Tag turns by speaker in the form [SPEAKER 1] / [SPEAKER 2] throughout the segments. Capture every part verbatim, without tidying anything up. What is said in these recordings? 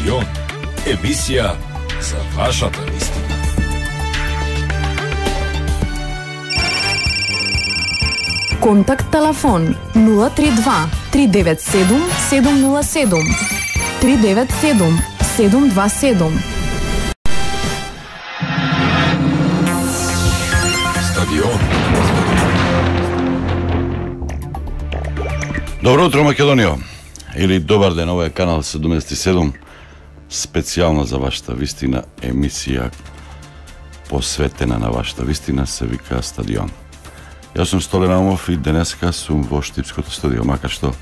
[SPEAKER 1] Стадион, емисија за вашата вистина.
[SPEAKER 2] Контакт телефон нула три два три девет седум седум нула седум три девет седум седум два седум.
[SPEAKER 1] Стадион.
[SPEAKER 3] Добро утро, Македонија! Или добар ден, ова е канал седумдесет и седум, специјално за вашата вистина, емисија посветена на вашата вистина, се вика Стадион. Јас сум Столен Аумов и денеска сум во Штипското студио, макар што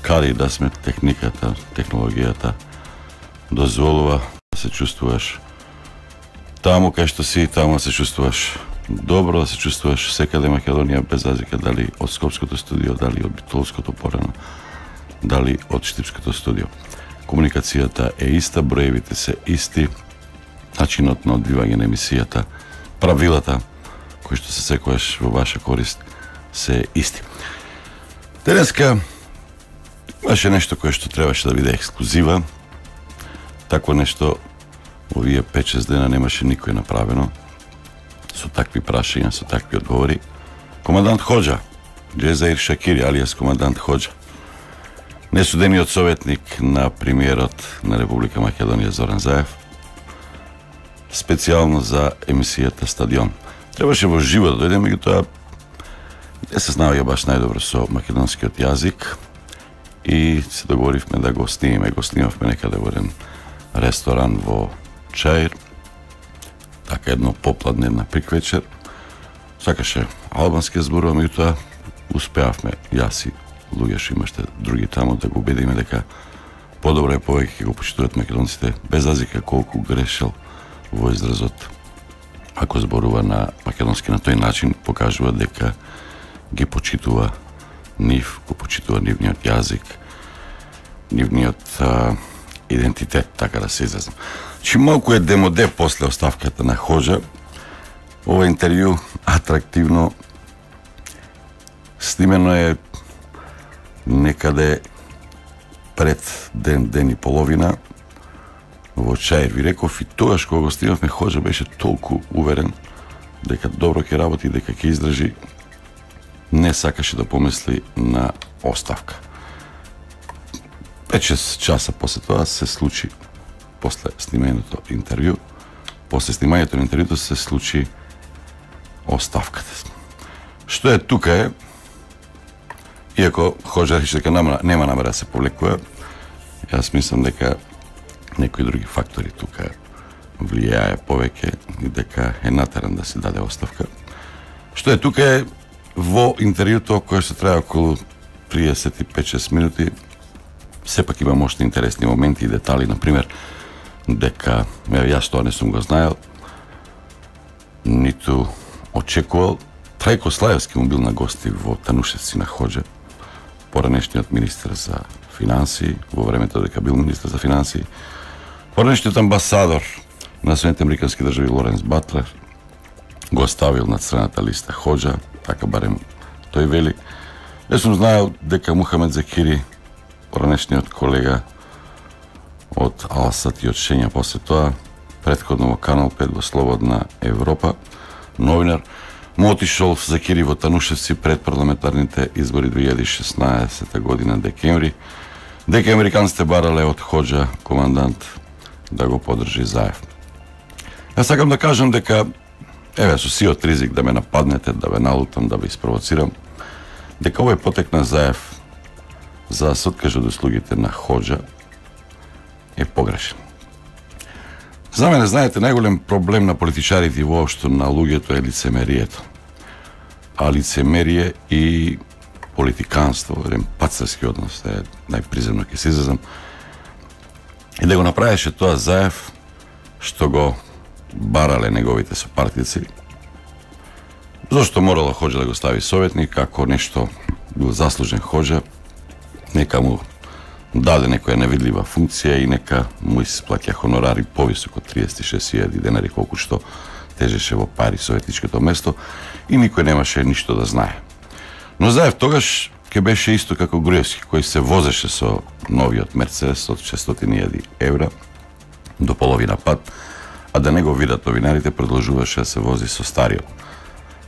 [SPEAKER 3] каде да сме, техниката, технологијата дозволува да се чувствуваш таму кај што си, таму да се чувствуваш добро, да се чувствуваш секаде Македонија, без разлика дали од Скопското студио, дали од Битолското порано, дали од Штипското студио. Комуникацијата е иста, броевите се исти, начинот на одбивање на емисијата, правилата кои што се секојаш во ваша корист се исти. Денеска имаше нешто кое што требаше да биде ексклузива. Такво нешто овие пет-шест дена немаше никој направено, со такви прашања, со такви одговори. Командант Хоџа, Џезаир Шакири, алијас командант Хоџа, несудениот советник на премиерот на Република Македонија Зоран Заев, специјално за емисијата Стадион. Требаше во живо да дојде, меѓутоа не се знаеја баш најдобро со македонскиот јазик и се договоривме да го снимиме. Го снимавме некаде во еден ресторан во Чаир, така едно попладне, една приквечер. Сакаше албански зборува, меѓутоа успеавме, јас и луѓе што имаште други таму, да го убедиме дека подобро е, повеќе го почитуваат македонците, без разлика колку грешел во изразот. Ако зборува на македонски на тој начин, покажува дека ги почитува нив, го почитува нивниот јазик, нивниот а, идентитет, така да се изразам. Чи малку е демоде после оставката на Хоџа. Ова интервју атрактивно снимено е некаде пред ден, ден и половина во Чаир. Ви реков и тогаш кога го снимавме, Хоџа беше толку уверен дека добро ќе работи, дека ќе издржи, не сакаше да помисли на оставка. пет-шест часа после тоа се случи, после снимањето интервју, после снимањето на интервјуто се случи оставката. Што е тука е, иако Хоџа рече дека нема, нема намера да се повлекува, јас мислам дека некои други фактори тука влијае повеќе и дека е натеран да се даде оставка. Што е тука е, во интервјуто кое што трае околу триесет и пет-шест минути, сепак има мощни интересни моменти и детали, например, дека јас тоа не сум го знаел, ниту очекувал. Трајко Слаевски му бил на гости во Танушевци на Хоџа, поранешниот министер за финансии, во времето дека бил министер за финансии, поранешниот амбасадор на Соединетите американски држави Лоренс Батлер го ставил на црната листа Хоџа, така барем тој вели. Јас сум знаел дека Мухамед Закири, поранешниот колега од Алсат и од Шења после тоа, претходно во Канал пет во Слободна Европа, новинар, му отишол Закири во Танушевци пред парламентарните избори две илјади и шеснаесета година декември, дека американците барале од Хоџа командант да го подржи Заев. Јас сакам да кажам дека, еве, со сиот ризик да ме нападнете, да ве налутам, да ве испровоцирам, дека овој потек на Заев за да се откаже од услугите на Хоџа е погрешен. За мене, знаете, најголем проблем на политичарите и воопшто на луѓето е лицемерието. А лицемерие и политиканство, еден пацарски однос, е најприземно ќе се изразам, и да го направеше тоа Заев, што го барале неговите сопартици. Зошто морала Хоџа да го стави советник, ако нешто бил заслужен Хоџа, нека му даде некоја невидлива функција и нека му исплаќа хонорари повисок од триесет и шест илјади денари, колку што тежеше во пари советничкото место, и никој немаше ништо да знае. Но Заев тогаш ке беше исто како Груевски, кој се возеше со новиот Мерцедес од шестстотини илјади евра до половина пат, а да не го видат новинарите, продолжуваше да се вози со стариот.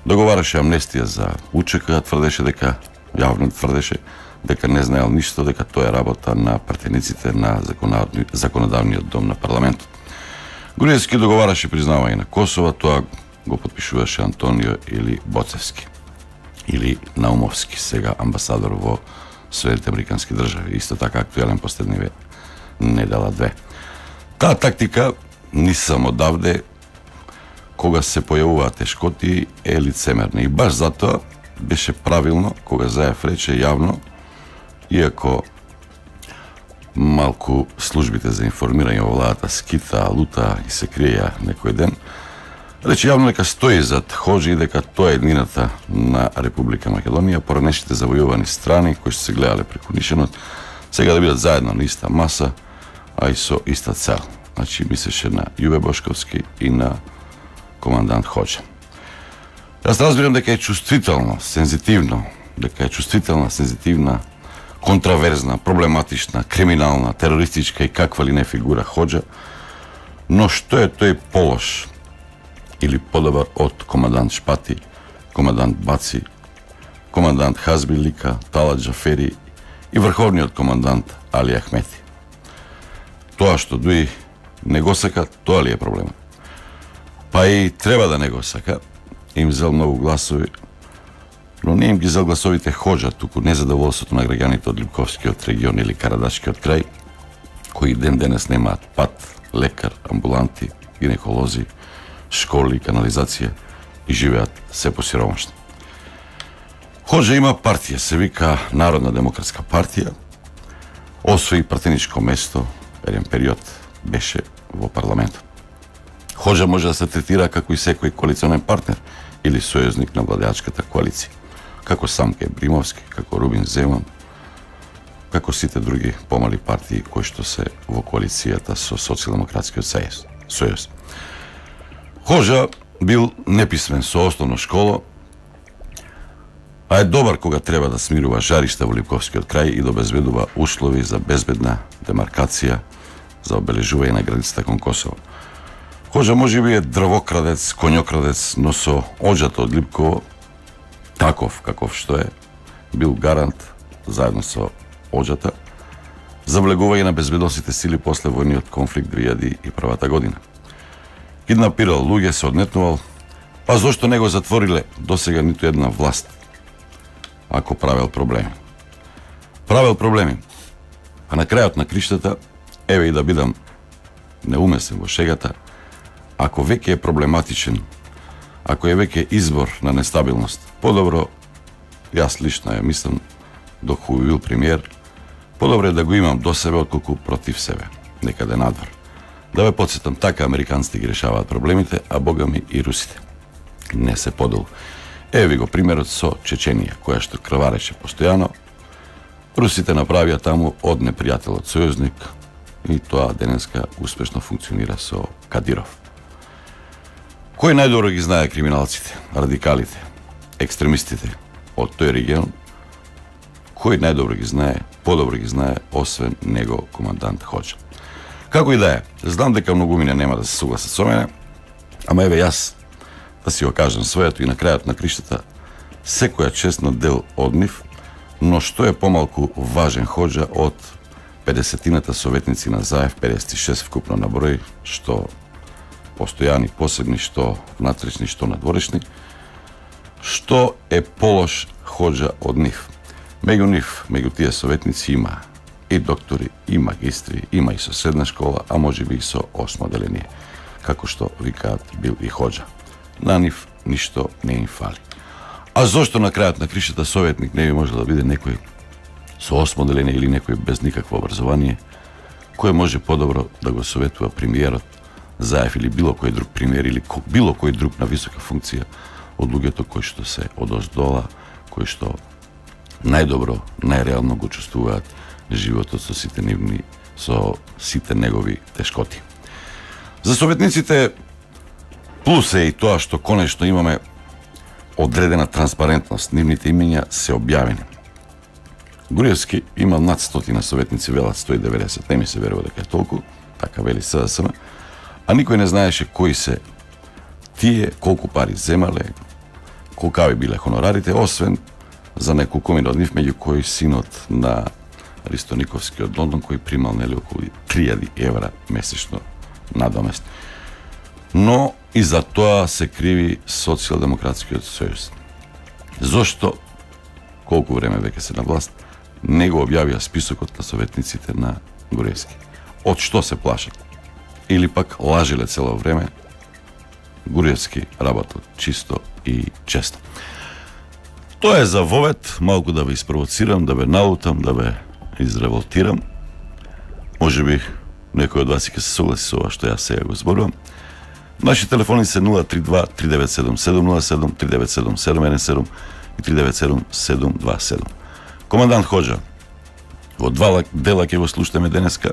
[SPEAKER 3] Договараше амнестија за УЧК, тврдеше дека, јавно тврдеше, дека не знаел ништо, дека тоа е работа на пратениците на законодавниот дом на парламентот. Груевски договараше признавање на Косово, тоа го подпишуваше Антонио или Боцевски, или Наумовски, сега амбасадор во Соединените Американски држави, исто така актуелен последниве недела две. Таа тактика ни само давде, кога се појавуваат тешкоти, е лицемерна. И баш затоа беше правилно, кога Заев рече јавно, иако малку службите за информирање во владата скита, лута и се криеја некој ден, рече јавно дека стои зад Хоџи и дека тоа е еднината на Република Македонија, поранешните завојувани страни кои што се гледале преку Нишенот, сега да бидат заедно на иста маса, а и со иста цел. Значи, мислеше на Јуве Бошковски и на командант Хоџа. Јас разбирам дека е чувствително, сензитивно, дека е чувствителна, сензитивна, контраверзна, проблематична, криминална, терористичка и каква ли не фигура Хоџа, но што е тој полош или подобар од командант Шпати, командант Баци, командант Хазби Лика, Талат Джафери и врховниот командант Али Ахмети. Тоа што дуи не го сака, тоа ли е проблемот? Па и треба да не го сака, им зел многу гласови, но не им ги зел гласовите Хоџа, туку незадоволството на граѓаните од Липковскиот регион или Карадашкиот крај, кои ден денес немаат пат, лекар, амбуланти, гинеколози, школи, канализација и живеат се посиромашни. Хоџа има партија, се вика Народна демократска партија, освои пратеничко место, еден период беше во парламентот. Хоџа може да се третира како и секој коалиционен партнер или сојузник на владеачката коалиција, како Самке Бримовски, како Рубин Земан, како сите други помали партии кои што се во коалицијата со Социјалдемократскиот сојуз. Хоџа бил неписмен со основна школа, а е добар кога треба да смирува жаришта во Липковскиот крај и да обезбедува услови за безбедна демаркација за обележување на границата кон Косово. Хоџа може би е дрвокрадец, коњокрадец, но со оџата од Липково, таков каков што е, бил гарант, заедно со оџата, за влегување на безбедносните сили после војниот конфликт две илјади и прва година. Киднапирал луѓе, се однетнувал, па зошто не го затвориле досега ниту една власт, ако правел проблеми. Правел проблеми, а на крајот на криштата, еве и да бидам неумесен во шегата, ако веќе е проблематичен, ако е веќе избор на нестабилност, подобро, јас лично ја мислам, док хубаво бил премиер, подобро е да го имам до себе отколку против себе, некаде надвор. Да ве подсетам, така американците ги решаваат проблемите, а богами и русите. Не се подолу. Еве ви го примерот со Чеченија, која што крвареше постојано. Русите направија таму од непријателот сојузник и тоа денеска успешно функционира со Кадиров. Кој најдобро ги знае криминалците, радикалите, екстремистите од тој регион? Кој најдобро ги знае, подобро ги знае, освен него командант Хоџа? Како и да е, знам дека многумина нема да се согласат со мене, ама еве јас да си го кажам своето и на крајот на криштата, секоја чест на дел од нив, но што е помалку важен Хоџа од педесетината советници на Заев, педесет и шест вкупно на број, што постојани, посебни, што внатрешни, што надворешни, што е полош Хоџа од нив. Меѓу нив, меѓу тие советници има и доктори, и магистри, има и со средна школа, а може би и со осмо оделение, како што викаат бил и Хоџа. На нив ништо не им фали. А зошто на крајот на кришата советник не би можел да биде некој со осмо оделение или некој без никакво образование, кој може подобро да го советува премиерот Заев или било кој друг премиер или било кој друг на висока функција од луѓето кои што се одоздола, кои што најдобро, најреално го чувствуваат животот со сите нивни, со сите негови тешкоти. За советниците плюс е и тоа што конечно имаме одредена транспарентност, нивните имења се објавени. Груевски има над стотина советници, велат сто и деветдесет, не ми се верува дека е толку, така вели СДСМ, а никој не знаеше кои се тие, колку пари земале, колкави биле хонорарите, освен за неколкумина од нив, меѓу кои синот на Ристо Никовски од Лондон, кој примал нели околу три илјади евра месечно надомест. Но и за тоа се криви Социјалдемократскиот сојуз. Зошто, колку време веќе се на власт, не го објавија списокот на советниците на Груевски? Од што се плашат? Или пак лажиле цело време? Груевски работел чисто и често. Тоа е за вовет, малку да ве испровоцирам, да ве налутам, да ве изреволтирам. Може би некој од вас ќе се согласи со ова што јас сега го зборувам. Наши телефони се нула три два три девет седум седум нула седум, три девет седум седум еден седум и три девет седум седум два седум. Командант Хоџа, во два дела ќе го слушаме денеска.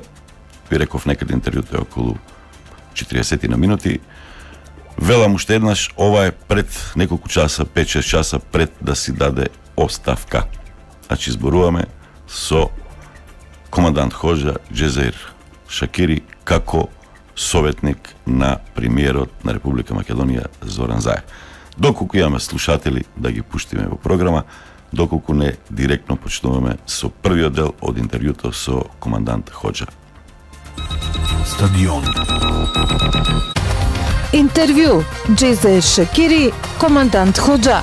[SPEAKER 3] Ви реков некаде интервјуто е околу четириесет на минути. Велам уште еднаш, ова е пред неколку часа, пет-шест часа пред да си даде оставка. Значи зборуваме со командант Хоџа Џезаир Шакири како советник на премиерот на Република Македонија Зоран Заев. Доколку имаме слушатели да ги пуштиме во програма, доколку не директно почнуваме со првиот дел од интервјуто со командант Хоџа.
[SPEAKER 1] Стадион.
[SPEAKER 4] Интервју Џезаир Шакири, командант Хоџа.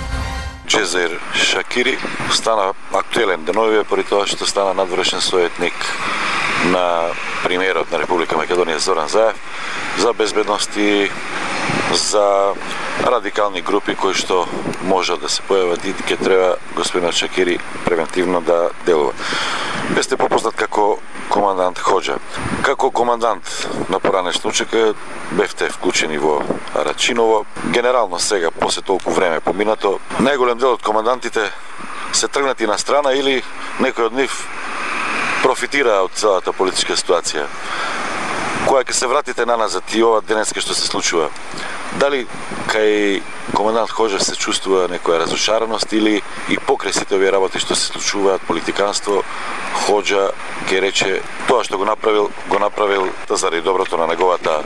[SPEAKER 3] Џезаир Шакири стана актуелен деновиве поради тоа што стана надвршен советник на премиерот на Република Македонија Зоран Заев за безбедност и за радикални групи кои што може да се појават и ќе треба господинот Шакири превентивно да делува. Вие сте попознат како командант Хоџа. Како командант на поранешна учека бевте вклучени во Рачиново. Генерално сега, после толку време поминато, најголем дел од командантите се тргнати на страна или некој од нив профитира од целата политичка ситуација. Кога ќе се вратите наназад и ова денеска што се случува, дали кај командант Хоџа се чувствува некоја разушареност или и покрај сите овие работи што се случуваат, политиканство, Хоџа ќе рече тоа што го направил, го направил заради доброто на неговата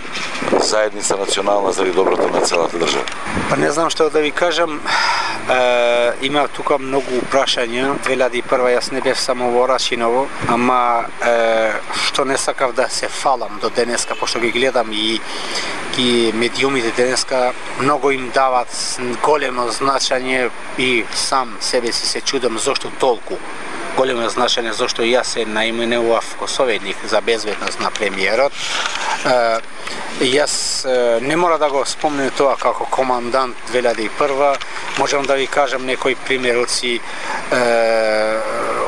[SPEAKER 3] заедница национална, заради доброто на целата држава?
[SPEAKER 5] Па не знам што да ви кажам. Е, има тука многу прашања. две илјади и прва јас не бев само во Рачиново, ама е, што не сакав да се фалам до денеска, пошто ги гледам и ги медиумите денеска многу им дават големо значење и сам себе си се чудам зошто толку големо значење, зашто јас се наименував ко советник за безбедност на премиерот. Е, јас е, не мора да го спомнем тоа како командант две илјади и прва, можам да ви кажам некои примероци е,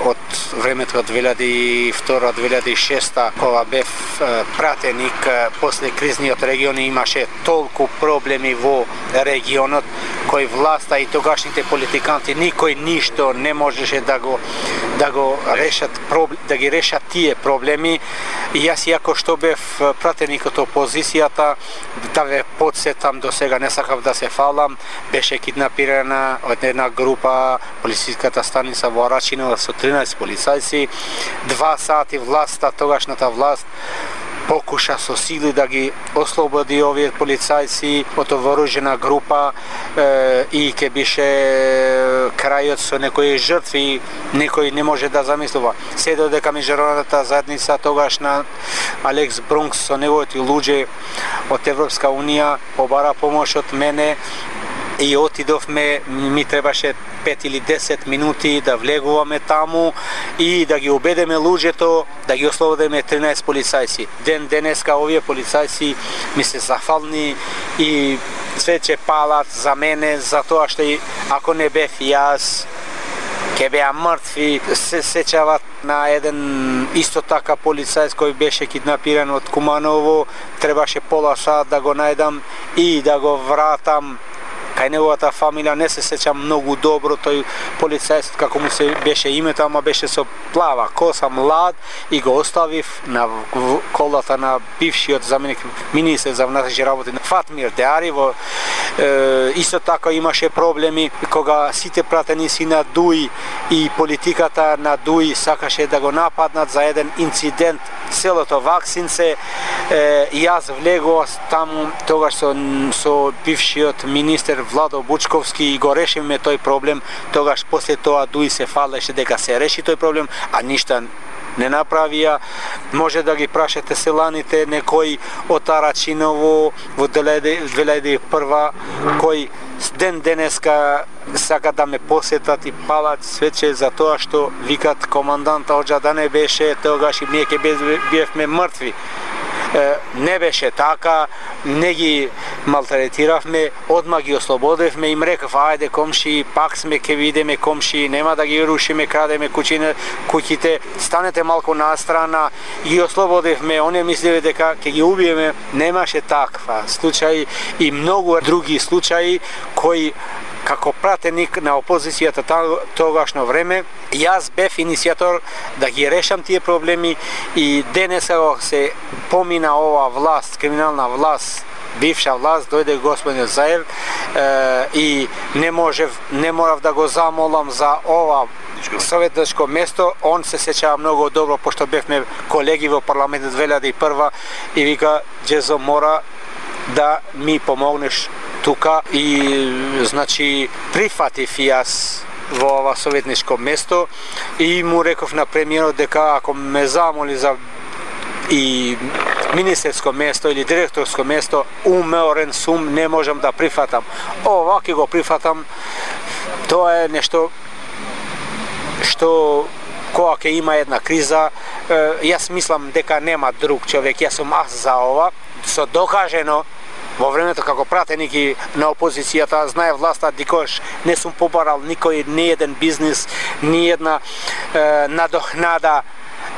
[SPEAKER 5] од времето од две илјади и втора две илјади и шеста, кога бев е, пратеник е, после кризниот регион, имаше толку проблеми во регионот кој власта и тогашните политиканти никој ништо не можеше да го да го решат да ги решат тие проблеми. И јас иако што бев пратеник од опозицијата, да ве подсетам, до сега не сакав да се фалам, беше киднапирана од една група полициската станица во Рачиново со тринаесет полицајци. Два сати власта, тогашната власт покуша со сили да ги ослободи овие полицајци од вооружена група е, и ке бише крајот со некои жртви, некој не може да замислува. Се додека меѓународната заедница тогашна Алекс Брункс со неговите луѓе од Европска унија побара помош од мене и отидовме, ми требаше пет или десет минути да влегуваме таму и да ги убедеме луѓето да ги ослободиме тринаесет полицајци. Ден денеска овие полицајци ми се зафални и цвеќе палат за мене, за тоа што ако не бев јас, ке беа мртви. Се сеќават на еден исто така полицајц кој беше киднапиран од Куманово, требаше пола сат да го најдам и да го вратам кај неговата фамилија. Не се сеќам многу добро тој полицајец како му се беше името, ама беше со плава коса, млад, и го оставив на колата на бившиот заменик министер за внатрешни работи Фатмир Деари во Е, исто така имаше проблеми кога сите пратеници на ДУИ и политиката на ДУИ сакаше да го нападнат за еден инцидент селото Ваксинце. Е, и јас влегував таму тогаш со, со бившиот министер Владо Бучковски и го решивме тој проблем. Тогаш после тоа ДУИ се фалеше дека се реши тој проблем, а ништа не направија. Може да ги прашате селаните, некој од Тарачиново во две илјади и прва кој ден денеска сака да ме посетат и палат свече за тоа што викат команданта Оџа да не беше, тогаш и ние ќе биевме мртви. Не беше така, не ги малтретиравме, одма ги ослободевме, им рекав, ајде комши, пак сме, ке видиме комши, нема да ги рушиме, крадеме куќине, куќите, станете малку настрана, ги ослободевме, оние мислеве дека ќе ги убиеме, немаше таква случаи и многу други случаи кои како пратеник на опозицијата тогашно време, јас бев иницијатор да ги решам тие проблеми и денеска се помина ова власт, криминална власт, бивша власт, дојде господин Заев е, и не можев, не морав да го замолам за ова советничко место. Он се сеќава многу добро, пошто бевме колеги во парламентот две илјади и прва и вика, Джезо, мора да ми помогнеш тука и значи прифатив јас во ова советничко место и му реков на премиерот дека ако ме замоли за и министерско место или директорско место, уморен сум, не можам да прифатам. Ова ќе го прифатам. Тоа е нешто што кога ќе има една криза, јас мислам дека нема друг човек, јас сум аз за ова, со докажено во времето како пратеник и на опозицијата, знае власта, дикош не сум побарал никој, ни еден бизнис, ни една е, надохнада.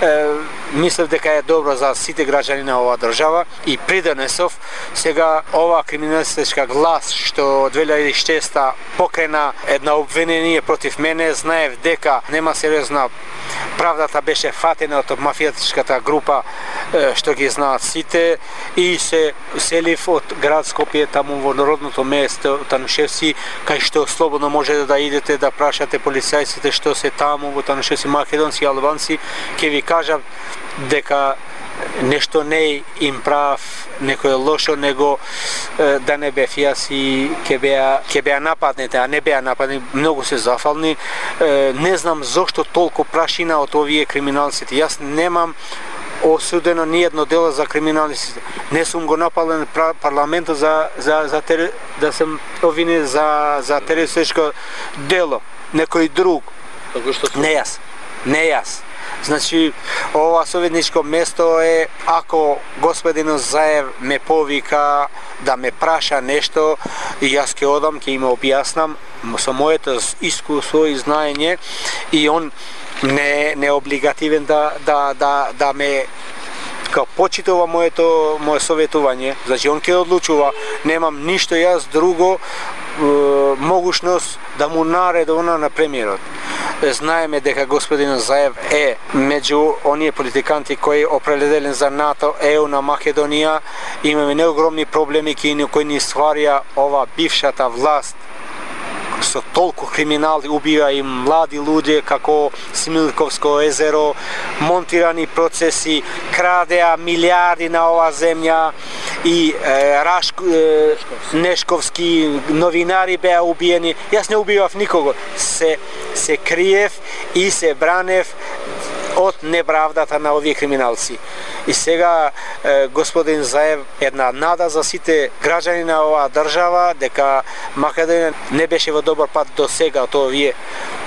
[SPEAKER 5] Е, мислев дека е добро за сите граѓани на оваа држава и придонесов сега ова криминалистичка глас што две илјади и шеста покрена една обвинение против мене, знаев дека нема сериозна, правдата беше фатена од мафијатичката група што ги знаат сите и се селив од град Скопје таму во народното место Танушевци, кај што слободно можете да идете да прашате полицајците што се таму во Танушевци, македонци и албанци, ќе ви кажат дека нешто не им прав, некој лошо, него е, да не бев јас и ќе беа ќе беа нападнете, а не беа нападнати, многу се зафални. Е, не знам зошто толку прашина од овие криминалците. Јас немам осудено ни едно дело за криминалистите. Не сум го напален парламентот за за за тери, да сум обвинен за за терористичко дело. Некој друг. Не јас. Не јас. Значи, ова советничко место е, ако господин Заев ме повика да ме праша нешто, и јас ќе одам, ќе им објаснам со моето искуство и знаење, и он не не облигативен да да да да ме као почитува моето мое советување. Значи, он ќе одлучува, немам ништо јас друго е, могушност да му наредувам на премиерот. Знаеме дека господин Заев е меѓу оние политиканти кои определен за НАТО, ЕУ на Македонија. Имаме неогромни проблеми кои ни стварија ова бившата власт со толку криминали, убива и млади луѓе како Смилковско езеро, монтирани процеси, крадеа милиарди на оваа земја и е, Рашк, е, Нешковски новинари беа убиени. Јас не убивав никого, се се криев и се бранев од неправдата на овие криминалци. И сега е, господин Заев една нада за сите граѓани на оваа држава дека Македонија не беше во добар пат до сега од овие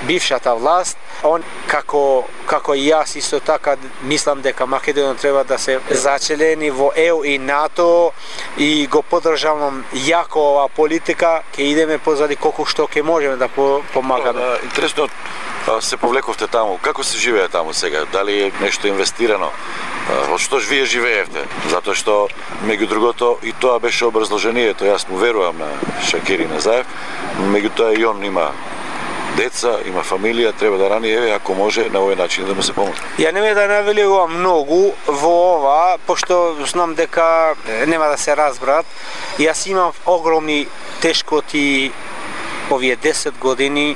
[SPEAKER 5] бившата власт. Он како како и јас исто така мислам дека Македонија треба да се зачелени во ЕУ и НАТО и го поддржавам јако оваа политика, ќе идеме позади колку што ќе можеме да помагаме.
[SPEAKER 6] Интересно, се повлековте таму. Како се живее таму сега? Дали е нешто инвестирано? Од што вие живеевте? Затоа што, меѓу другото, и тоа беше образложението, јас му верувам на Шакири Назаев, меѓу тоа и он има деца, има фамилија, треба да рани, еве, ако може, на овој начин да му се помогне.
[SPEAKER 5] Ја нема да навелувам многу во ова, пошто знам дека нема да се разбрат. Јас имам огромни тешкоти овие десет години,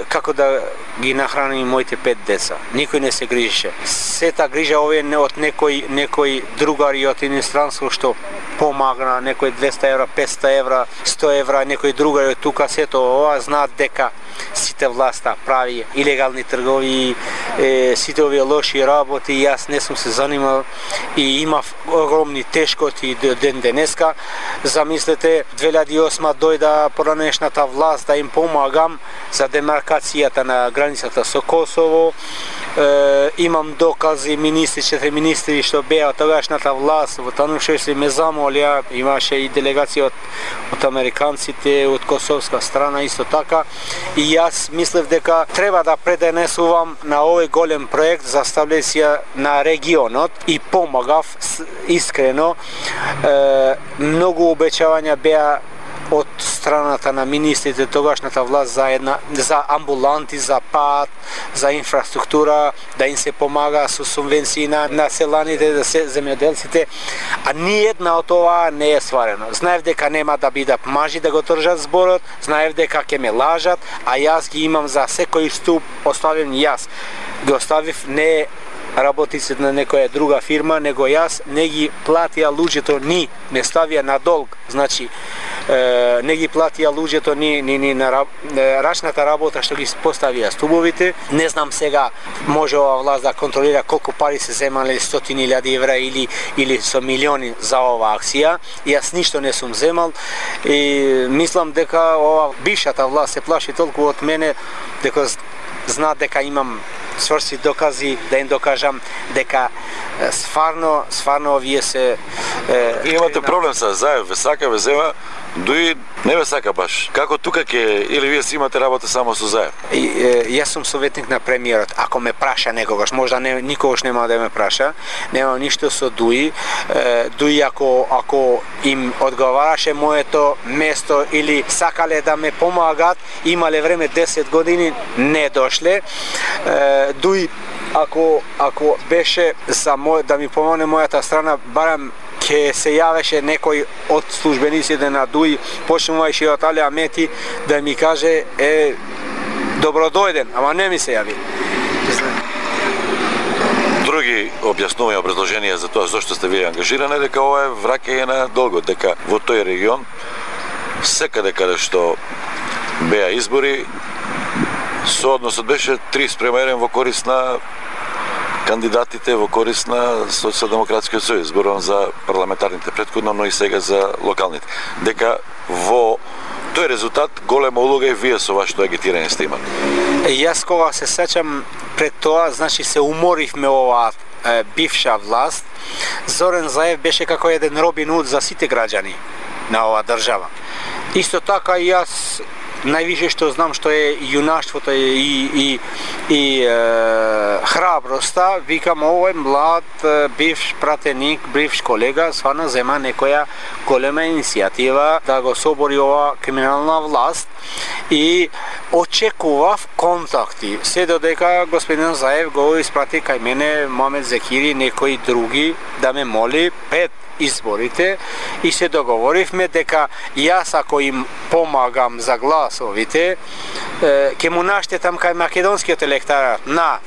[SPEAKER 5] како да ги нахраним моите пет деца. Никој не се грижеше. Сета грижа овие не од некој некој другари од иностранство што помагна, некој двеста евра, петста евра, сто евра, некој другари од тука, сето ова знаат дека сите власта прави илегални тргови, е, сите овие лоши работи, јас не сум се занимал и имав огромни тешкоти до ден денеска. Замислете, две илјади и осма дојда поранешната власт да им помагам за демаркацијата на границата со Косово. Е, имам докази, министри, четири министри што беа од тогашната власт во Танушевски ме замолија, имаше и делегација од, од американците, од косовска страна исто така. И јас мислев дека треба да преденесувам на овој голем проект за стабилизација на регионот и помагав искрено. Е, многу обеќавања беа од страната на министрите тогашната власт за една за амбуланти, за пат, за инфраструктура, да им се помага со субвенции на населаните, да се земјоделците, а ни една од ова не е стварено. Знаев дека нема да бидат мажи да го држат зборот, знаев дека ќе ме лажат, а јас ги имам за секој ступ оставен јас. Ги оставив не работиците на некоја друга фирма, него јас не ги платија луѓето ни, ме ставија на долг, значи е, не ги платија луѓето ни, ни, ни на раб, рачната работа што ги поставија стубовите. Не знам сега може ова власт да контролира колку пари се земале, стотини илјади евра или или со милиони за оваа акција. Јас ништо не сум земал и мислам дека ова бившата власт се плаши толку од мене дека знаат дека имам сврси докази да им докажам дека стварно, стварно овие се...
[SPEAKER 6] Е, Вие имате проблем со Заев, ве сака, ве зема, дуи не ве сака баш. Како тука ќе, или вие си имате работа само со Заев?
[SPEAKER 5] И, е, јас сум советник на премиерот. Ако ме праша некогаш, можда не, никогаш нема да ме праша, немам ништо со Дуи. Е, Дуи ако, ако им одговараше моето место или сакале да ме помагат, имале време десет години, не дошле. Е, Дуи ако ако беше за мој да ми помогне мојата страна, барам ќе се јавеше некој од службениците на Дуи, почнувајќи од Али Амети, да ми каже е добродојден, ама не ми се јави.
[SPEAKER 6] Други објаснувања, образложенија за тоа зошто сте вие ангажирани, дека ова е враќање на долгот, дека во тој регион секаде каде што беа избори, соодносот беше три спрема еден во корист на кандидатите, во корист на Социјалдемократскиот сојуз, зборувам за парламентарните претходно, но и сега за локалните. Дека во тој резултат голема улога и вие со вашето агитирање сте имали.
[SPEAKER 5] Јас кога се сеќам пред тоа, значи се уморивме оваа бивша власт. Зорен Заев беше како еден Робин Худ за сите граѓани на оваа држава. Исто така и јас највише што знам што е јунаштвото и, и, и е, храброста, викам овој млад бивш пратеник, бивш колега, свана зема некоја голема иницијатива да го собори ова криминална власт и очекував контакти. Се додека господин Заев го испрати кај мене Момед Зекири, некои други да ме моли пет изборите и се договоривме дека јас ако им помагам за гласовите ќе му наштетам кај македонскиот електорат на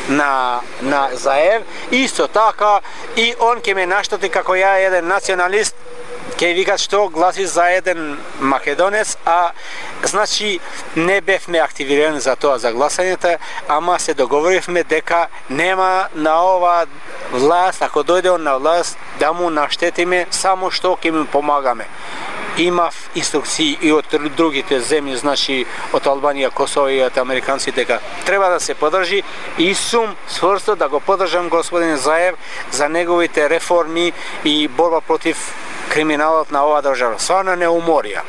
[SPEAKER 5] на на Заев, исто така и он ќе ме наштети како ја еден националист, ќе викат што гласи за еден македонец, а значи не бевме активирани за тоа за гласањето, ама се договоривме дека нема на ова власт, ако дојде он на власт, да му наштетиме, само што ќе му помагаме. Имав инструкции и од другите земји, значи од Албанија, Косово и од американци, дека треба да се подржи и сум сврсто да го подржам господин Заев за неговите реформи и борба против криминалот на оваа држава. Сварно не уморија.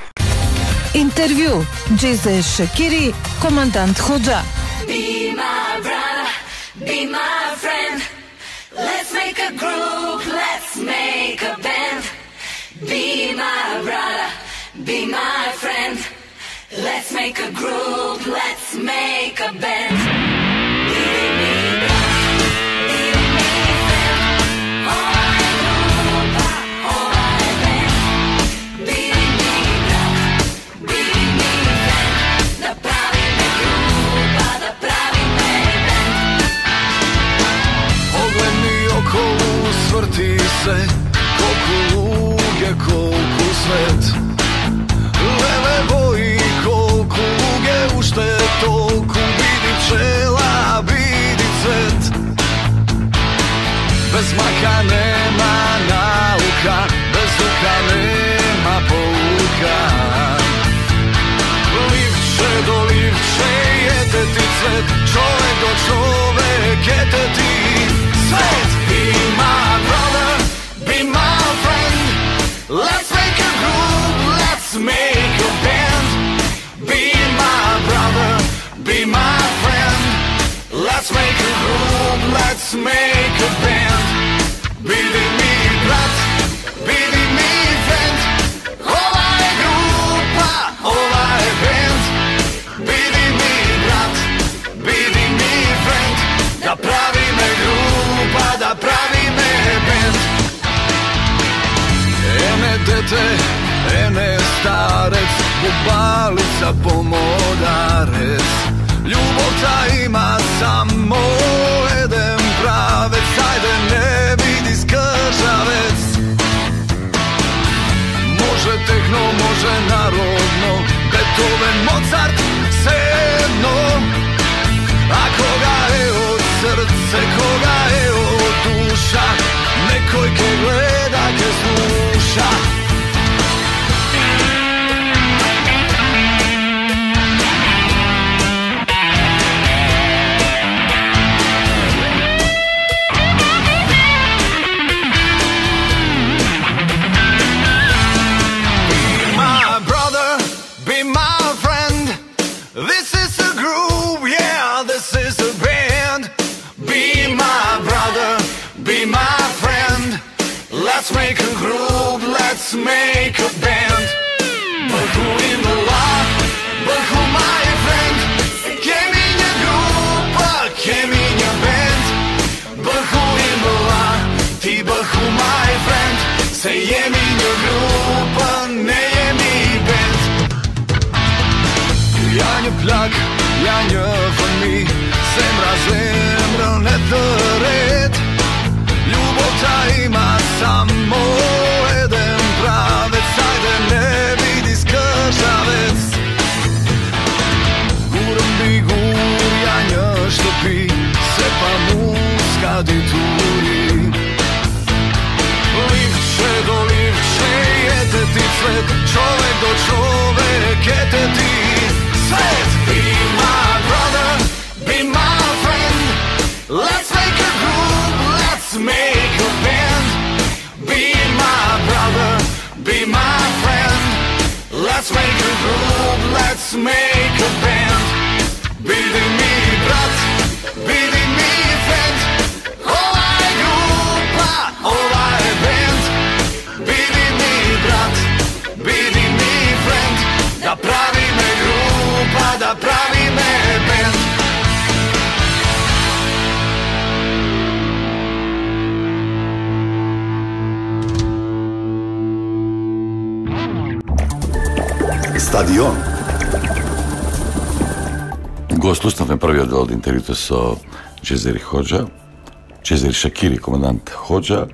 [SPEAKER 4] Интервју Џезе Шакири, командант Хоџа.
[SPEAKER 7] Be my brother, be my friend. Let's make a group, let's make a band. Be my brother, be my friend. Let's make a group, let's make a band.
[SPEAKER 8] Vrti se, kolku luge, kolku svet. Lele boji, kolku luge, ušte tolku. Vidi pčela, vidi cvet. Bez maka nema nauka, bez duha nema pouka. Livče do livče, jete ti cvet. Čovek do čovek, jete ti svet. Be my brother, be my friend. Let's make a group, let's make a band. Be my brother, be my friend. Let's make a group, let's make a band. Bidi mi brat, bidi mi friend. Ovaj grupa, ovaj band. Bidi mi brat, bidi mi friend. Da pravi me grupa, da pravi me band. Ene dete, ene starec, bubalica pomodarec. Ljubov ta ima samo jedan pravec, ajde ne vidi skržavec. Može tehno, može narodno, Beethoven, Mozart, svejedno. A koga je od srce, koga je od duša, nekoj ke gleda, ke sluša. Let's make a group, let's make a band. But who in the law, but who my friend? Che minha grupa, che minha band. But who in the law, ti but who my friend? Say je minha grupa, ne je mi band. Ja nie plak, ja nie von mi. Zemra, zemra, ne teret. Ljubov ta ima samo jedan pravec, ajde ne vidi skržavec. Guram bi gurjanja što pi, se pa muska di turi. Livče do livče, jete ti cvet, čovek do čovek, jete ti svet. Be my brother, be my friend, let's make a group, let's make a band. Be my brother, be my friend. Let's make a group, let's make a band. Bidi mi brat, bidi mi friend. Ovaj grupa, ovaj band. Bidi mi brat, bidi mi friend. Da pravi me grupa, da pravi me band.
[SPEAKER 3] Stadion. Го слушнавме првиот дел од интервјуто со Джезери Хоџа, Джезери Шакири, командант Хоџа.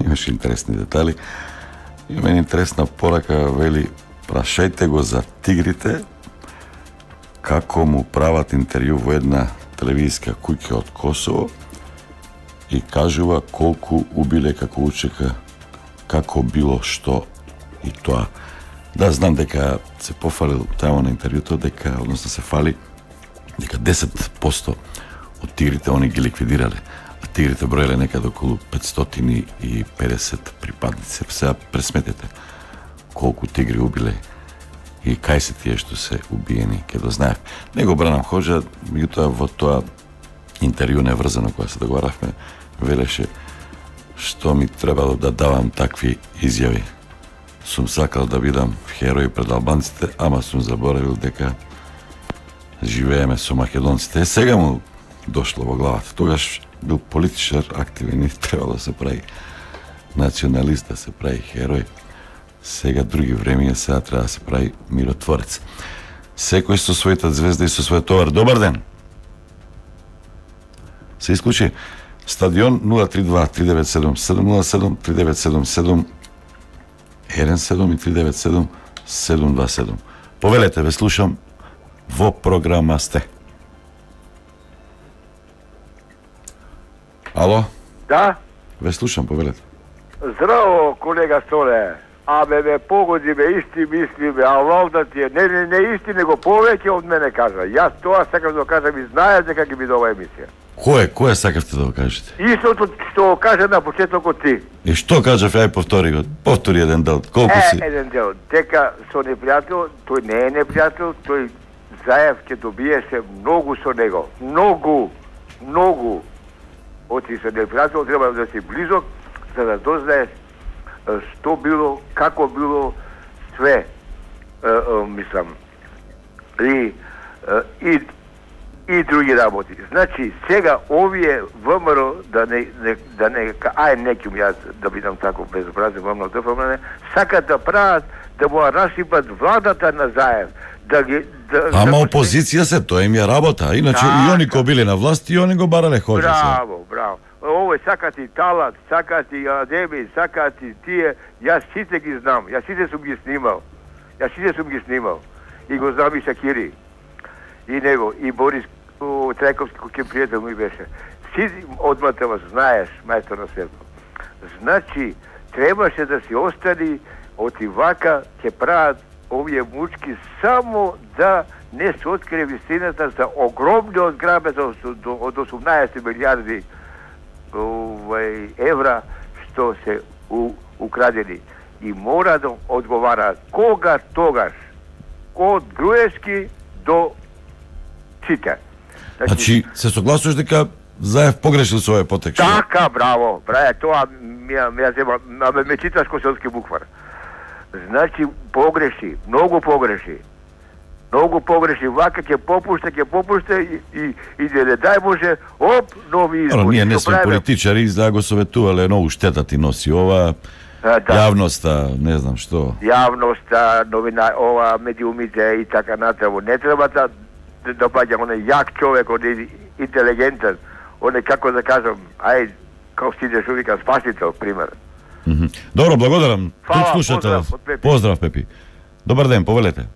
[SPEAKER 3] Имаше интересни детали. Има една интересна порака, вели: прашајте го за тигрите, како му прават интервју во една телевизиска куќа од Косово и кажува колку убиле, како учека, како било што и тоа. Да, знам дека се пофалил тамо на интервјуто, дека, односно се фали, дека десет посто од тигрите они ги ликвидирале, а тигрите броеле некаде околу петстотини и педесет припадници. Сега пресметете колку тигри убиле и кај се тие што се убиени, ке да знаев. Не го бранам Хоџа, меѓутоа во тоа интервју неврзано кога се договаравме, велеше што ми требало да давам такви изјави. Сум сакал да бидам херој пред албанците, ама сум заборавил дека живееме со македонците. Сега му дошло во главата. Тогаш бил политичар активен и требало да се прави националист, да се прави херој. Сега други времења, сега треба да се прави миротворец. Секој со својата звезда и со својот товар. Добар ден! Се исклучи. Стадион нула три два три девет седум седум нула седум три девет седум седум еден седум и три девет седум седум два седум. Повелете, ве слушам, во програма сте. Ало?
[SPEAKER 9] Да?
[SPEAKER 3] Ве слушам, повелете.
[SPEAKER 9] Здраво, колега Столе. Абе, ме погоди, ме исти мисли, ме, а валда ти е. Не, не, не исти, него повеќе од мене кажа. Јас тоа сакам да кажам и знаеш дека ќе биде ова емисија.
[SPEAKER 3] Кој, кој сакавте да го кажете?
[SPEAKER 9] Истото што кажа на почетокот ти.
[SPEAKER 3] И што кажав, ај повтори го. Повтори еден дел. Колку си?
[SPEAKER 9] Е, еден дел. Дека со непријател, тој не е непријател, тој Заев ќе добиеше многу со него. Многу, многу. Оти со непријател треба да си близок, за да дознаеш што било, како било, све, е, е, мислам, и, е, и, и други работи. Значи, сега овие ВМРО, да не, не, да не, ај неким јас да бидам тако безобразен, ВМРО ДФМН, сакат да прават, да му расипат владата на Заев, да ги... Да,
[SPEAKER 3] Ама
[SPEAKER 9] да
[SPEAKER 3] опозиција се, тоа им е работа. Иначе
[SPEAKER 9] да,
[SPEAKER 3] и они кои биле на власт, и они го барале хоџа се.
[SPEAKER 9] Браво, браво. Овој сакат и Талат, сакат и Адеми, сакат и тие, јас сите ги знам, јас сите сум ги снимал, јас сите сум ги снимал, и го знам и Шакири, и него, и Борис Трајковски, кој пријател ми беше. Сите одмата вас знаеш, мајстор на свето. Значи, требаше да си остани, оти вака ќе прават овие мучки само да не се открие вистината за огромниот грабеж од осумнаесет милијарди овај евра што се у, украдени и мора да одговараат кога тогаш од Груевски до сите.
[SPEAKER 3] Значи, се согласуваш дека Заев погрешил со овој потек?
[SPEAKER 9] Така, браво, браво, тоа ми ја зема, ме, ме читаш коселски буквар. Значи, погреши, многу погреши. Многу погреши, вака ќе попушта, ќе попушта и, и, и да не дај може, оп, нови избори.
[SPEAKER 3] Но ние не
[SPEAKER 9] Што
[SPEAKER 3] сме
[SPEAKER 9] правиме?
[SPEAKER 3] политичари, да го советувале, многу штета ти носи ова,
[SPEAKER 9] А, да.
[SPEAKER 3] јавноста, не знам што.
[SPEAKER 9] Јавноста, новина, ова, медиумите и така натаму. Не треба да да допаѓа оне јак човек, оне интелигентен, оне како да кажам, ај, како стидеш увика спасител, пример.
[SPEAKER 3] Мгм. Добро, благодарам.
[SPEAKER 9] Фала,
[SPEAKER 3] Тук слушател.
[SPEAKER 9] поздрав од Пепи.
[SPEAKER 3] Поздрав, Пепи. Добар ден, повелете.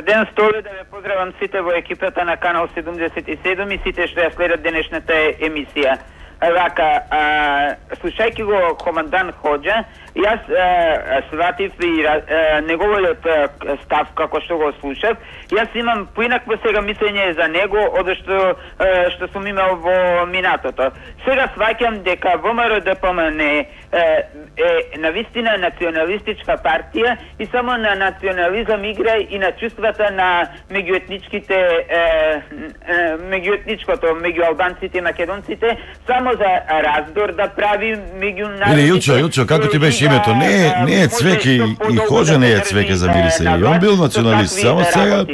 [SPEAKER 10] Ден Столе, да ве поздравам сите во екипата на Канал седумдесет и седум и сите што ја следат денешната емисија. Вака, а, слушајќи го командант Хоџа, јас а, сватив и а, неговиот а, став како што го слушав. Јас имам поинакво сега мислење за него од што а, што сум имал во минатото. Сега сваќам дека ВМРО ДПМН е, е навистина националистичка партија и само на национализам игра и на чувствата на меѓуетничките е, е, меѓуетничкото меѓу албанците и македонците, само за раздор да прави меѓу народите.
[SPEAKER 3] Или Илчо, Илчо, како ти беше името? Не е, не е Цвеке и, и Хоџа не е Цвеке за мирисе. И он бил националист, само сега...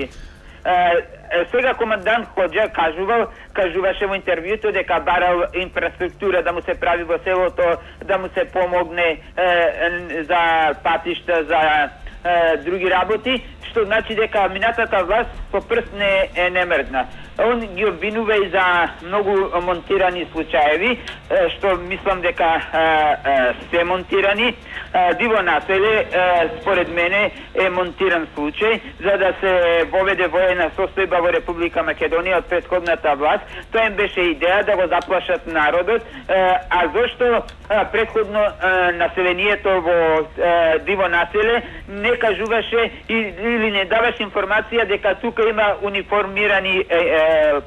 [SPEAKER 10] Сега командант Хоџа кажувал, кажуваше во интервјуто дека барал инфраструктура да му се прави во селото, да му се помогне е, за патишта, за е, други работи, што значи дека минатата власт по прст не е немрдна. Он ги обвинува и за многу монтирани случаеви, што мислам дека се монтирани. Диво населе, според мене, е монтиран случај, за да се воведе воена состојба во Република Македонија од претходната власт. Тоа им беше идеја да го заплашат народот, а зошто претходно населението во диво населе не кажуваше или не даваше информација дека тука има униформирани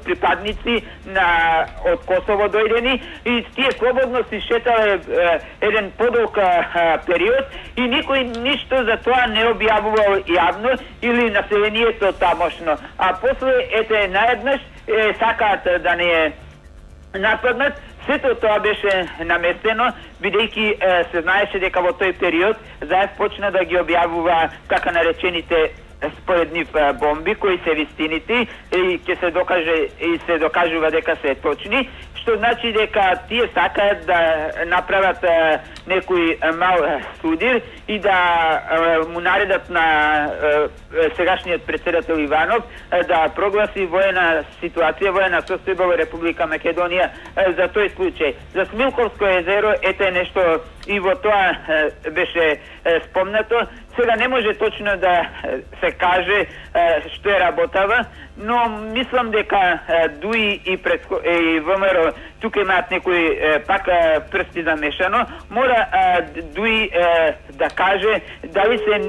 [SPEAKER 10] припадници на од Косово дојдени и тие слободно си шетале еден подолг период и никој ништо за тоа не објавувал јавно или населението тамошно. А после ете наеднаш е, сакаат да не нападнат. Сето тоа беше наместено, бидејќи се знаеше дека во тој период Заев почна да ги објавува така наречените според нив бомби кои се вистините и ќе се докаже и се докажува дека се точни, што значи дека тие сакаат да направат е, некој мал судир и да е, му наредат на е, сегашниот председател Иванов е, да прогласи воена ситуација, воена состојба во Република Македонија е, за тој случај. За Смилковско езеро ете нешто и во тоа е, беше е, спомнато. Сега не може точно да се каже е, што е работава, но мислам дека е, ДУИ и, предко... и ВМРО тука имаат некои е, пак е, прсти замешано. Мора е, ДУИ е, да каже дали се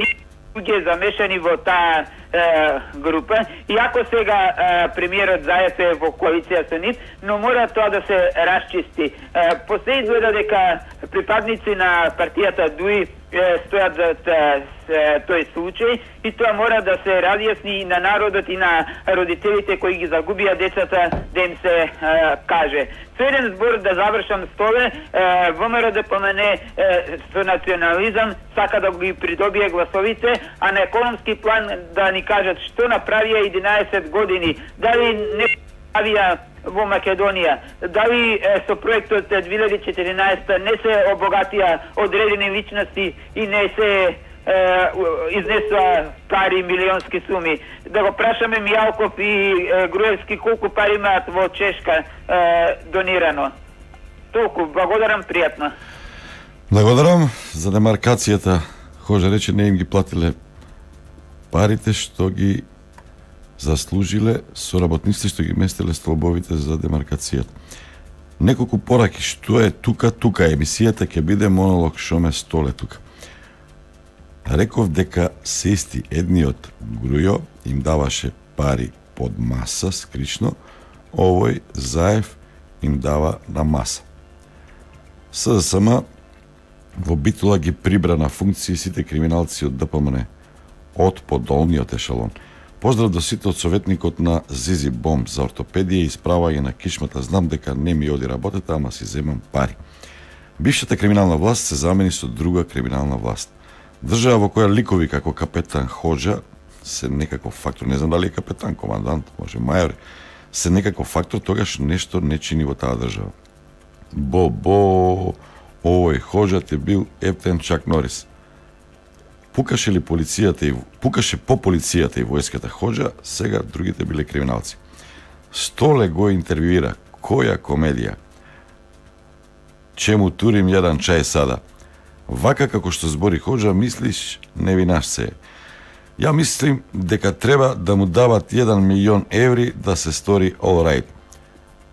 [SPEAKER 10] луѓе замешани во таа е, група. Иако сега е, премиерот Заев е во коалиција со нив, но мора тоа да се расчисти. Е, После изгледа дека припадници на партијата ДУИ стојат за тој случај и тоа мора да се разјасни и на народот и на родителите кои ги загубија децата, да им се е, каже. Со еден збор да завршам Столе, е, ВМРО ДПМН е, со национализам сака да ги придобие гласовите, а на економски план да ни кажат што направија единаесет години, дали не правија во Македонија, дали е, со проектот две илјади и четиринаесета не се обогатија одредени личности и не се е, изнесува пари, милионски суми. Да го прашаме Мијалков и е, Груевски колку пари имаат во Чешка е, донирано. Толку, благодарам, пријатно.
[SPEAKER 3] Благодарам за демаркацијата. Хоже рече не им ги платиле парите што ги заслужиле соработниците што ги местеле столбовите за демаркацијата. Неколку пораки што е тука, тука емисијата ќе биде монолог Шоме Столе тука. Реков дека се исти едниот Грујо им даваше пари под маса скришно, овој Заев им дава на маса. СДСМ во Битола ги прибра на функции сите криминалци од ДПМН од подолниот ешалон. Поздрав до сите од советникот на Зизи Бом за ортопедија и исправање на кишмата. Знам дека не ми оди работата, ама си земам пари. Бившата криминална власт се замени со друга криминална власт. Држава во која ликови како капетан Ходжа се некаков фактор, не знам дали е капетан, командант, може мајор, се некаков фактор, тогаш нешто не чини во таа држава. Бо, бо, овој Ходжат е бил ептен Чак Норис. Пукаше ли полицијата и пукаше по полицијата и војската Ходжа, сега другите биле криминалци. Столе го интервјуира, која комедија? Чему турим јадан чај сада? Вака како што збори Ходжа, мислиш, не винаш се. Ја мислим дека треба да му дават еден милион еври да се стори all right.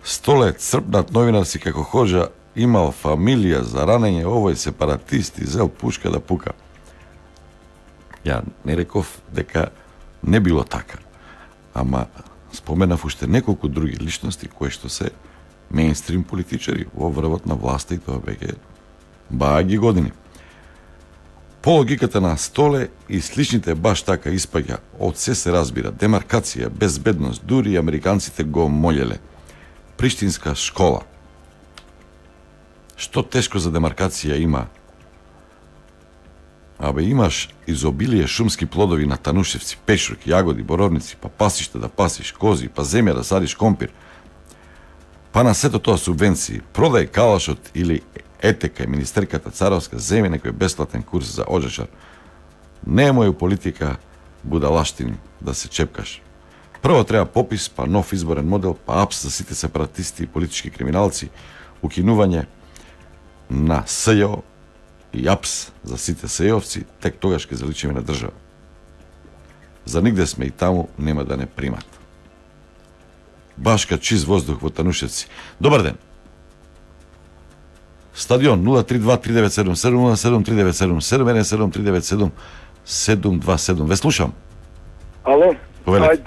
[SPEAKER 3] Столе црпнат новинарси како Ходжа имал фамилија за ранење, овој сепаратист и зел пушка да пука. Ја не реков дека не било така, ама споменав уште неколку други личности кои што се мејнстрим политичари во врвот на власта и тоа веќе бааги години. По логиката на Столе и сличните баш така испаѓа, од се се разбира, демаркација, безбедност, дури американците го молеле. Приштинска школа. Што тешко за демаркација има? Абе, имаш изобилие шумски плодови на Танушевци, пешурки, јагоди, боровници, па пасиште да пасиш, кози, па земја да садиш компир. Па на сето тоа субвенции, продај калашот или етека и министерката царовска, земи некој бесплатен курс за оджачар. Немој у политика будалаштини да се чепкаш. Прво треба попис, па нов изборен модел, па апс за сите сепаратисти и политички криминалци, укинување на СЈО и апс за сите сејовци, тек тогаш ќе заличиме на држава. За нигде сме и таму нема да не примат. Башка чист воздух во Танушевци. Добар ден. Стадион нула три два три девет седум седум нула седум три девет седум седум еден седум три девет седум седум два седум. Ве слушам.
[SPEAKER 11] Ало.
[SPEAKER 3] Повелете.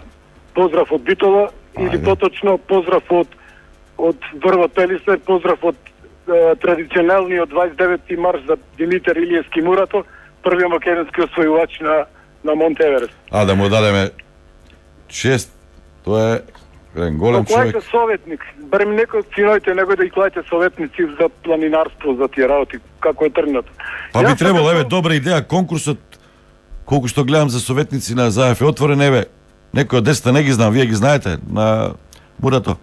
[SPEAKER 11] Поздрав од Битола, или поточно поздрав од од Врвот Пелистер, поздрав од е, традиционалниот дваесет и деветти марш за Димитар Илиевски Мурато, првиот македонски освојувач на на Монт Еверест.
[SPEAKER 3] А да му дадеме чест, тоа е еден голем човек.
[SPEAKER 11] Кој е советник? Барем некој од синоите него да и клајте советници за планинарство, за тие работи, како е тргнато.
[SPEAKER 3] Па би требало, еве, добра идеја, конкурсот колку што гледам за советници на Заев е отворен, еве, некој од десета не ги знам, вие ги знаете, на Мурато.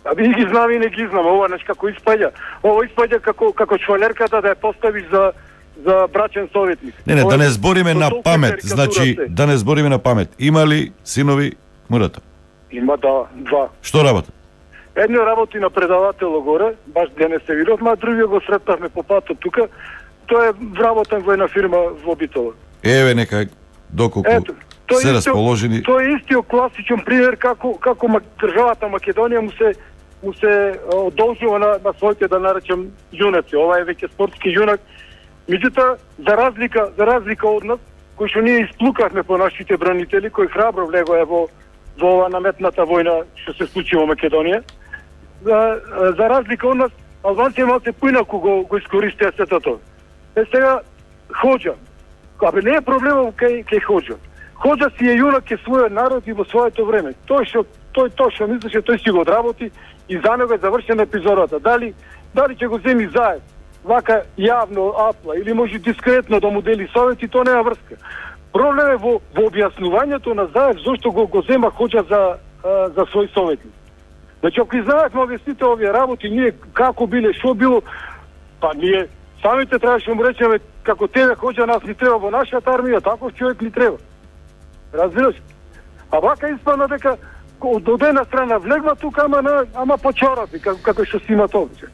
[SPEAKER 11] А би ги знам и не ги знам, ова нешто како испаѓа. Ова испаѓа како како чвалерката да ја поставиш за за брачен советник.
[SPEAKER 3] Не, не,
[SPEAKER 11] ова,
[SPEAKER 3] да не збориме на памет, значи
[SPEAKER 11] се.
[SPEAKER 3] да не збориме на памет. Има ли синови Мурато?
[SPEAKER 11] Има, да, два.
[SPEAKER 3] Што работат?
[SPEAKER 11] Едно работи на предаватело горе, баш денес се видовме, а другиот го сретнавме по патот тука. Тој е вработен во една фирма во Битола.
[SPEAKER 3] Еве нека доколку
[SPEAKER 11] Ето, тој
[SPEAKER 3] се
[SPEAKER 11] исто-
[SPEAKER 3] расположени.
[SPEAKER 11] Тој е истиот класичен пример како како ма- државата Македонија му се му се а, одолжува на, на своите, да наречем, јунаци. Ова е веќе спортски јунак. Меѓутоа, за разлика за разлика од нас, кои што ние исплукавме по нашите бранители, кои храбро влегоа во во ова наметната војна што се случи во Македонија, за, за разлика од нас, албанците малку поинаку го го искористија сето тоа. Е сега Хоџа. Абе не е проблемот кај кај Хоџа. Хоџа си е јунак кај својот народ и во своето време. Тој што тој тоа што мислеше, тој си го одработи и за него е завршена епизодата. Дали дали ќе го земи Заев вака јавно апла или може дискретно да му дели совети, тоа нема врска. Проблем е во во објаснувањето на Заев зошто го го зема Хоџа за а, за свој советник. Значи ако знаевме овие сите овие работи, ние како биле, што било, па ние самите требаше му речеме како тебе Хоџа нас ни треба во нашата армија, таков човек ни треба. Разбираш? А вака испадна дека од од една страна влегва тука, ама на, ама по чорапи, како, како што си има обичај.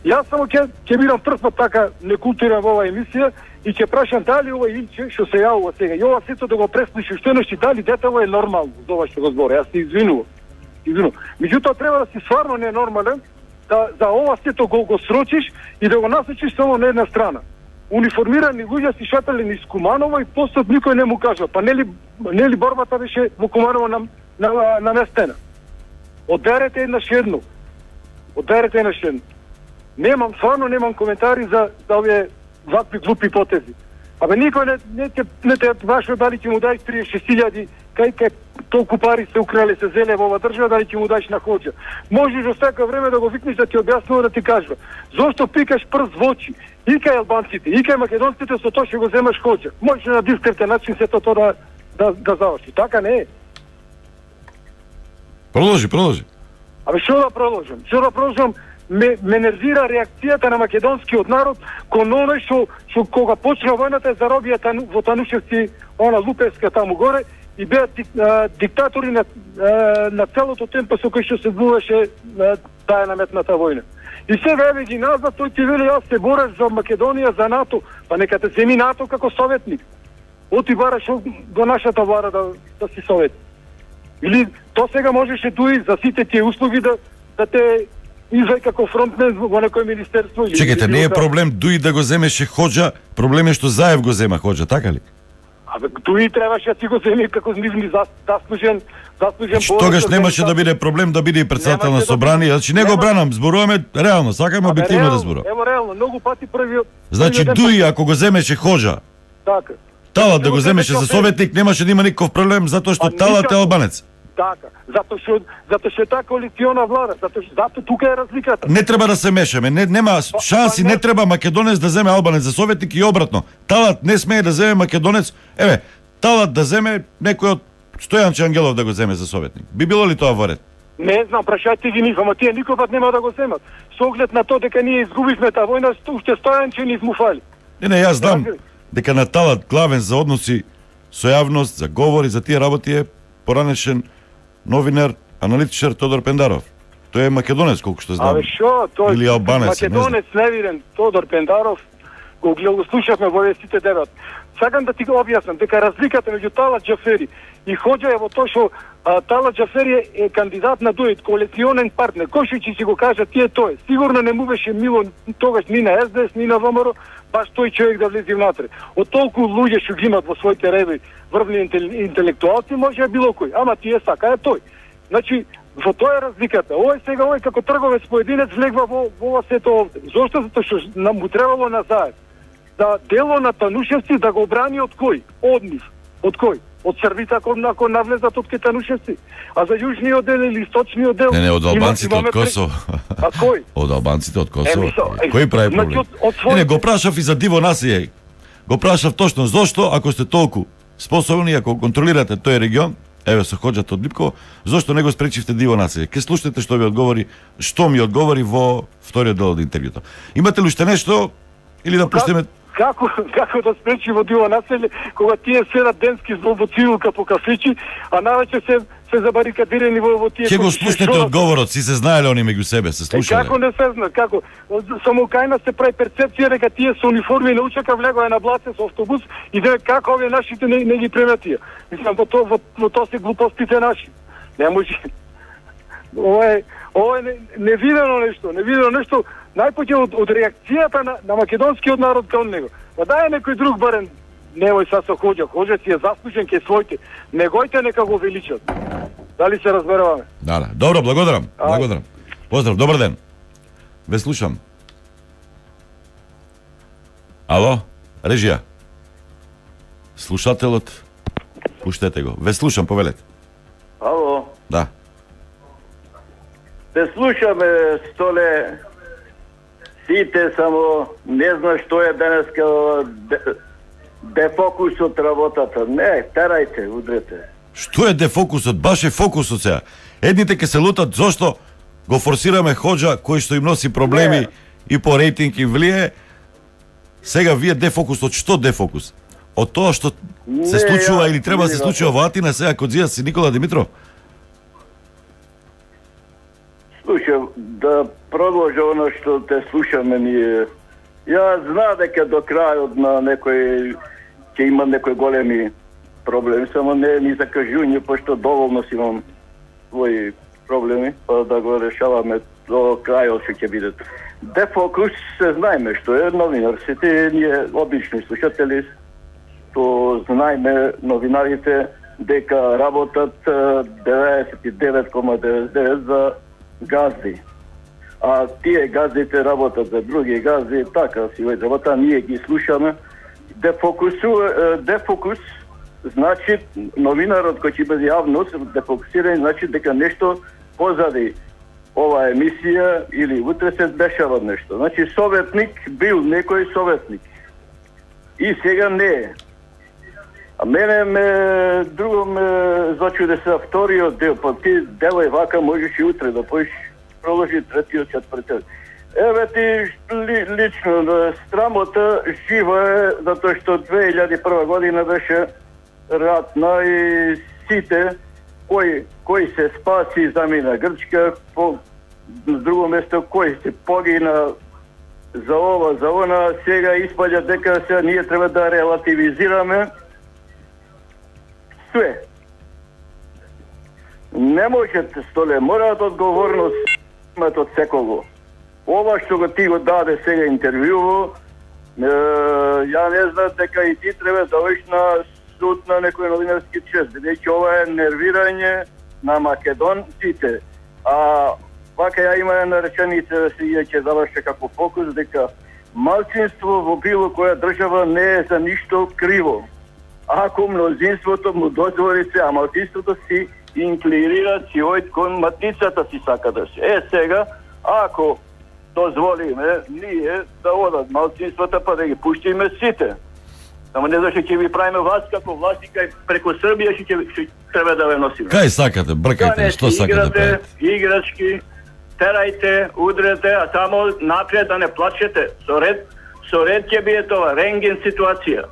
[SPEAKER 11] Јас само ќе ќе бидам прв пат така некултурен во оваа емисија и ќе прашам дали ова Илче што се јавува сега и ова сето да го преслуши што нешто дали детало е нормално за ова што го збори. Јас се извинувам. Извинувам. Меѓутоа треба да си стварно ненормален да за ова сето го го срочиш и да го насочиш само на една страна. Униформирани луѓе си шатале низ Куманово и после никој не му кажа. Па нели нели борбата беше во Куманово на на наместена. Одерете еднаш едно. Одерете еднаш едно. Немам, стварно немам коментари за, за овие вакви глупи потези. Абе никој не не те не те башо дали ќе му дај триесет и шест илјади, кај кај толку пари се украле, се зеле во оваа држава, дали ќе му даеш на Хоџа. Можеш во секое време да го викнеш да ти објаснува, да ти кажува. Зошто пикаш прст во очи? И кај албанците, и кај македонците со тоа што го земаш Хоџа. Можеш на дискретен начин сето тоа да да да заврши. Така не е.
[SPEAKER 3] Продолжи, продолжи.
[SPEAKER 11] Абе што да продолжам? Што да продолжам? Ме, ме нервира реакцијата на македонскиот народ кон оној што што кога почна војната заробија тану, во Танушевци, она Лупевска таму горе и беа дик, а, диктатори на а, на целото темпо со кој што се одвиваше таа наметната војна. И сега еве ги назад, тој ти вели јас се борам за Македонија, за НАТО, па нека те земи НАТО како советник. Оти бараш до нашата влада да, да си советник. Или то сега можеше туи за сите тие услуги да да те извај како фронтмен во некој министерство.
[SPEAKER 3] Чекајте, не е проблем Дуи да го земеше Хоџа, проблем е што Заев го зема Хоџа, така ли?
[SPEAKER 11] Абе Дуи требаше да си го земи како нивни заслужен заслужен.
[SPEAKER 3] Што тогаш немаше да биде проблем да биде и председател на собрание, значи не го бранам, зборуваме реално, сакаме објективно да зборуваме.
[SPEAKER 11] Ево реално, многу пати првиот.
[SPEAKER 3] Значи Дуи ако го земеше Хоџа,
[SPEAKER 11] така.
[SPEAKER 3] Талат да го земеше за советник, немаше да има никаков проблем затоа што Талат е албанец.
[SPEAKER 11] Така, затоа што затоа што е таа коалициона влада, затоа што затоа тука е разликата.
[SPEAKER 3] Не треба да се мешаме, не нема шанси, не треба македонец да земе албанец за советник и обратно. Талат не смее да земе македонец, еве, Талат да земе некој од Стојанче Ангелов да го земе за советник. Би било ли тоа во ред?
[SPEAKER 11] Не знам, прашајте ги нив, ама тие никој пат нема да го земат. Со оглед на тоа дека ние изгубивме таа војна, уште Стојанче ни измуфали.
[SPEAKER 3] Не, не, јас знам дека на Талат главен за односи со јавност, за говори, за тие работи е поранешен новинар, аналитичар Тодор Пендаров. Тој е македонец, колку што знам.
[SPEAKER 11] Абе шо, тој
[SPEAKER 3] или албанец,
[SPEAKER 11] македонец невиден Тодор Пендаров, го го слушавме во сите дебат. Сакам да ти го објаснам дека разликата меѓу Талат Џафери и Хоџа е во тоа што Талат Џафери е кандидат на дует, коалиционен партнер. Кој што ќе си го кажа тие тој. Сигурно не му беше мило тогаш ни на Ес Де Ес, ни на ВМРО, баш тој човек да влезе внатре. Од толку луѓе што ги имат во своите реви врвни интелектуалци, може било кој, ама тие сака е тој. Значи, во тоа е разликата. Овој сега овој како трговец поединец влегва во во ова сето овде. Зошто? Затоа што нам му требало на Заев да дело на Танушевци да го брани од кој? Од нив. Од кој? Од Србите ако након навлезат од Танушевци. А за јужниот дел или источниот дел?
[SPEAKER 3] Не, не, од албанците од Косово.
[SPEAKER 11] А кој?
[SPEAKER 3] Од албанците од Косово.
[SPEAKER 11] Е,
[SPEAKER 3] Кој прави проблем?
[SPEAKER 11] Од
[SPEAKER 3] Не, не, го прашав и за диво насије. Го прашав точно зошто, ако сте толку способни, ако контролирате тој регион, еве со Хоџата од Липково, зошто не го спречивте диво населје? Ке слушнете што ви одговори, што ми одговори во вториот дел од интервјуто. Имате ли уште нешто или да пуштиме?
[SPEAKER 11] Како, како да спречи во диво населје, кога тие седат денски во цивилка по кафичи, а навечер се се забарикадирани во во тие.
[SPEAKER 3] Ќе го слушнете одговорот, си се знаеле они меѓу себе, се слушале.
[SPEAKER 11] Е, како не се зна, како? Само кајна се прави перцепција дека тие со униформи не учака влегоа на блаце со автобус и дека како овие нашите не, не ги преметија. Мислам во тоа во, во тоа се глупостите наши. Не може. Ова е ова е невидено нешто, невидено нешто. Најпоќе од, од реакцијата на, на македонскиот народ кон него. Па дај некој друг барем, невој са со Хоџа, Хоџа си е заслужен ке своите. Негојте нека го величат. Дали се разберуваме?
[SPEAKER 3] Да, да. Добро, благодарам. Ај. Благодарам. Поздрав, добар ден. Ве слушам. Ало, режија. Слушателот, пуштете го. Ве слушам, повелете.
[SPEAKER 12] Ало.
[SPEAKER 3] Да.
[SPEAKER 12] Те слушаме, Столе, сите, само не знам што е денеска дефокус од работата. Не, терајте, удрете.
[SPEAKER 3] Што е дефокусот? Баш е фокусот сега. Едните ке се лутат зошто го форсираме Хоџа кој што им носи проблеми не. И по рейтинг им влие. Сега вие дефокусот, што дефокус? Од тоа што не, се случува ја, или треба да се случува во Атина сега кod зија си Никола Димитров?
[SPEAKER 12] Слушам, да продолжа оно што те слушаме ние. Ја знам дека до крајот на некој ќе има некои големи проблеми, само не ни закажување, пошто доволно си имам своји проблеми, па да го решаваме до крајот што ќе биде. Дефокус се знаеме што е новинар. Сите ние обични слушатели што знаеме новинарите дека работат деветдесет и девет zarez деветдесет и девет за газди. А тие газдите работат за други газди, така си веќе работа, ние ги слушаме. Дефокусу, дефокус значи новинарот кој ќе биде јавност, дефокусиран значи дека нешто позади ова емисија или утре се дешава нешто. Значи советник бил некој советник. И сега не е. А мене ме друго ме зачуде се вториот дел, па ти делај вака, можеш и утре да поиш продолжи третиот, четвртиот. Еве ти ли, лично страмота жива е, затоа што две илјади и прва година беше ратна и сите кој кој се спаси замина Грчка, по друго место кој се погина за ова, за она, сега испаѓа дека се ние треба да релативизираме све. Не можете, Столе, мораат одговорност имат од секого. Ова што го ти го даде сега интервјуво, е, ја не знам дека и ти треба да оиш на суд на некој новинарски чест, бидејќи ова е нервирање на македонците. А вака ја има една реченица да се ќе заврши како фокус, дека малцинство во било која држава не е за ништо криво. Ако мнозинството му дозволи се, а малцинството си инклинира си ојд кон матицата си сака да се. Е, сега, ако дозволиме ние да одат малцинствата, па да ги пуштиме сите. Ама не зашто ќе ви правиме вас како власти, кај преко Србија ќе ќе треба да ве носиме.
[SPEAKER 3] Кај сакате, бркајте, што сакате да правите?
[SPEAKER 12] Играчки, терајте, удрете, а само напред да не плачете. Со ред, со ред ќе биде тоа рентген ситуација.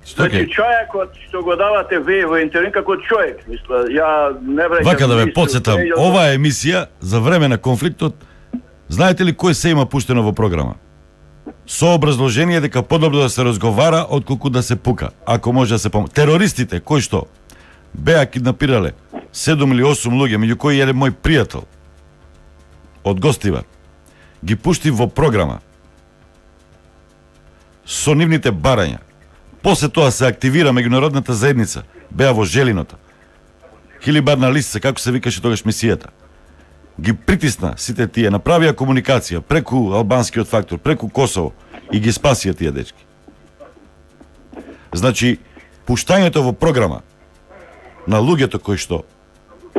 [SPEAKER 12] Значи, човекот што го давате вие во интервју како човек, мисла, ја не враќам.
[SPEAKER 3] Вака да ве потсетам, оваа емисија за време на конфликтот, знаете ли кој се има пуштено во програма? Со образложение дека подобро да се разговара отколку да се пука, ако може да се помогне. Терористите кои што беа киднапирале седум или осум луѓе, меѓу кои еден мој пријател од Гостивар, ги пушти во програма со нивните барања. После тоа се активира меѓународната заедница, беа во Желиното. Хилибарна листа, како се викаше тогаш мисијата. Ги притисна сите тие, направија комуникација преку албанскиот фактор, преку Косово и ги спасија тие дечки. Значи, пуштањето во програма на луѓето кои што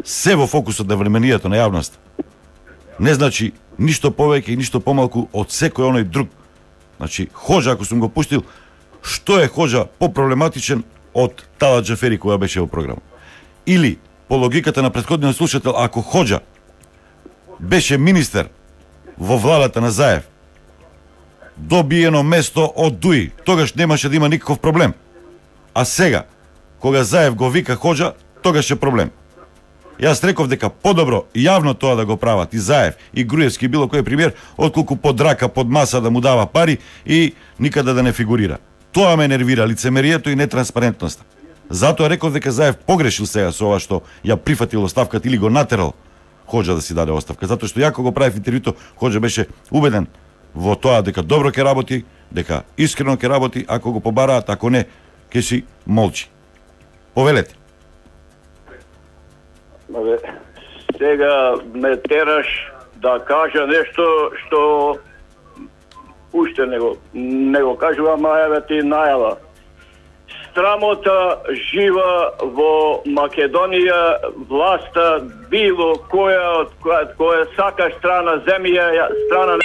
[SPEAKER 3] се во фокусот на вниманието на јавноста не значи ништо повеќе и ништо помалку од секој оној друг. Значи, Хоџа, ако сум го пуштил, што е Хоџа попроблематичен од Талат Џафери која беше во програма? Или, по логиката на претходниот слушател, ако Хоџа беше министер во владата на Заев, добиено место од Дуи, тогаш немаше да има никаков проблем. А сега, кога Заев го вика Хоџа, тогаш е проблем. Јас реков дека подобро јавно тоа да го прават и Заев, и Груевски, и било кој премиер, отколку под рака, под маса да му дава пари и никаде да не фигурира. Тоа ме нервира, лицемерието и нетранспарентноста. Затоа реков дека Заев погрешил сега со ова што ја прифатил оставката или го натерал Хоџа да си даде оставка. Затоа што јако го правив интервјуто, Хоџа беше убеден во тоа дека добро ќе работи, дека искрено ќе работи, ако го побараат, ако не, ќе си молчи. Повелете.
[SPEAKER 12] Абе, сега ме тераш да кажа нешто што уште не го, не го кажувам, а еве ти најава. Страмота жива во Македонија, власта било која од која, која сака страна земја, страна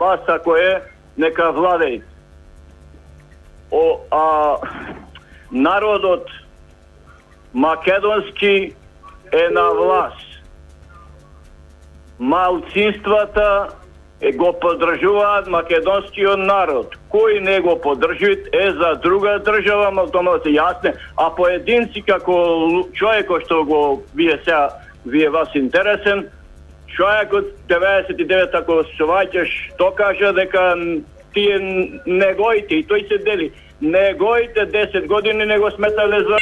[SPEAKER 12] власта која нека владеј. О, а народот македонски е на власт. Малцинствата е го поддржуваат македонскиот народ. Кој не го поддржуваат е за друга држава, но тоа се јасне, а поединци како човекот што го вие сега вие вас интересен, човекот деветдесет и девет ако се ваќаш, тоа кажа дека тие не гоите и тој се дели. Не гоите десет години не го сметале за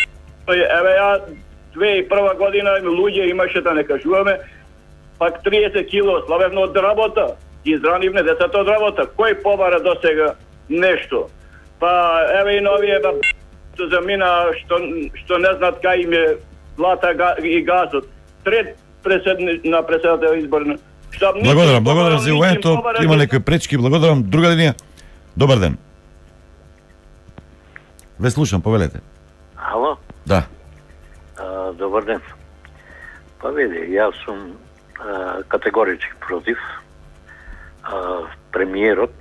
[SPEAKER 12] еве ја две и прва година луѓе имаше да не кажуваме, пак триесет кило славевно од работа. Изранивне децата од работа. Кој побара до сега нешто? Па еве и новие ба замина што што не знаат кај им е злата и газот. Трет преседни на председател изборна.
[SPEAKER 3] Благодарам, благодарам за јавувањето. Има некои пречки, благодарам. Друга линија. Добар ден. Ве слушам, повелете.
[SPEAKER 13] Ало?
[SPEAKER 3] Да.
[SPEAKER 13] А, добар ден. Па види, јас сум а, категорички против а, премиерот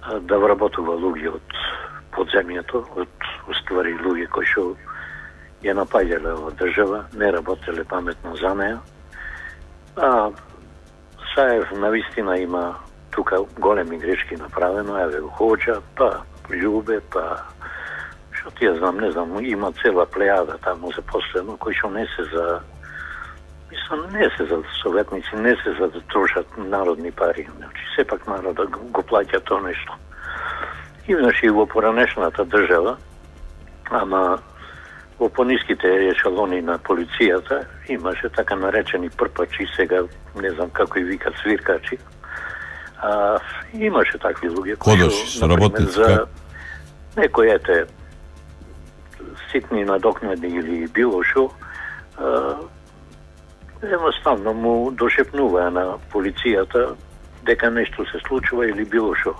[SPEAKER 13] а, да вработува луѓе од подземјето, од уствари луѓе кои што ја напаѓале ова држава, не работеле паметно за неја. А Саев навистина има тука големи грешки направено, еве Хоџа, па Љубе, па што ти ја знам, не знам, има цела плејада таму запослено кои што не се за мислам, не се за советници, не се за да трошат народни пари. Значи, сепак народот го плаќа тоа нешто. И значи во поранешната држава, ама во пониските ешелони на полицијата имаше така наречени прпачи, сега не знам како и викат свиркачи. А, имаше такви луѓе кои
[SPEAKER 3] што работници
[SPEAKER 13] за некој ете ситни надокнади или било шо, едноставно му дошепнува на полицијата дека нешто се случува или било шо.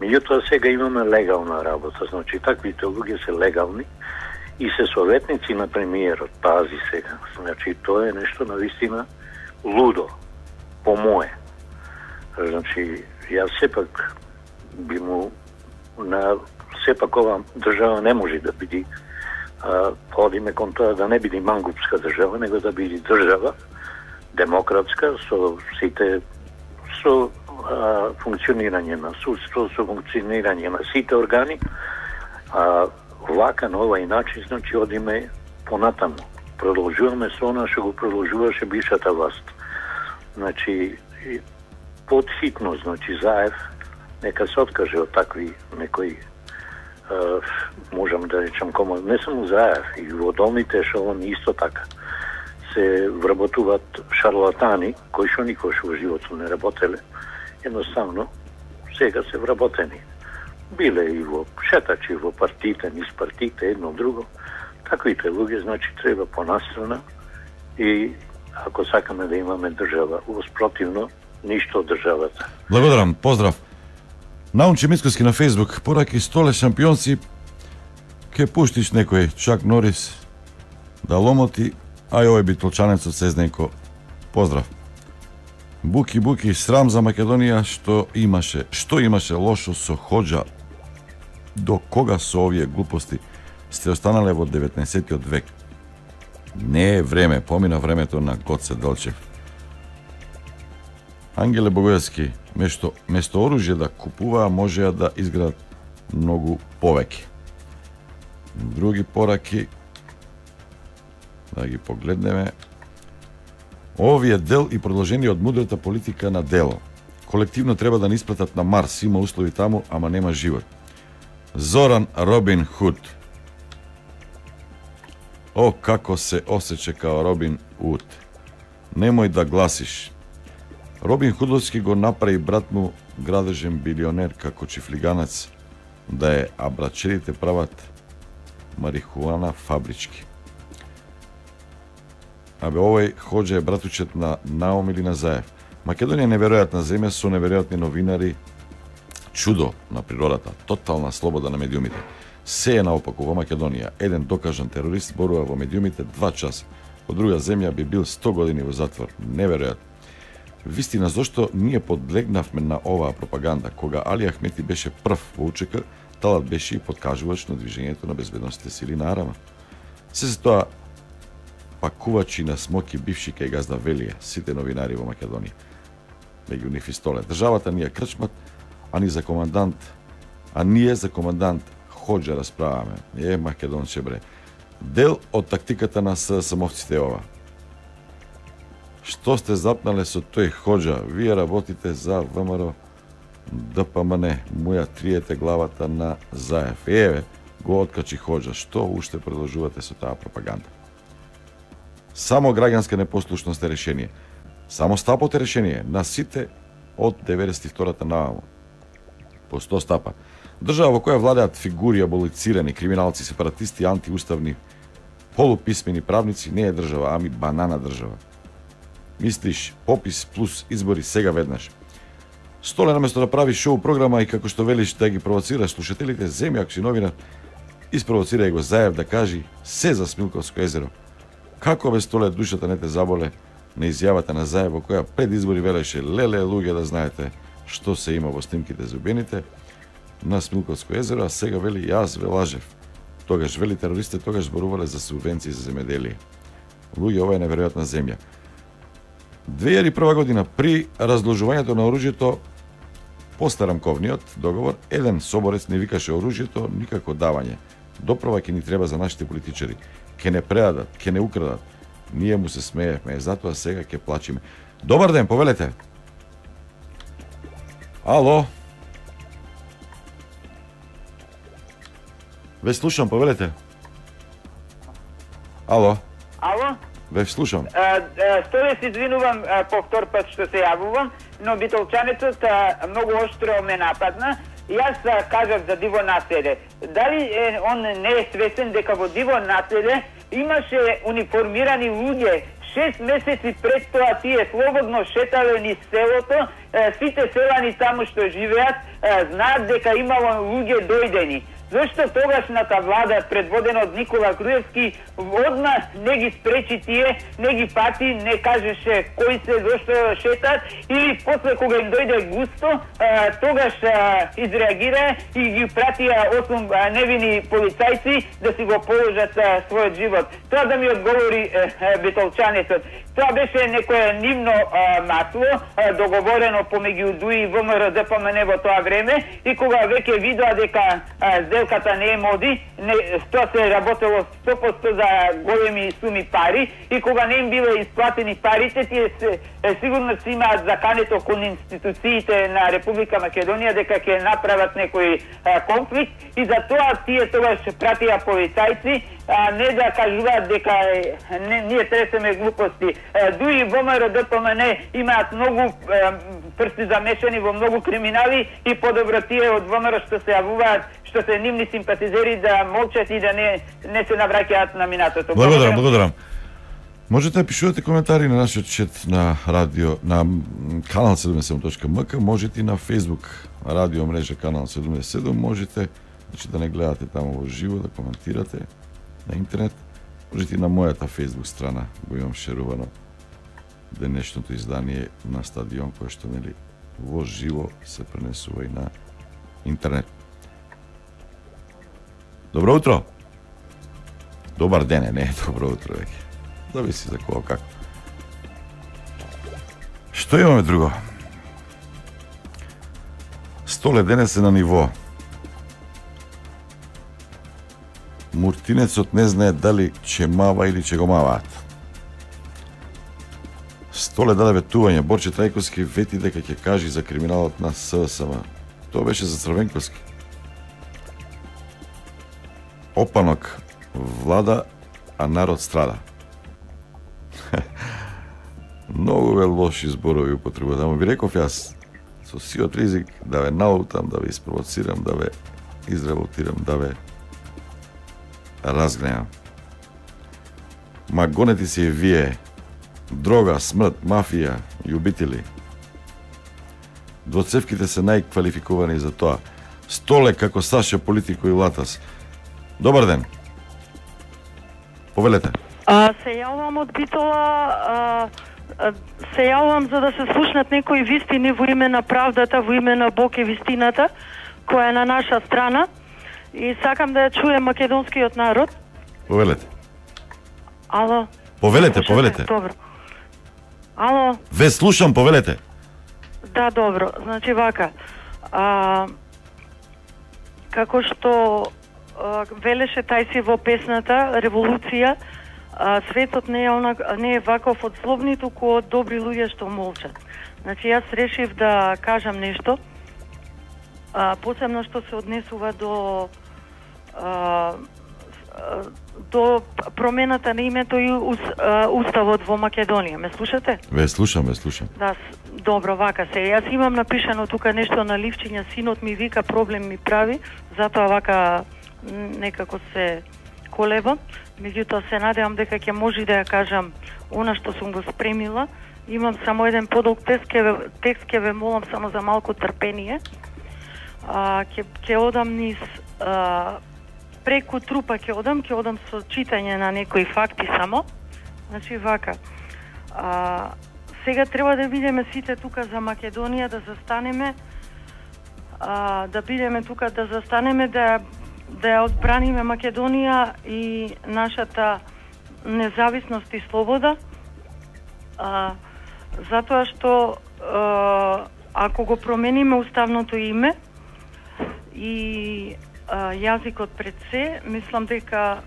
[SPEAKER 13] Меѓутоа сега имаме легална работа, значи таквите луѓе се легални и се советници на премиерот, пази сега. Значи тоа е нешто навистина лудо, по мое. Значи, јас сепак би му на сепак ова држава не може да биде а, одиме кон тоа да не биде мангупска држава, него да биде држава демократска со сите со а, функционирање на судство, со функционирање на сите органи, а вака на овај начин, значи одиме понатаму. Продолжуваме со она што го продолжуваше бившата власт. Значи подхитно, значи Заев нека се откаже од такви некои Uh, можам да речам комо, не само Заев, и во долните ешелони исто така се вработуваат шарлатани кои што никош во животот не работеле, едноставно сега се вработени. Биле и во шетачи, во партиите, низ партиите, едно друго. Таквите луѓе, значи, треба понастрана и ако сакаме да имаме држава, воспротивно, ништо од државата.
[SPEAKER 3] Благодарам, поздрав. Наунче Мицкоски на Фейсбук, пораки столе шампионци, ке пуштиш некој Чак Норис да ломоти, а и овој битолчанецот Сезненко. Поздрав. Буки, буки, срам за Македонија, што имаше, што имаше лошо со Хоџа до кога со овие глупости сте останале во деветнаесеттиот век? Не е време, помина времето на Гоце Делчев. Ангеле Богојевски, место, место оружје да купуваа, можеа да изградат многу повеќе. Други пораки, да ги погледнеме. Овие дел и продолжение од мудрата политика на дело. Колективно треба да ни исплатат на Марс, има услови таму, ама нема живот. Зоран Робин Худ. О, како се осеќа као Робин Худ. Немој да гласиш. Робин Худовски го направи брат му градежен билионер како чифлиганец, да е абрачерите прават марихуана фабрички. Абе, овој Хоџа е братучет на Наум или на Заев. Македонија е неверојатна земја со неверојатни новинари, чудо на природата, тотална слобода на медиумите. Се е наопаку во Македонија. Еден докажан терорист борува во медиумите два часа. Во друга земја би бил сто години во затвор. Неверојатно. Вистина, зошто ние подлегнавме на оваа пропаганда? Кога Али Ахмети беше прв во УЧК, талат беше и подкажувач на движењето на безбедносните сили на Арама. Се се тоа пакувачи на смоки бивши кај газда Велија, сите новинари во Македонија. Меѓу нив и столе. Државата ни е крчмат, а ни за командант, а ние за командант Хоџа расправаме. Е, македонче бре. Дел од тактиката на ССМовците е ова. Што сте запнале со тој Хоџа? Вие работите за ВМРО ДПМН. Муја триете главата на Заев. Еве, го откачи Хоџа. Што уште продолжувате со таа пропаганда? Само граѓанска непослушност е решение. Само стапот е решение на сите од деветдесет и втората наваму. По сто стапа. Држава во која владеат фигури аболицирани, криминалци, сепаратисти, антиуставни, полуписмени правници, не е држава, ами банана држава. Мислиш, попис плюс избори сега веднаш. Столе наместо да прави шоу програма и како што велиш да ги провоцираш слушателите, земи ако си новинар, испровоцирај го Заев да кажи се за Смилковско езеро. Како бе Столе душата не те заболе на изјавата на Заев во која пред избори велеше леле луѓе да знаете што се има во снимките за убиените на Смилковско езеро, а сега вели јас ве лажев. Тогаш вели терористите тогаш зборувале за субвенции за земеделие. Луѓе, ова е неверојатна земја. две илјади и прва година при разложувањето на оружјето после рамковниот договор, еден соборец не викаше оружјето никако давање. Доправа ќе ни треба за нашите политичари. Ке не предадат, ке не украдат. Ние му се смеевме, затоа сега ќе плачиме. Добар ден, повелете. Ало. Ве слушам, повелете. Ало.
[SPEAKER 10] Ало?
[SPEAKER 3] Ве слушам.
[SPEAKER 10] Столе се извинувам по втор пат што се јавувам, но битолчанецот многу оштро ме нападна. Јас кажав за диво населе. Дали е, он не е свесен дека во диво населе имаше униформирани луѓе шест месеци пред тоа тие слободно шетале низ селото, сите селани таму што живеат знаат дека имало луѓе дојдени. Зошто тогашната влада, предводена од Никола Груевски, одма не ги спречи тие, не ги пати, не кажеше кои се, зошто шетат, или после кога им дојде густо, тогаш изреагира и ги пратија осум невини полицајци да си го положат својот живот. Тоа да ми одговори битолчанецот. Тоа беше некое нивно масло, договорено помеѓу ДУИ и ВМРО ДПМН во тоа време, и кога веќе видоа дека сделката не е моди, не, тоа се работело сто проценти за големи суми пари, и кога не им биле исплатени парите, тие се, сигурно си имаат закането кон институциите на Република Македонија дека ќе направат некој а, конфликт, и за тоа тие тогаш пратија полицајци, а не да кажуваат дека не, ние тресеме глупости. ДУИ и ВМРО ДПМН имаат многу прсти замешани во многу криминали, и подобро тие од ВМРО што се јавуваат, што се нивни симпатизери, да молчат и да не, не се навраќаат на минатото.
[SPEAKER 3] Благодарам, благодарам. Можете да пишувате коментари на нашиот чет на радио, на канал седумдесет и седум точка ем ка, можете и на Facebook радио мрежа канал седумдесет и седум, можете, значи, да не гледате таму во живо, да коментирате на интернет, можете и на мојата Facebook страна, го имам шерувано денешното издание на Стадион, кое што, нели, во живо се пренесува и на интернет. Добро утро. Добар ден е, не е добро утро веќе. Зависи за кого како. Што имаме друго? Столе денес е на ниво. Муртинецот не знае дали ќе мава или ќе го маваат. Столе даде ветување. Борче Трајковски вети дека ќе кажи за криминалот на СВСМ. Тоа беше за Црвенковски. Опанок влада, а народ страда. Многу ве лоши зборови употребуват. Ама ви реков јас, со сиот ризик да ве наутам, да ве испровоцирам, да ве изреволтирам, да ве разгневам. Ма гонете си и вие. Дрога, смрт, мафија, љубители. Двоцевките се најквалификувани за тоа. Столе како Саша Политико и Латас. Добар ден. Повелете.
[SPEAKER 14] А, се јавам од Битола, а, а, се јавам за да се слушнат некои вистини во име на правдата, во име на Бог и вистината, која е на наша страна. И сакам да ја чуем македонскиот народ.
[SPEAKER 3] Повелете.
[SPEAKER 14] Ало.
[SPEAKER 3] Повелете, повелете.
[SPEAKER 14] Добро. Ало.
[SPEAKER 3] Ве слушам, повелете.
[SPEAKER 14] Да, добро. Значи вака. А, како што а, велеше тај си во песната Револуција, а, светот не е онак, не е ваков од злобни, туку од добри луѓе што молчат. Значи јас решив да кажам нешто, а, посебно што се однесува до а, до промената на името и уставот во Македонија. Ме слушате?
[SPEAKER 3] Ве слушам, ве слушам.
[SPEAKER 14] Да, добро, вака се. Јас имам напишано тука нешто на ливчиња, синот ми вика проблем ми прави, затоа вака некако се колебам. Меѓутоа се надевам дека ќе може да ја кажам она што сум го спремила. Имам само еден подолг текст, ке ве, текст ке ве молам само за малку трпение. А, ке, ке одам низ а, преку трупа ќе одам, ќе одам со читање на некои факти само. Значи вака. А, сега треба да бидеме сите тука за Македонија, да застанеме, а, да бидеме тука, да застанеме, да да ја одбраниме Македонија и нашата независност и слобода. А, затоа што а, ако го промениме уставното име и а, јазикот пред се, мислам дека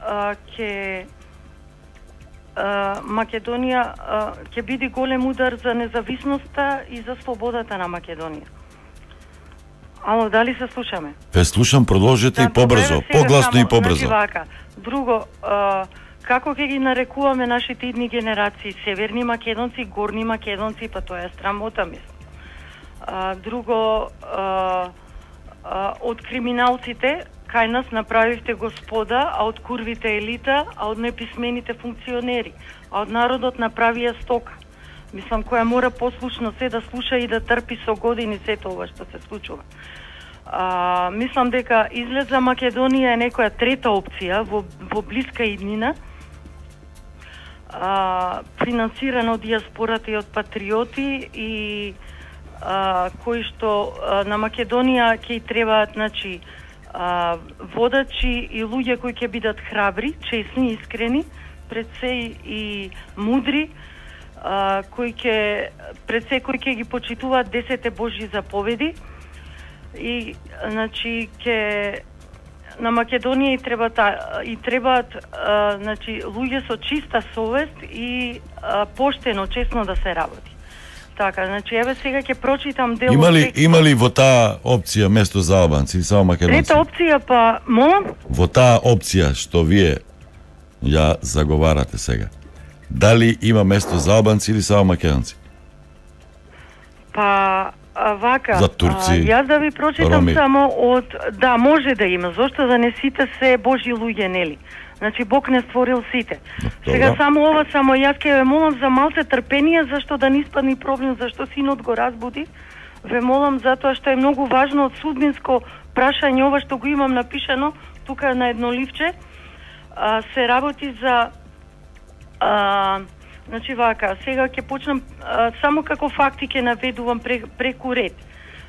[SPEAKER 14] а, ќе а, Македонија а, ќе биде голем удар за независноста и за слободата на Македонија. Ало, дали се слушаме?
[SPEAKER 3] Ве слушам, продолжете
[SPEAKER 14] да,
[SPEAKER 3] и побрзо, погласно и побрзо.
[SPEAKER 14] Значи вака, друго, а, како ќе ги нарекуваме нашите идни генерации, северни македонци, горни македонци, па тоа е срамота, мислам. А, друго, а, а, од криминалците, кај нас направивте господа, а од курвите елита, а од неписмените функционери, а од народот направија стока. Мислам, која мора послушно се да слуша и да трпи со години сето ова што се случува. А, мислам дека излез за Македонија е некоја трета опција во, во блиска иднина, а, финансирана од диаспората и од патриоти и а, кои што а, на Македонија ќе требаат, значи, а, водачи и луѓе кои ќе бидат храбри, честни, искрени, пред се и мудри, Uh, кои ќе пред се кои ќе ги почитуваат десете Божји заповеди и значи ќе на Македонија и треба та, и требаат uh, значи луѓе со чиста совест и uh, поштено, честно да се работи. Така, значи еве сега ќе прочитам дел.
[SPEAKER 3] Има ли има ли во таа опција место за албанци или само македонци?
[SPEAKER 14] Трета опција па, молам?
[SPEAKER 3] Во таа опција што вие ја заговарате сега. Дали има место за албанци или само македонци?
[SPEAKER 14] Па, а, вака,
[SPEAKER 3] за турци,
[SPEAKER 14] а, јас да ви прочитам
[SPEAKER 3] роми.
[SPEAKER 14] само од... Да, може да има, зашто да не сите се Божји луѓе, нели? Значи, Бог не створил сите.
[SPEAKER 3] Добра.
[SPEAKER 14] Сега само ова, само јас ке ве молам за малце трпение, зашто да не испадни проблем, зашто синот го разбуди. Ве молам затоа што е многу важно од судбинско прашање, ова што го имам напишано, тука на едно ливче, а, се работи за... А, значи вака, сега ќе почнам а, само како факти ќе наведувам преку ред.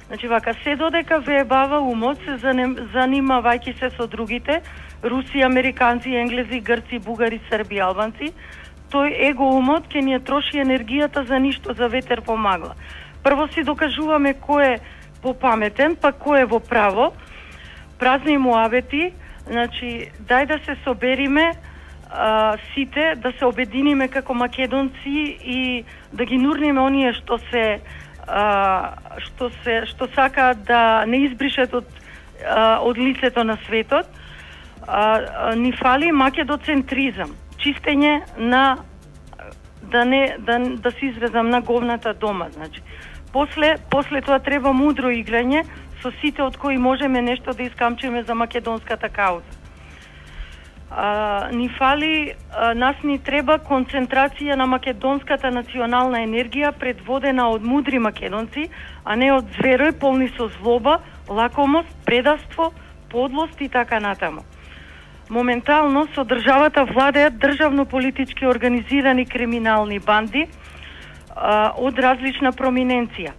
[SPEAKER 14] Значи, вака, се додека ве бава умот, се занимавајќи се со другите, руси, американци, енглези, грци, бугари, срби, албанци, тој его умот ќе ни ја троши енергијата за ништо, за ветер по магла. Прво си докажуваме кој е попаметен, па кој е во право, празни муабети, значи, дај да се собериме а, сите, да се обединиме како македонци и да ги нурниме оние што се а, што се што сакаат да не избришат од а, од лицето на светот. А, а, ни фали македоцентризам, чистење на да не да, да се изразам на говната дома, значи. После после тоа треба мудро играње со сите од кои можеме нешто да искамчиме за македонската кауза. А, ни фали, а, нас ни треба концентрација на македонската национална енергија предводена од мудри македонци, а не од зверои полни со злоба, лакомост, предавство, подлост и така натаму. Моментално со државата владеат државно-политички организирани криминални банди а, од различна проминенција.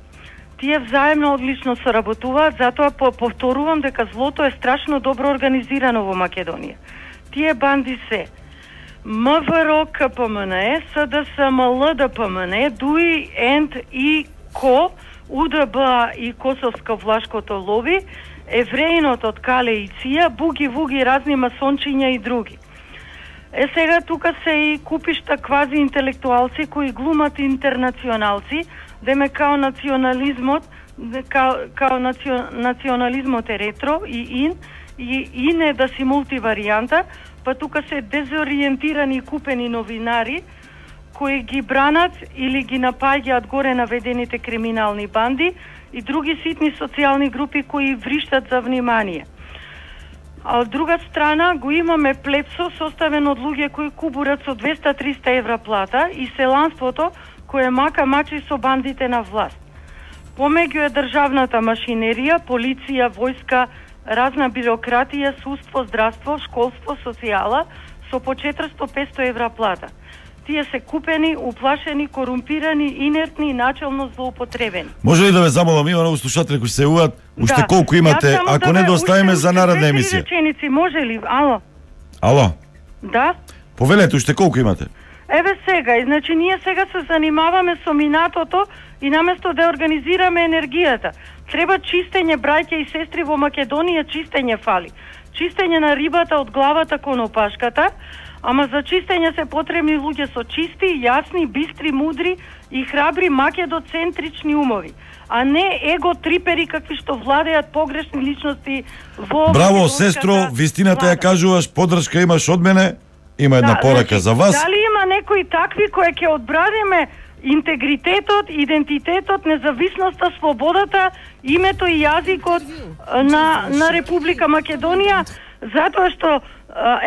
[SPEAKER 14] Тие взаемно одлично соработуваат, затоа повторувам дека злото е страшно добро организирано во Македонија. Тие банди се МВР, КПМНЕ, СДС, МЛ, ДПМНЕ, ДУИ, ЕНТ и КО, УДБ и Косовско-Влашкото лоби, Евреинот од Кале и Ција, буги-вуги, разни масончиња и други. Е, сега тука се и купишта квази интелектуалци кои глумат интернационалци, деме као национализмот, као, као национ, национализмот е ретро и ин, и ин е да си мултиваријанта, па тука се дезориентирани и купени новинари кои ги бранат или ги напаѓаат горе наведените криминални банди и други ситни социјални групи кои вриштат за внимание. А од друга страна го имаме плепсо составен од луѓе кои кубурат со двеста до триста евра плата и селанството кое мака мачи со бандите на власт. Помеѓу е државната машинерија, полиција, војска, разна бирократија, судство, здравство, школство, социјала со по четиристо до петстотини евра плата. Тие се купени, уплашени, корумпирани, инертни и начелно злоупотребени.
[SPEAKER 15] Може ли да ве замолам, има многу слушатели кои се јавуваат, уште
[SPEAKER 14] да.
[SPEAKER 15] колку имате, ако
[SPEAKER 14] да
[SPEAKER 15] не да оставиме за наредна
[SPEAKER 14] уште
[SPEAKER 15] емисија.
[SPEAKER 14] Реченици, може ли? Ало?
[SPEAKER 15] Ало?
[SPEAKER 14] Да?
[SPEAKER 15] Повелете, уште колку имате?
[SPEAKER 14] Еве сега, и значи ние сега се занимаваме со минатото и наместо да организираме енергијата. Треба чистење, браќа и сестри, во Македонија чистење фали. Чистење на рибата од главата кон опашката, ама за чистење се потребни луѓе со чисти, јасни, бистри, мудри и храбри македоцентрични умови, а не его трипери какви што владеат погрешни личности во...
[SPEAKER 15] Браво, сестро, вистината ја кажуваш, подршка имаш од мене, има една
[SPEAKER 14] да,
[SPEAKER 15] порака
[SPEAKER 14] значи,
[SPEAKER 15] за вас.
[SPEAKER 14] Дали има некои такви кои ќе одбраниме интегритетот, идентитетот, независноста, слободата, името и јазикот на, на Република Македонија, затоа што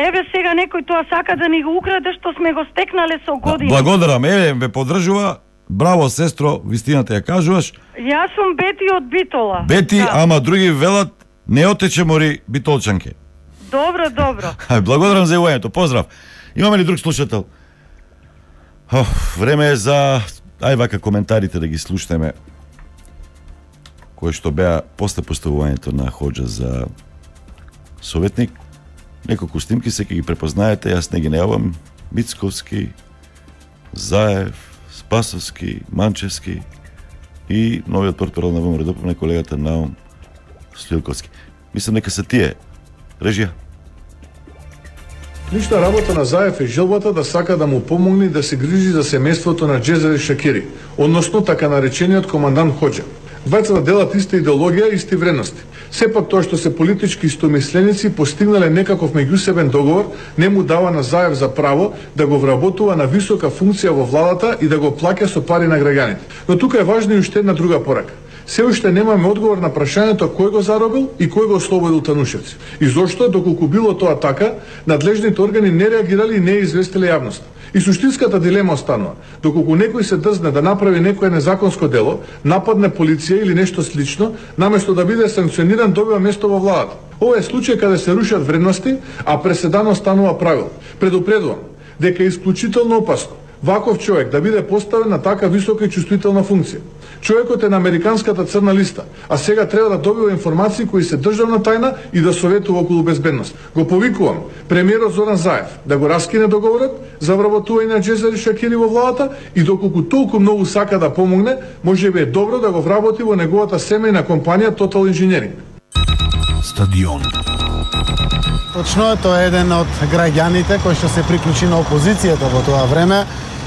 [SPEAKER 14] еве сега некој тоа сака да ни го украде што сме го стекнале со години.
[SPEAKER 15] Да, благодарам, еве ме поддржува. Браво, сестро, вистината ја кажуваш.
[SPEAKER 14] Јас сум Бети од Битола.
[SPEAKER 15] Бети,
[SPEAKER 14] да.
[SPEAKER 15] ама други велат не отече мори битолчанке.
[SPEAKER 14] Добро, добро.
[SPEAKER 15] Благодарам за јавувањето. Поздрав. Имаме ли друг слушател? Оф, време е за ај вака коментарите да ги слушнеме кои што беа после поставувањето на Хоџа за советник. Неколку снимки се ќе ги препознаете, јас не ги неавам. Мицковски, Заев, Спасовски, Манчевски и новиот портпарол на ВМРО на колегата Наум Стоилковски. Мислам дека се тие. Режија.
[SPEAKER 16] Лична работа на Заев е желбата да сака да му помогне да се грижи за семејството на Џезери Шакири, односно така наречениот командант Хоџа. Двајцата делат иста идеологија и исти вредности. Сепак тоа што се политички истомисленици постигнале некаков меѓусебен договор не му дава на Заев за право да го вработува на висока функција во владата и да го плаќа со пари на граѓаните. Но тука е важна и уште една друга порака. Се уште немаме одговор на прашањето кој го заробил и кој го ослободил Танушевци. И зошто, доколку било тоа така, надлежните органи не реагирали и не известиле јавноста. И суштинската дилема останува. Доколку некој се дрзне да направи некое незаконско дело, нападне полиција или нешто слично, наместо да биде санкциониран, добива место во владата. Ова е случај каде се рушат вредности, а преседано станува правило. Предупредувам дека е исклучително опасно ваков човек да биде поставен на така висока и чувствителна функција. Човекот е на американската црна листа, а сега треба да добива информации кои се државна тајна и да советува околу безбедност. Го повикувам премиерот Зоран Заев да го раскине договорот за вработување на Џезери Шакири во владата и доколку толку многу сака да помогне, може би е добро да го вработи во неговата семејна компанија Total Engineering.
[SPEAKER 17] Стадион.
[SPEAKER 18] Точно е, тоа е еден од граѓаните кој што се приклучи на опозицијата во тоа време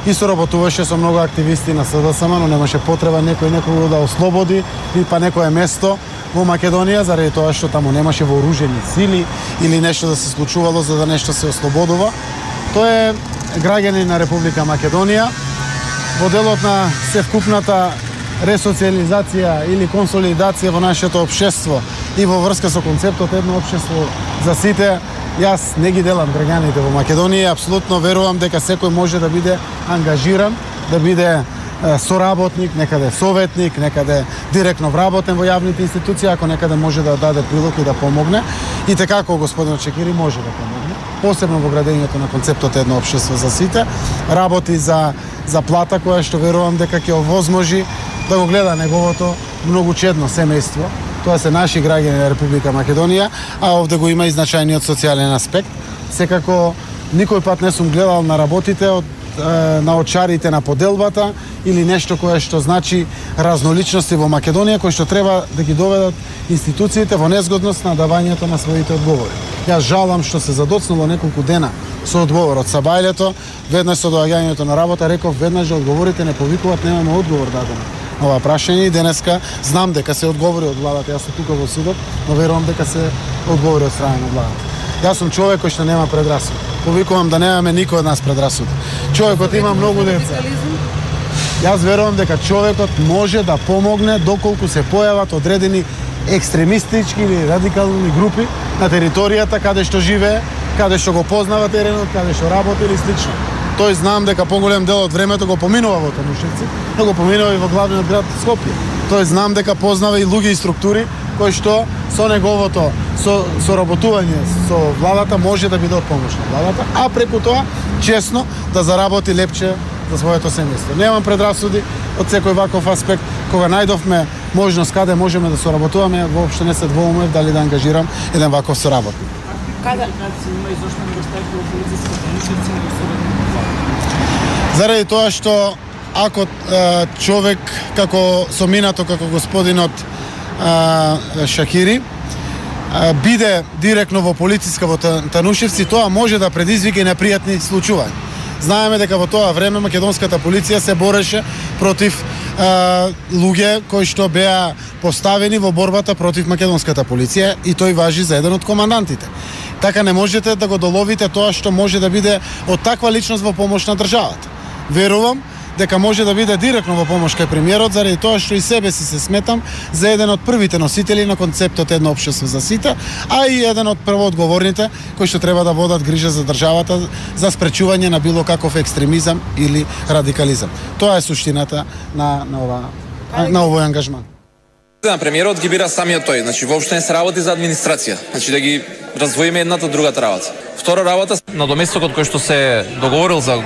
[SPEAKER 18] и соработуваше со многу активисти на СДСМ, но немаше потреба некој некој да ослободи или па некое место во Македонија заради тоа што таму немаше вооружени сили или нешто да се случувало за да нешто се ослободува. Тој е граѓанин на Република Македонија во делот на севкупната ресоциализација или консолидација во нашето општество и во врска со концептот едно општество за сите. Јас не ги делам граѓаните во Македонија, апсолутно верувам дека секој може да биде ангажиран, да биде е, соработник, некаде советник, некаде директно вработен во јавните институции, ако некаде може да даде прилог и да помогне. И така како господинот Чекири може да помогне, посебно во градењето на концептот едно општество за сите, работи за за плата која што верувам дека ќе овозможи да го гледа неговото многу чедно семејство. Тоа се наши граѓани на Република Македонија, а овде го има и значајниот социјален аспект. Секако никој пат не сум гледал на работите од на очарите на поделбата или нешто кое што значи разноличности во Македонија кои што треба да ги доведат институциите во незгодност на давањето на своите одговори. Јас жалам што се задоцнало неколку дена со одговор од Сабајлето, веднаш со доаѓањето на работа реков веднаш да одговорите, не повикуваат, немаме одговор дадено на ова прашање и денеска знам дека се одговори од владата. Јас сум тука во судот, но верувам дека се одговори од страна на владата. Јас сум човек кој што нема предрасуди. Повикувам да немаме никој од нас предрасуди. Човекот има многу деца. Јас верувам дека човекот може да помогне доколку се појават одредени екстремистички или радикални групи на територијата каде што живее, каде што го познава теренот, каде што работи или слично. Тој знам дека поголем дел од времето го поминува во Танушевци, но го поминува и во главниот град Скопје. Тој знам дека познава и луѓе и структури кои што со неговото со соработување со владата може да биде од помош на владата, а преку тоа честно да заработи лепче за своето семејство. Немам предрасуди од секој ваков аспект. Кога најдовме можност каде можеме да соработуваме, воопшто не се двоумев дали да ангажирам еден ваков соработник.
[SPEAKER 19] Каде
[SPEAKER 18] заради тоа што ако е, човек како со минато како господинот е, Шакири е, биде директно во полициска во Танушевци, тоа може да предизвика и непријатни случувања. Знаеме дека во тоа време македонската полиција се бореше против е, луѓе кои што беа поставени во борбата против македонската полиција и тој важи за еден од командантите. Така не можете да го доловите тоа што може да биде од таква личност во помош на државата. Верувам дека може да биде директно во помош кај премиерот заради тоа што и себе си се сметам за еден од првите носители на концептот едно општество за сите, а и еден од првоодговорните кои што треба да водат грижа за државата за спречување на било каков екстремизам или радикализам. Тоа е суштината на на ова на овој ангажман.
[SPEAKER 20] На премиерот ги бира самиот тој, значи воопшто не се работи за администрација, значи да ги раздвоиме едната од другата работа. Втора работа, надоместокот кој што се договорил за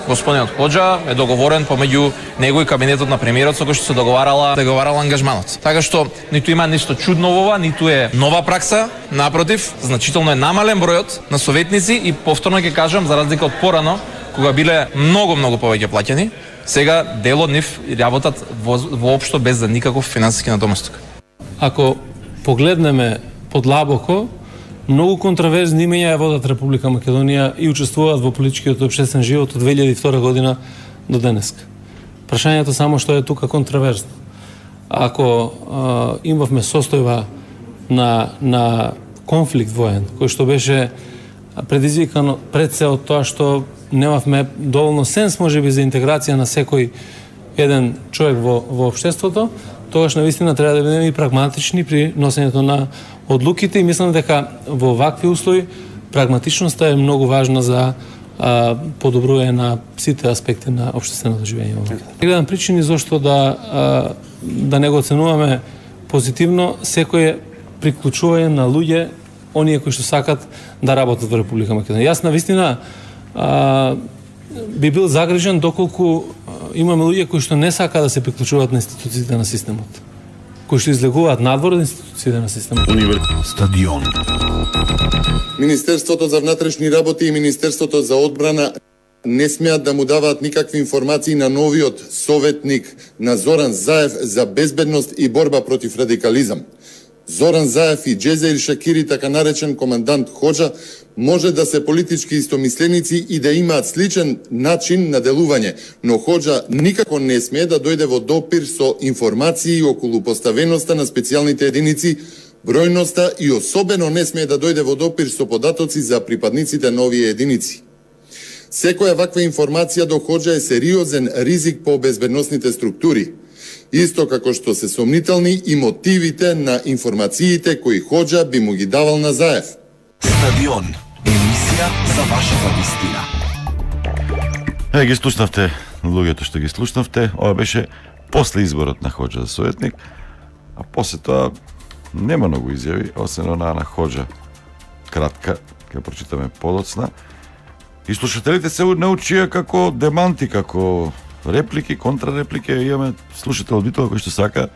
[SPEAKER 20] господинот Хоџа е договорен помеѓу него и кабинетот на премиерот со кој што се договарала договарала ангажманот. Така што ниту има ништо чудно во ова, ниту е нова пракса, напротив, значително е намален бројот на советници и повторно ќе кажам за разлика од порано кога биле многу многу повеќе плаќани, сега дел од нив работат во, воопшто без за никаков финансиски надоместок.
[SPEAKER 19] Ако погледнеме подлабоко, многу контраверзни имења ја водат Република Македонија и учествуваат во политичкиот и општествен живот од две илјади и втора година до денеска. Прашањето само што е тука контраверзно. Ако а, имавме состојба на, на конфликт воен, кој што беше предизвикано пред се од тоа што немавме доволно сенс можеби за интеграција на секој еден човек во, во општеството, тогаш навистина треба да бидеме и прагматични при носењето на одлуките и мислам дека во вакви услови прагматичноста е многу важна за а, подобрување на сите аспекти на општественото живење во Македонија. Гледам причини зашто да а, да не го оценуваме позитивно секое приклучување на луѓе оние кои што сакат да работат во Република Македонија. Јас навистина а, би бил загрижен доколку имаме луѓе кои што не сака да се приклучуваат на институциите на системот, кои што излегуваат надвор од институциите на системот.
[SPEAKER 17] Стадион.
[SPEAKER 21] Министерството за внатрешни работи и Министерството за одбрана не смеат да му даваат никакви информации на новиот советник на Зоран Заев за безбедност и борба против радикализам. Зоран Заев и Џезер Шакири, така наречен командант Хоџа, може да се политички истомисленици и да имаат сличен начин на делување, но Хоџа никако не смее да дојде во допир со информации околу поставеноста на специјалните единици, бројноста и особено не смее да дојде во допир со податоци за припадниците на овие единици. Секоја ваква информација до Хоџа е сериозен ризик по безбедносните структури, исто како што се сомнителни и мотивите на информациите кои Хоџа би му ги давал на Заев.
[SPEAKER 17] Стадион. Емисија за вашата вистина.
[SPEAKER 15] Е, ги слушнавте луѓето што ги слушнавте. Ова беше после изборот на Хоџа за советник, а после тоа нема многу изјави, освен онаа на Хоџа кратка, ќе прочитаме подоцна. И слушателите се научија како деманти, како реплики, контрареплики, имаме слушател битова кој што сака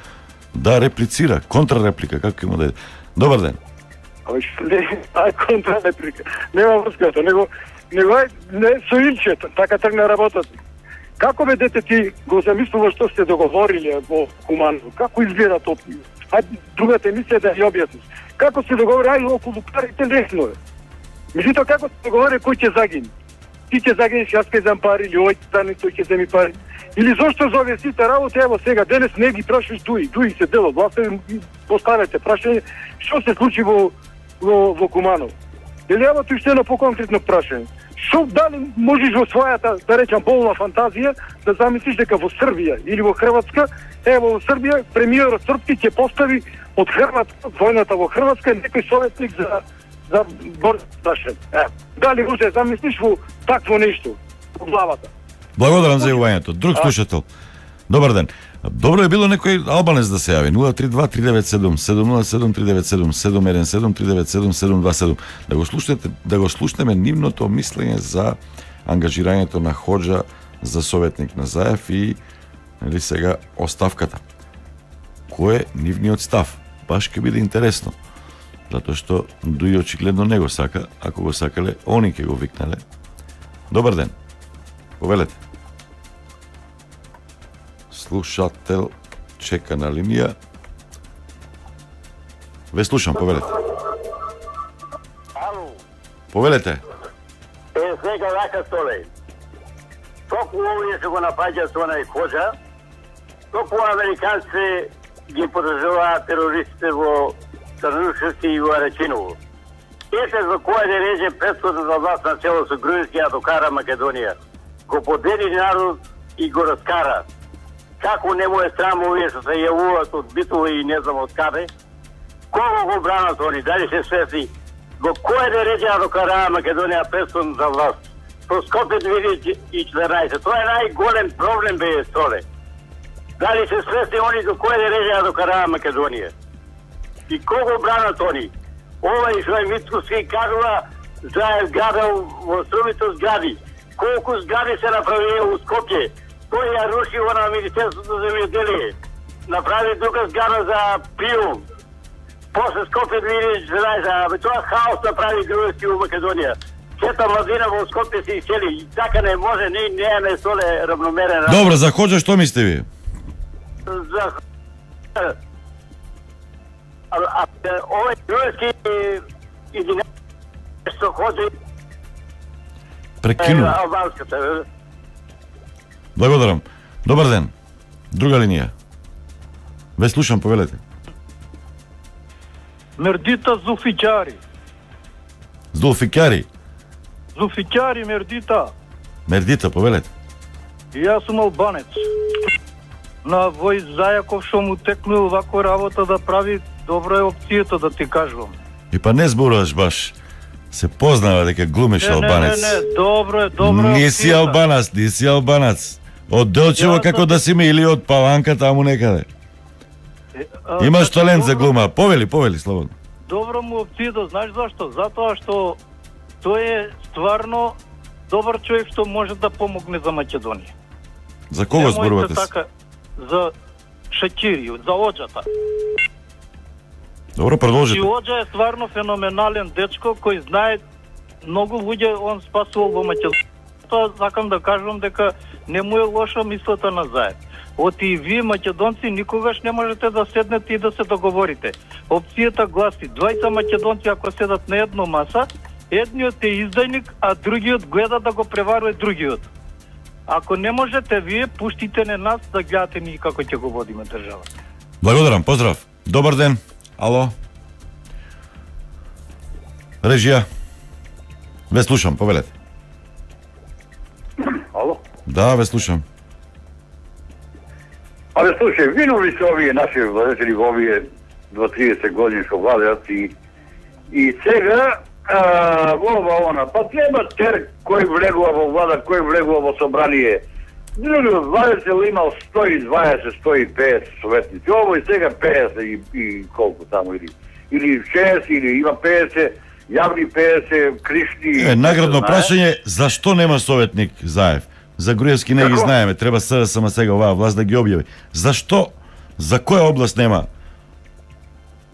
[SPEAKER 15] да реплицира, контрареплика, како има да е. Добар ден.
[SPEAKER 11] Ама што не, ај контрареплика. Нема врската, него, него ај, не со Илчето, така тргна работата. Како бе дете ти го замислуваш што сте договориле во Куманово? Како изгледа тоа? Ај другата емисија да ја објасниш. Како се договори, ај околу парите лесно е. Меѓутоа како се договори кој ќе загине? Ти ќе загинеш, јас ќе зем пари, или ој стане, тој ќе земи пари. Или зошто за овие сите работи, ево сега, денес не ги прашаш дуи, дуи се дел од власта, поставете прашање, што се случи во, во, во Куманово. Или ево тој ще едно по-конкретно прашање. Што дали можеш во својата, да речам, болна фантазија, да замислиш дека во Србија или во Хрватска, ево во Србија, премиерот српски ќе постави од Хрватска, војната во Хрватска, некој советник за за борба прашање. Е, дали може да замислиш во такво нешто во главата?
[SPEAKER 15] Благодарам за јавувањето. Друг слушател. Добар ден. Добро е било некој албанец да се јави. нула три два три девет седум седум нула седум три девет седум седум еден седум три девет седум седум два седум. Да го слушнете, да го слушнеме нивното мислење за ангажирањето на Хоџа за советник на Заев и нели сега оставката. Кој е нивниот став? Баш ќе биде интересно. Затоа што Дуи очигледно не го сака, ако го сакале, они ќе го викнале. Добар ден. Повелете. Слушател чека на линија. Ве слушам, повелете.
[SPEAKER 22] Ало.
[SPEAKER 15] Повелете.
[SPEAKER 22] Е, сега вака столе. Току овие се го напаѓа со онај Хоџа, току американци ги подржуваат терористите во Црнушевски и во Арачиново. Ете за која да реже претходната власт на чело со Грузија ја докара Македонија. Го подели народ и го раскара. Како не му е срам овие што се јавуваат од Битово и не знам од каде? Кого го бранат они? Дали се свесни? Во која да реже ја докара Македонија претходната власт? Со Скопје две илјади и четиринаесет. Тоа е најголем проблем бе столе. Дали се свесни они до која да реже ја докара Македонија? И кого бранат они? Овај што е Мицкоски кажува за зградал во Струмито згради. Колку згради се направи у Скопје? Тој ја руши на Министерството за земјоделие. Направи друга зграда за приум. После Скопје две илјади и четиринаесет, тоа хаос направи Грузија у Македонија. Сета младина во Скопје се исели. И така не може, не не е соле равномерен.
[SPEAKER 15] Добро, за Хоџа што мислите ви?
[SPEAKER 22] За А, а овој грузски единаесет што ходи
[SPEAKER 15] Прекину.
[SPEAKER 22] албанската.
[SPEAKER 15] Благодарам. Добар ден. Друга линија. Ве слушам, повелете.
[SPEAKER 23] Мердита Зулфикјари.
[SPEAKER 15] Зулфикјари.
[SPEAKER 23] Зулфикјари Мердита.
[SPEAKER 15] Мердита, повелете.
[SPEAKER 23] И јас сум албанец. На Вој Зајаков што му текнул вако работа да прави, добро е опцијата да ти кажувам.
[SPEAKER 15] И па не зборуваш баш. Се познава дека глумиш
[SPEAKER 23] не,
[SPEAKER 15] албанец.
[SPEAKER 23] Не, не, не, добро е, добро е.
[SPEAKER 15] Не си албанац, не си албанац. Од Делчево како да си ме или од Паланка таму некаде.
[SPEAKER 23] А,
[SPEAKER 15] Имаш
[SPEAKER 23] значи,
[SPEAKER 15] талент за
[SPEAKER 23] добро-
[SPEAKER 15] глума. Повели, повели, слободно.
[SPEAKER 23] Добро му опцијата, знаеш зашто? Затоа што тој е стварно добар човек што може да помогне за Македонија.
[SPEAKER 15] За кого зборувате?
[SPEAKER 23] Така, за Шакири, за Оџата.
[SPEAKER 15] Добро, продолжите.
[SPEAKER 23] И Оџа е стварно феноменален дечко кој знае многу луѓе он спасувал во Македонија. Тоа сакам да кажам дека не му е лоша мислата на Заев. Оти и вие македонци никогаш не можете да седнете и да се договорите. Опцијата гласи двајца македонци ако седат на едно маса, едниот е издајник, а другиот гледа да го преварува другиот. Ако не можете вие, пуштите не нас да гледате ние како ќе го водиме државата.
[SPEAKER 15] Благодарам, поздрав. Добар ден. Ало. Режија. Ве слушам, повелете.
[SPEAKER 1] Ало?
[SPEAKER 15] Да, ве слушам.
[SPEAKER 1] Абе, слушај, виновни се овие наши владетели во овие дваесет години што владеат и и сега а, во ова она, па треба тер кој влегува во влада, кој влегува во собрание. Други владетел имал сто и дваесет, сто и петдесет советници, ово и сега петдесет и, и колку таму или или шест или има петдесет, јавни петдесет, кришни.
[SPEAKER 15] Е, наградно прашање, зашто нема советник Заев? За Груевски не ги знаеме, треба СДСМ сега оваа власт да ги објави. Зашто? За која област нема?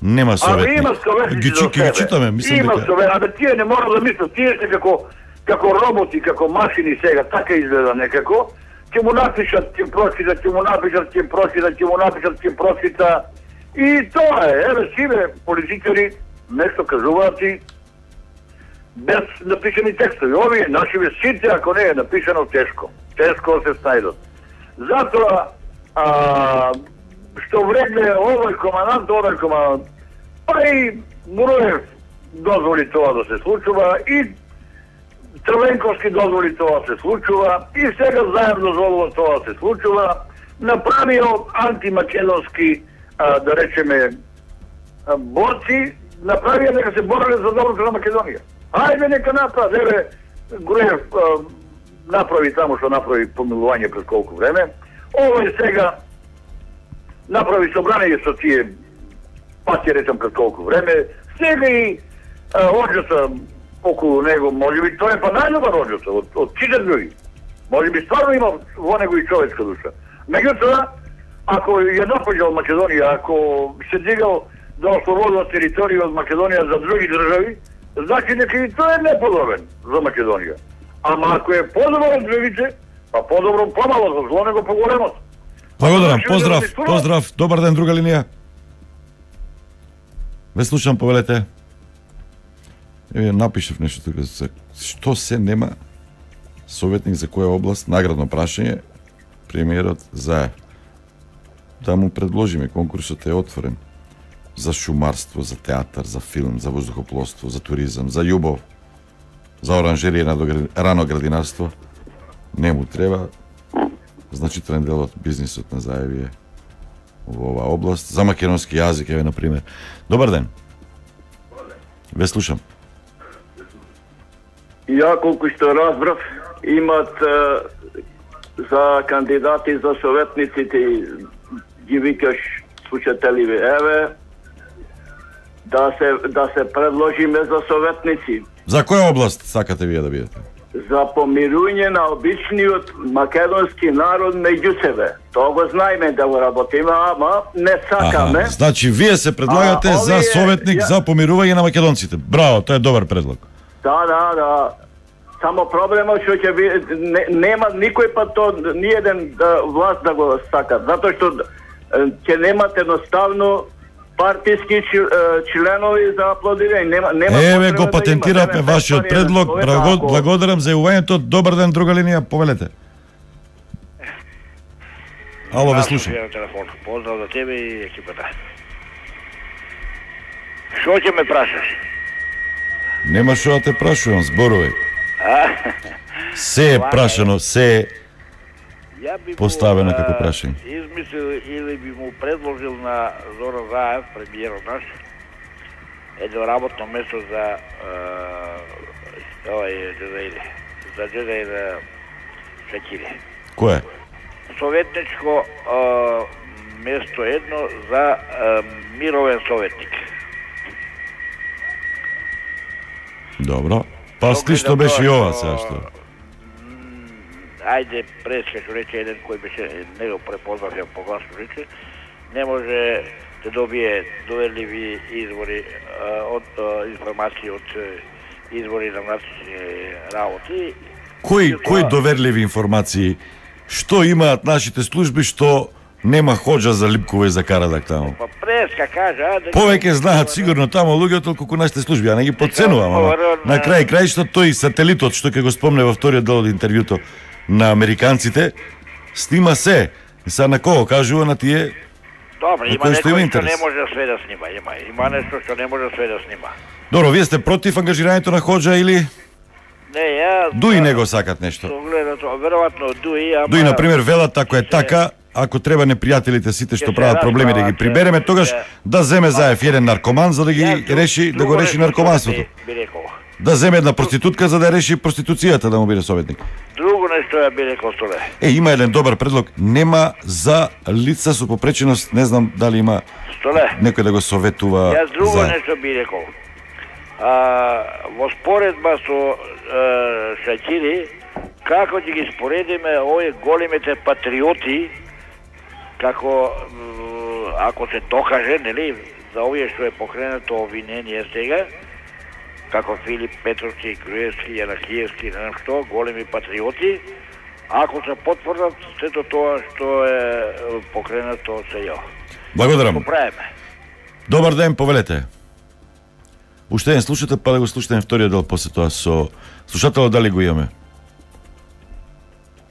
[SPEAKER 15] Нема советник.
[SPEAKER 1] Има советници
[SPEAKER 15] ги,
[SPEAKER 1] за
[SPEAKER 15] ги читаме, мислам
[SPEAKER 1] има
[SPEAKER 15] дека.
[SPEAKER 1] Совет, абе тие не мора да мислат, тие се како како роботи, како машини сега, така изгледа некако. Ќе му напишат, ќе прочитат, ќе му напишат, ќе прочитат, ќе му напишат, ќе прочита. И тоа е, еве сиве политичари нешто кажуваат и без напишани текстови. Овие нашиве сите, ако не е напишано, тешко. Тешко се снајдат. Затоа, а, што вредне овој командант, овој командант, па и Груев дозволи тоа да се случува, и Црвенковски дозволи тоа се случува, и сега Заев дозволува тоа се случува, направио антимакедонски, а, да речеме, а, борци, направија дека се бореле за доброто на Македонија. Ајде нека направи, еве Груев а, направи таму што направи помилување пред колку време. Овој сега направи собрание со тие, па ќе речам пред колку време. Сега и Оџата околу него, може би тоа е па најдобар Оџата од, од сите други. Може би стварно има во него и човечка душа. Меѓутоа, ако ја напаѓал Македонија, ако се дигал да ослободува територија од Македонија за други држави, значи дека и тој е неподобен за Македонија. Ама ако е подобро од другите, па подобро помало, за зло него поголемото.
[SPEAKER 15] Благодарам, поздрав, поздрав, добар ден, друга линија. Ве слушам, повелете. Еве напишав нешто тука, што се нема советник за која област, наградно прашање, премиерот Заев. Да му предложиме, конкурсот е отворен. За шумарство, за театар, за филм, за воздухопловство, за туризам, за љубов, за оранжерија на рано градинарство. Не му треба. Значителен дел од бизнисот на Заев е во оваа област. За македонски јазик, еве, например. Добар ден. Ве слушам.
[SPEAKER 12] Ја колку што разбрав, имат е, за кандидати за советниците, ги викаш слушателиве, еве, да се, да се предложиме за советници.
[SPEAKER 15] За која област сакате вие да бидете?
[SPEAKER 12] За помирување на обичниот македонски народ меѓу себе. Тоа го знаеме да го работиме, ама не сакаме.
[SPEAKER 15] Аха, значи вие се предлагате а, за овие, советник ја... за помирување на македонците. Браво, тоа е добар предлог.
[SPEAKER 12] Да, да, да. Само проблемот што ќе ви не, нема никој пат то ни еден да, власт да го сака, затоа што ќе немат едноставно партиски членови за аплодирање. Нема, нема
[SPEAKER 15] Еве го патентиравме да вашиот предлог. Браво, ако... благодарам за јавувањето. Добар ден, друга линија, повелете. Ало, ве слушам.
[SPEAKER 2] Поздрав за тебе и екипата. Што ќе ме прашаш?
[SPEAKER 15] Нема што да те прашувам, зборувај. Се е прашано, се е поставено како прашање.
[SPEAKER 2] Измислил или би му предложил на Зоран Заев, премиерот наш, едно работно место за овај Джезаири, за Джезаир Шакири.
[SPEAKER 15] Кое?
[SPEAKER 2] Советничко место едно за мировен советник.
[SPEAKER 15] Добро. Па сли што беше и ова сега што?
[SPEAKER 2] ајде през, како рече еден кој беше, не го препознав ја по гласно рече, не може да добие доверливи извори а, од а, информации од извори на внатрешни работи.
[SPEAKER 15] Кои кои доверливи информации? Што имаат нашите служби што нема Хоџа за Липкова и за Карадак таму?
[SPEAKER 2] Па преска кажа, дека
[SPEAKER 15] Повеќе знаат сигурно таму луѓето колку нашите служби, а не ги подценувам, ама на крај крајшто тој сателитот што ќе го спомне во вториот дел од интервјуто на американците снима се. И са на кого кажува на тие?
[SPEAKER 2] Добро,
[SPEAKER 15] на
[SPEAKER 2] има
[SPEAKER 15] кој што
[SPEAKER 2] некој што
[SPEAKER 15] интерес.
[SPEAKER 2] не може све да снима, има има нешто што не може све да снима.
[SPEAKER 15] Добро, вие сте против ангажирањето на Хоџа или
[SPEAKER 2] Не, ја
[SPEAKER 15] дуи него сакат нешто?
[SPEAKER 2] Со гледато, веројатно дуи, ама
[SPEAKER 15] Дуи на пример велат ако е така, ако треба непријателите сите што прават проблеми да ги прибереме, тогаш да земе Заев еден наркоман за да ги реши, да го реши наркоманството.
[SPEAKER 2] би рекол.
[SPEAKER 15] Да земе една проститутка за да реши проституцијата, да му биде советник.
[SPEAKER 2] Друго нешто ја би рекол Столе.
[SPEAKER 15] Е, има еден добар предлог, нема за лица со попреченост, не знам дали има
[SPEAKER 2] Столе.
[SPEAKER 15] некој да го советува
[SPEAKER 2] Јас друго
[SPEAKER 15] за...
[SPEAKER 2] нешто би рекол. А, во споредба со а, Шакири, како ќе ги споредиме овие големите патриоти, како м, ако се докаже, нели, за овие што е покренато обвинение сега, како Филип Петровски, Груевски, Јанакиевски, не знам што, големи патриоти, ако се потврдат сето тоа што е покренато од СЈО.
[SPEAKER 15] Благодарам.
[SPEAKER 2] Го правиме.
[SPEAKER 15] Добар ден, повелете. Уште еден слушате, па да го слушате вториот дел после тоа со слушателот, дали го имаме?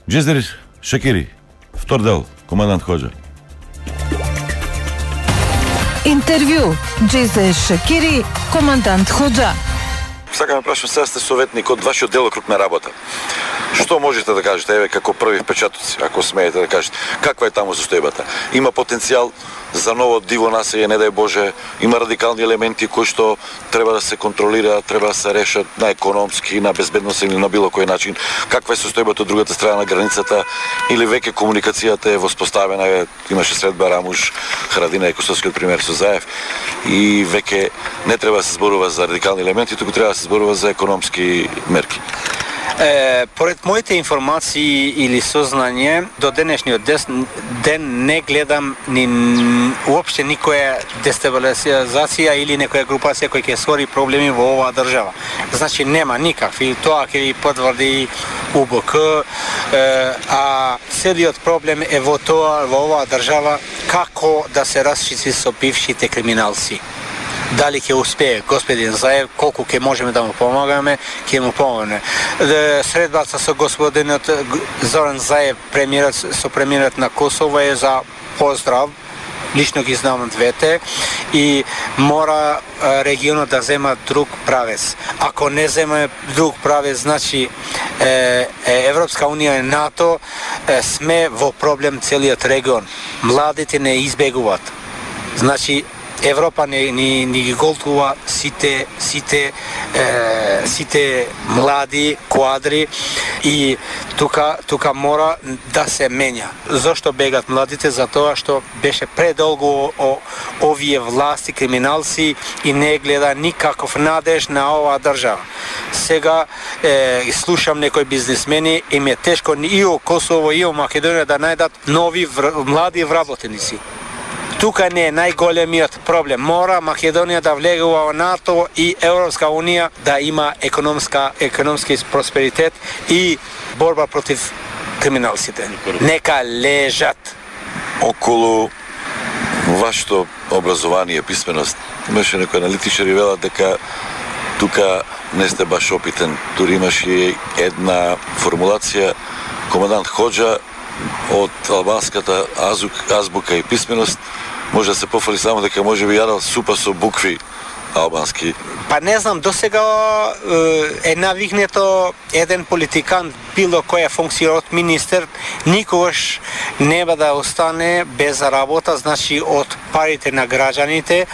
[SPEAKER 15] Джезер Шакири, втор дел, командант Хоџа.
[SPEAKER 4] Интервју Джезе Шакири, командант Хоџа.
[SPEAKER 3] Сакам да прашам, сега сте советник од вашиот делокруг на работа. Што можете да кажете, еве, како први впечатоци, ако смеете да кажете, каква е таму состојбата? Има потенцијал за ново диво населје, не дај Боже, има радикални елементи кои што треба да се контролираат, треба да се решат на економски, на безбедносен или на било кој начин. Каква е состојбата од другата страна на границата, или веќе комуникацијата е воспоставена, имаше средба Рамуш, Харадина и Косовскиот пример со Заев, и веќе не треба да се зборува за радикални елементи, туку треба да се зборува за економски мерки.
[SPEAKER 5] Е, поред моите информации или сознање, до денешниот ден не гледам ни уопште никоја дестабилизација или некоја групација која ќе створи проблеми во оваа држава. Значи нема никакви, тоа ќе ви потврди У Б К, е, а целиот проблем е во тоа, во оваа држава, како да се расчисти со бившите криминалци. Дали ќе успее господин Заев, колку ќе можеме да му помагаме, ќе му помогне. Средбата со господинот Зоран Заев, премиерот, со премиерот на Косово е за поздрав, лично ги знам двете, и мора регионот да зема друг правец. Ако не земе друг правец, значи е, Европска унија и НАТО, е, сме во проблем целиот регион. Младите не избегуваат. Значи Европа не ни, ни ги голтува сите сите е, сите млади квадри и тука тука мора да се менја. Зошто бегат младите? Затоа што беше предолго о, овие власти криминалци и не гледа никаков надеж на оваа држава. Сега е, слушам некои бизнисмени, им е тешко и о Косово и о Македонија да најдат нови вр, млади вработеници. Тука не е најголемиот проблем. Мора Македонија да влегува во НАТО и Европска унија да има економска економски просперитет и борба против криминалците. Нека лежат.
[SPEAKER 3] Околу вашето образование, писменост, имаше некој аналитичар и велат дека тука не сте баш опитен. Дури имаше една формулација, командант Хоџа од албанската азук, азбука и писменост може да се пофали само дека може би јадал супа со букви албански.
[SPEAKER 5] Па не знам, досега е навигнето еден политикан, било која функција од министер, никогаш нема да остане без работа, значи од парите на граѓаните,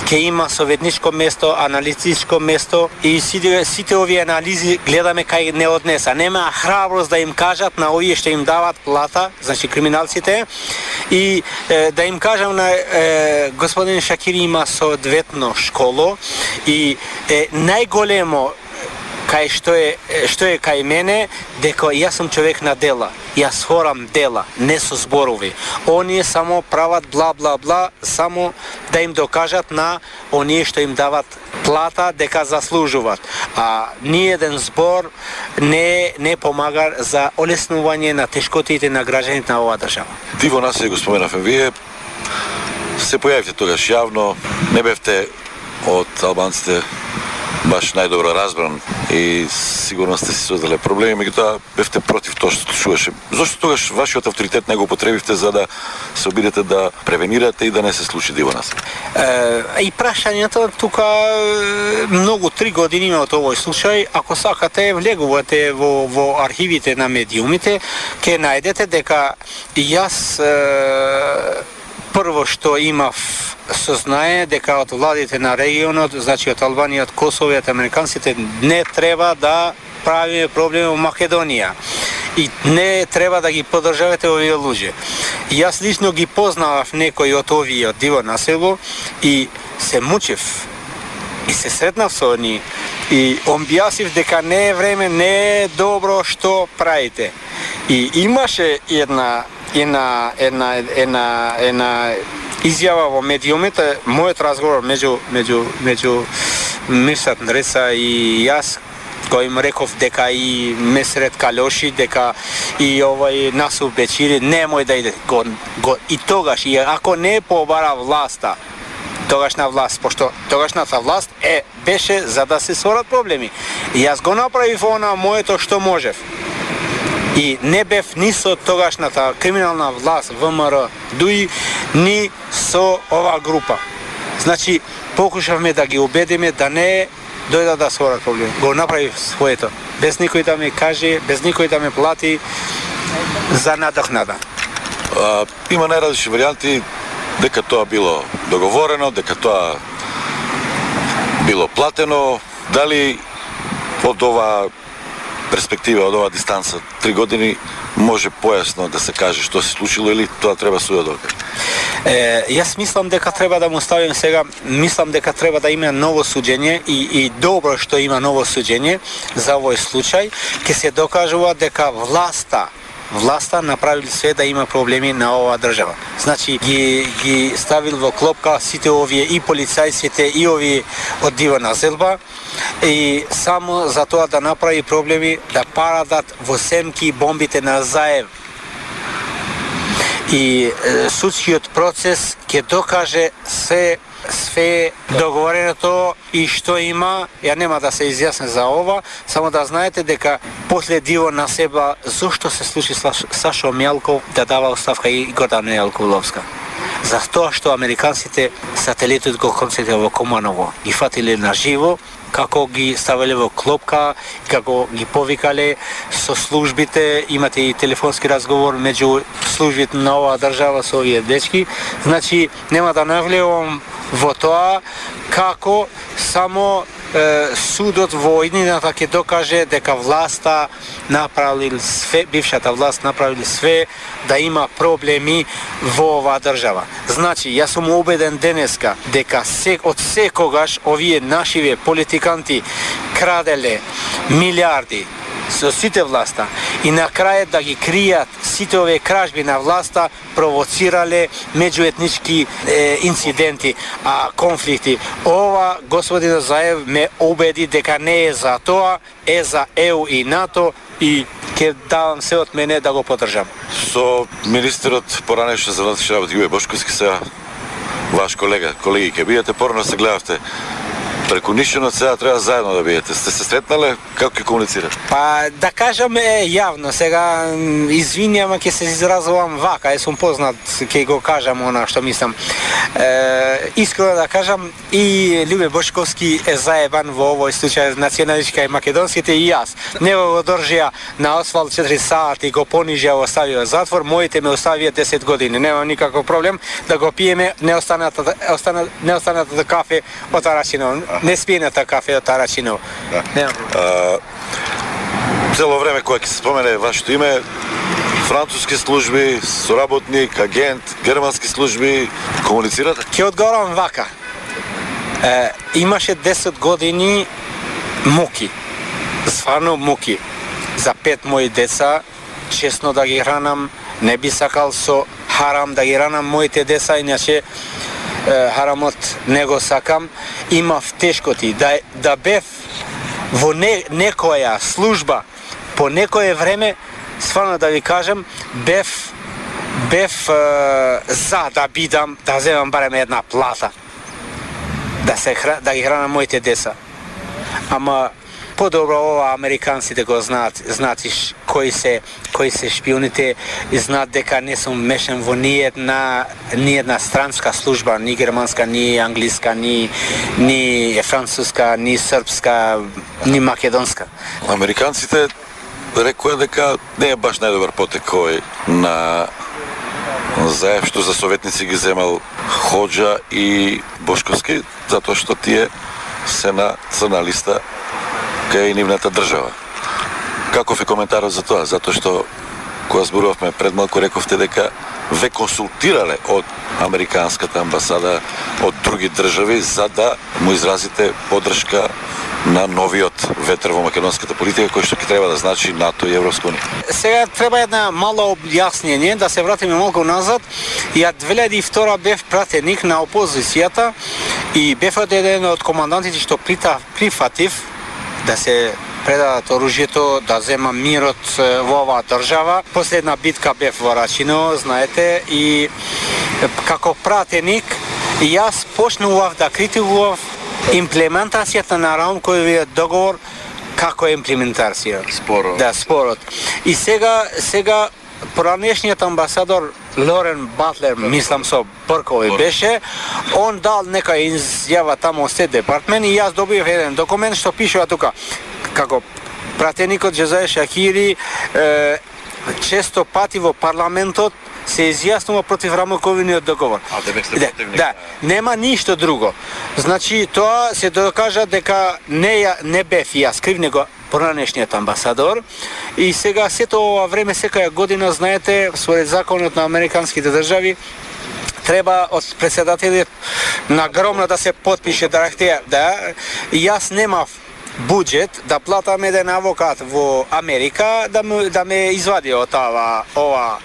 [SPEAKER 5] ќе има советничко место, аналитичко место и сите, сите овие анализи гледаме кај не однеса. Нема храброст да им кажат на овие што им дават плата, значи криминалците, и е, да им кажам на е, господин Шакири има соодветно школо и е најголемо кај што е што е кај мене, дека јас сум човек на дела. Јас хорам дела, не со зборови. Оние само прават бла бла бла, само да им докажат на оние што им дават плата дека заслужуваат. А ниеден збор не не помага за олеснување на тешкотите на граѓаните на оваа држава.
[SPEAKER 3] Диво насилие го споменавме вие. Се појавите тогаш јавно, не бевте од албанците баш најдобро разбран и сигурно сте си создале проблеми, меѓутоа бевте против тоа што случуваше. Зошто тогаш вашиот авторитет не го употребивте за да се обидете да превенирате и да не се случи диво насилие?
[SPEAKER 5] Е, и прашањето тука многу три години има од овој случај. Ако сакате, влегувате во во архивите на медиумите, ќе најдете дека јас е, прво што имав сознае дека од владите на регионот, значи од Албанија, од Косово и од американците, не треба да правиме проблеми во Македонија. И не треба да ги поддржавате овие луѓе. Јас лично ги познавав некои од овие од диво насело и се мучев. И се сретнав со они и објаснив дека не е време, не е добро што правите. И имаше една една една една една изјава во медиумите, мојот разговор меѓу меѓу меѓу Мирсат Нреца и јас, кој им реков дека и Месрет Калоши, дека и овај Насур Бечири немој да иде го, го и тогаш, и ако не побара власта, тогашна власт, пошто тогашната власт е беше за да се сорат проблеми. И јас го направив она моето што можев. И не бев ни со тогашната криминална власт ВМРО дуи, ни со оваа група. Значи, покушавме да ги убедиме да не дојдат да сворат проблеми. Го направив своето. Без никој да ме каже, без никој да ме плати за надокнада.
[SPEAKER 3] А, има најразлични варијанти дека тоа било договорено, дека тоа било платено. Дали од ова перспектива, од оваа дистанца, три години, може појасно да се каже што се случило или тоа треба судот да каже?
[SPEAKER 5] Е, јас мислам дека треба да му ставим сега, мислам дека треба да има ново суѓење и, и добро што има ново суѓење за овој случај, ќе се докажува дека власта власта направил све да има проблеми на оваа држава. Значи ги ги ставил во клопка сите овие и полицајците и овие од диво населба и само за тоа да направи проблеми, да парадат во семки бомбите на Заев. И е, судскиот процес ќе докаже се све договореното и што има. Ја нема да се изјасне за ова, само да знаете дека после диво на себе зошто се случи Сашо Мјалков да дава оставка и Гордана Јалковловска. За тоа што американците сателитот го концентрира во Команово, ги фатиле на живо, како ги ставале во клопка, како ги повикале со службите, имате и телефонски разговор меѓу службите на оваа држава со овие дечки. Значи, нема да навлевам во тоа како само е, судот во иднината ќе докаже дека власта направил све, бившата власт направил све да има проблеми во оваа држава. Значи, јас сум убеден денеска дека се, од секогаш овие нашиве политиканти краделе милиарди со сите власта и на крајот да ги кријат сите овие кражби на власта провоцирале меѓуетнички е, инциденти, а конфликти. Ова господин Заев ме убеди дека не е за тоа, е за Е У и НАТО и ќе давам се од мене да го поддржам.
[SPEAKER 3] Со министерот поранешно за внатрешни работи Јуе Бошковски, сега ваш колега, колеги ќе биете, порано се гледавте преку Нишинот, сега треба заедно да биете. Сте се сретнале, како ќе комуницирате?
[SPEAKER 5] Па да кажам е јавно, сега извинјам, ќе се изразувам вака, е сум познат, ќе го кажам она што мислам. Е, искрено да кажам, и Љубе Бошковски е заебан во овој случај националистичка и македонските и јас. Него го држија на асфалт четири сати, го понижија, оставија затвор, моите ме оставија десет години. Нема никаков проблем да го пиеме неостаната остана неостаната кафе од Арачиново. Не спиената кафе од Арачиново.
[SPEAKER 3] Да. Нема проблем. Цело време кога ќе се спомене вашето име, француски служби, соработник, агент, германски служби, комуницирате?
[SPEAKER 5] Ќе одговорам вака. Е, имаше десет години муки. стварно муки. За пет мои деца, честно да ги хранам, не би сакал со харам да ги хранам моите деца, иначе харамот не го сакам. Имав тешкоти, да, да бев во не, некоја служба по некое време, стварно да ви кажем, бев бев е, за да бидам, да земам барем една плата, да се да ги хранам моите деца. Ама подобро ова американците го знаат, знаеш кои се кои се шпионите и знаат дека не сум мешан во ни една ни една странска служба, ни германска, ни англиска, ни ни француска, ни српска, ни македонска.
[SPEAKER 3] Американците рекоа дека не е баш најдобар потек кој на Заев, што за советници ги земал Хоџа и Бошковски, затоа што тие се на црна листа кај нивната држава. Каков е коментарот за тоа? Затоа што кога зборувавме пред малку рековте дека ве консултирале од американската амбасада, од други држави за да му изразите поддршка на новиот ветер во македонската политика, кој што ќе треба да значи НАТО и Европска унија.
[SPEAKER 5] Сега треба една мало објаснение, да се вратиме малку назад. Ја две илјади и втора бев пратеник на опозицијата и бев еден од командантите што прифатив да се предадат оружјето, да зема мирот во оваа држава. Последна битка бев во Рачино, знаете, и како пратеник јас почнував да критикував имплементацијата на рамковиот договор како имплементација.
[SPEAKER 3] Спорот.
[SPEAKER 5] Да, спорот. И сега сега поранешниот амбасадор Лорен Батлер, мислам со Бркови беше, он дал нека изјава таму Стейт департмент и јас добив еден документ што пишува тука како пратеникот Джезаe Шакири е, често пати во парламентот се изјаснува против рамковиот договор.
[SPEAKER 3] А, да,
[SPEAKER 5] да, да, нема ништо друго. Значи, тоа се докажа дека не, не бев јас крив, него поранешниот амбасадор. И сега сето ова време, секоја година, знаете, според законот на американските држави, треба од председателот на громна да се потпише да рахте, да, јас немав буџет да платам еден авокат во Америка да ме, да ме извади од ова, ова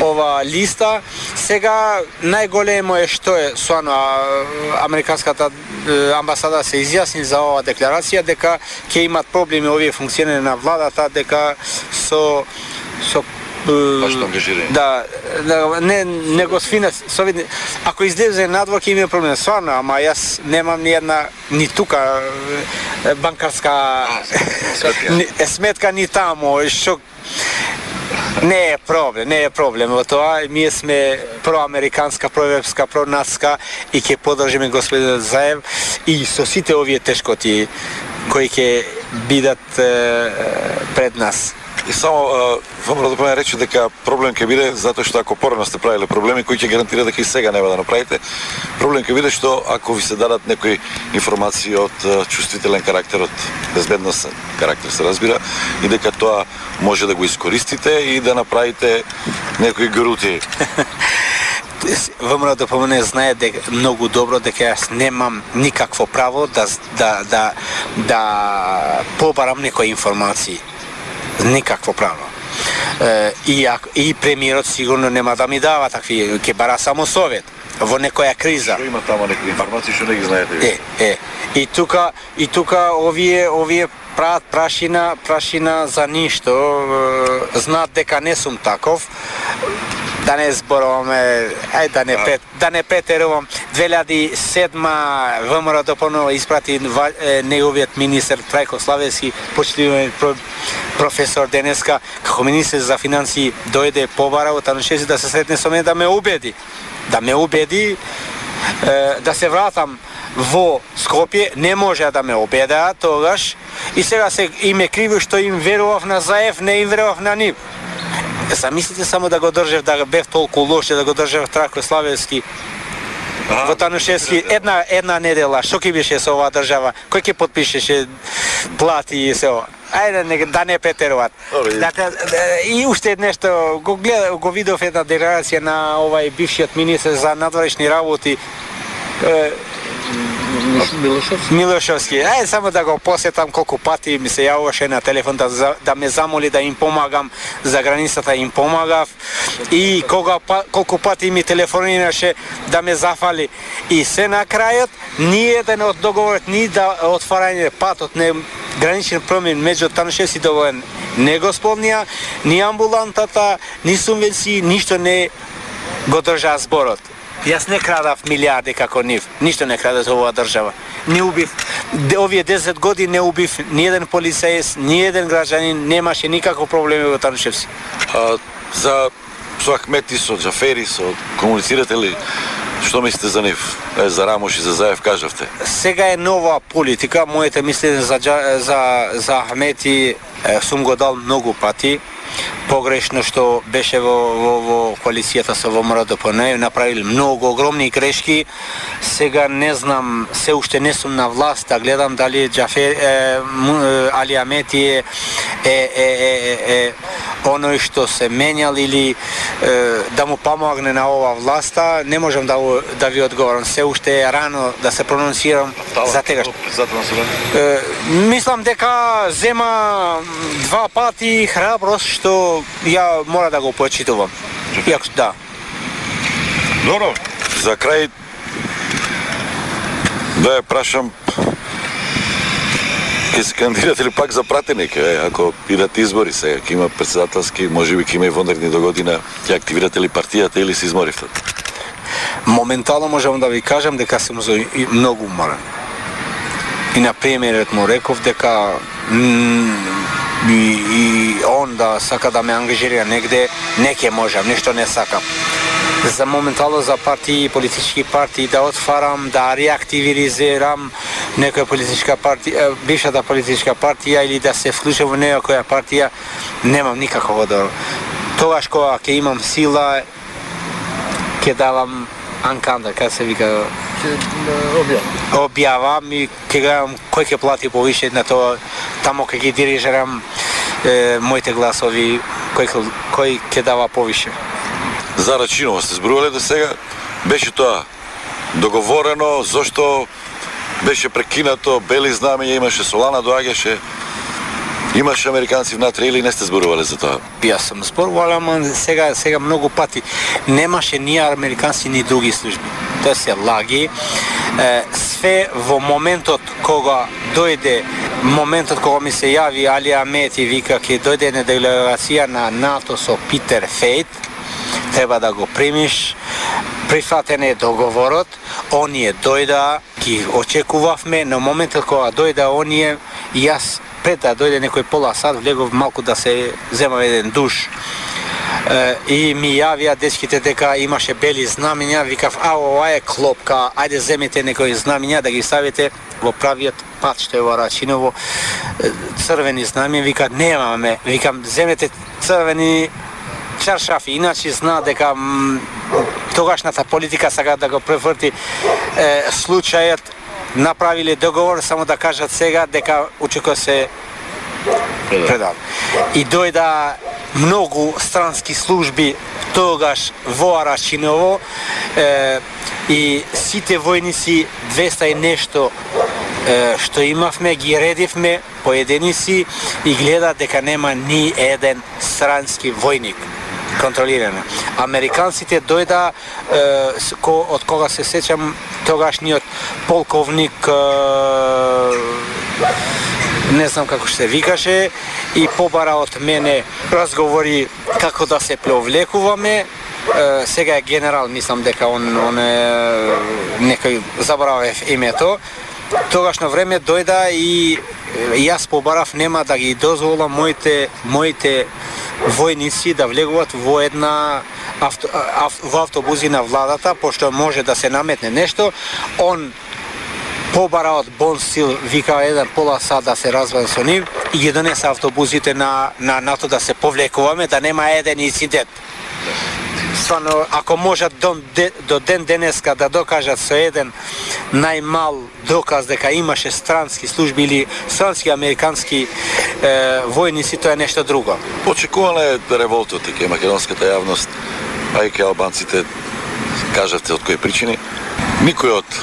[SPEAKER 5] ова листа. Сега најголемо е што е соано американската амбасада се изјасни за оваа декларација дека ќе имат проблеми овие функционери на владата, дека со со Да, да, не не го свина совидни. Ако излезе надвор ќе има проблем стварно, ама јас немам ни една ни тука банкарска ни, сметка ни таму, што не е проблем, не е проблем во тоа. Ние сме проамериканска, проевропска, пронатска и ќе поддржиме господин Заев и со сите овие тешкоти кои ќе бидат е, пред нас.
[SPEAKER 3] И само вам да допълня рече дека проблем ќе биде затоа што ако порано сте правиле проблеми кои ќе гарантира дека и сега нема да направите, проблем ќе биде што ако ви се дадат некои информации од чувствителен карактер, од безбедносен карактер се разбира, и дека тоа може да го искористите и да направите некои грути.
[SPEAKER 5] ВМРО да помене знае дека многу добро дека јас немам никакво право да да да да побарам некои информации. Никакво право. Е, и, и премиерот сигурно нема да ми дава такви, ќе бара само совет во некоја криза.
[SPEAKER 3] Што има таму некои информации што не ги знаете?
[SPEAKER 5] Е, е. И тука и тука овие овие прават прашина, прашина за ништо. Е, знаат дека не сум таков. Да не зборуваме, ај да не прет, да не претерувам. две илјади и седма ВМРО дополно испрати неговиот министер Трајко Славевски, почитуван професор денеска, како министер за финансии дојде побара во Танушевски да се сретне со мене да ме убеди, да ме убеди е, да се вратам во Скопје. Не може да ме убедеа тогаш и сега се име криво што им верував на Заев, не им верував на нив. Замислите само да го држев, да бев толку лош, да го држев Трајко Славевски во Танушевски една една недела. Што ќе беше со оваа држава? Кој ќе потпишеше плати и се ова? Ајде не, да не претеруваат. Да, да, и уште нешто го гледа, го видов една декларација на овај бившиот министер за надворешни работи. Милошовски. Милошовски. Ај само да го посетам колку пати ми се јавуваше на телефон да, да ме замоли да им помагам за границата, им помагав и кога колку пати ми телефонираше да ме зафали и се на крајот ни еден од договорот ни да отварање патот не граничен промен меѓу Танушевци и Довоен не го спомнија, ни амбулантата, ни субвенции, ништо не го држа зборот. Јас не крадав милиарди како нив, ништо не крадав за оваа држава. Не убив, овие десет години не убив ни еден полицаец, ни еден граѓанин, немаше никаков проблеми во Танушевци.
[SPEAKER 3] А, за со Ахмети, со Џафери, со комуницирате ли? Што мислите за нив? Е, за Рамош и за Заев кажавте.
[SPEAKER 5] Сега е нова политика, моите мислење за, за, за Ахмети е, сум го дал многу пати. Погрешно што беше во, во, во коалицијата со ВМРО-ДПН, направили многу огромни грешки. Сега не знам, се уште не сум на власт, да гледам дали Џафер, е, Али Ахмети е, е, е, е, е оној што се менјал или е, да му помогне на ова власта, не можам да, да ви одговорам. Се уште е рано да се прононцирам за тега. Е, мислам дека зема два пати храброст што ја мора да го почитувам. Јак, да.
[SPEAKER 3] Добро, за крај да ја прашам, ќе се кандидирате ли пак за пратеник? Ако идат избори сега, ќе има председателски, може би ќе има и вонредни до година, ќе активирате ли партијата или се изморивте?
[SPEAKER 5] Моментално можам да ви кажам дека сум многу уморен. И на премиерот му реков дека и, и он да сака да ме ангажира негде, не ќе можам, нешто не сакам. За моментално за партии, политички партии да отварам, да реактивизирам некоја политичка партија, бившата политичка партија или да се вклучам во некоја партија, немам никаков одор. Тогаш кога ќе имам сила, ќе давам анканда, како се вика, објавам и ќе гледам кој ќе плати повише на тоа, тамо ќе ги дирижирам е, моите гласови, кој, кој ќе дава повише.
[SPEAKER 3] За Рачинова сте зборувале до сега, беше тоа договорено, зошто беше прекинато, бели знамења имаше, Солана доаѓаше, имаше американци внатре или не сте зборувале за тоа?
[SPEAKER 5] Јас сум зборувал, ама сега, сега многу пати немаше ни американци ни други служби. Тоа се лаги. Е, све во моментот кога дојде, моментот кога ми се јави Али Ахмети и вика ќе дојде на делегација на НАТО со Питер Фейт, треба да го примиш, прифатен е договорот, оние дојда, ги очекувавме, но моментот кога дојда оние, јас пред да дојде некој пола сат, влегов малку да се земам еден душ. Е, и ми јавија дечките дека имаше бели знамења, викав, а ова е клопка, ајде земете некои знамења да ги ставите во правиот пат што е во Рачиново, црвени знамења, вика, немаме, викам, земете црвени чаршафи, иначе зна дека м, тогашната политика сака да го преврти е, случајот, направиле договор, само да кажат сега дека очекува се предал. И дојда многу странски служби тогаш во Рачиново е, и сите војници, двеста и нешто е, што имавме, ги редивме поединици и гледа дека нема ни еден странски војник контролирано. Американците дојда, е, ко, од кога се сеќам, тогашниот полковник, е, не знам како се викаше, и побара од мене разговори како да се преовлекуваме. Е, сега е генерал, мислам дека он, он е некој, заборавев името. Тогашно време дојда и јас побарав нема да ги дозволам моите моите војници да влегуваат во една авто, ав, во автобузи на владата, пошто може да се наметне нешто. Он побара од Бон Стил, вика еден пола сат да се разберам со нив и ги донесе автобусите на, на НАТО да се повлекуваме, да нема еден инцидент. Стварно, ако можат до, до ден денеска да докажат со еден најмал доказ дека имаше странски служби или странски американски е, војници, тоа е нешто друго.
[SPEAKER 3] Очекувана е револта од ке македонската јавност, а и ке албанците, кажавте од кои причини. Никој од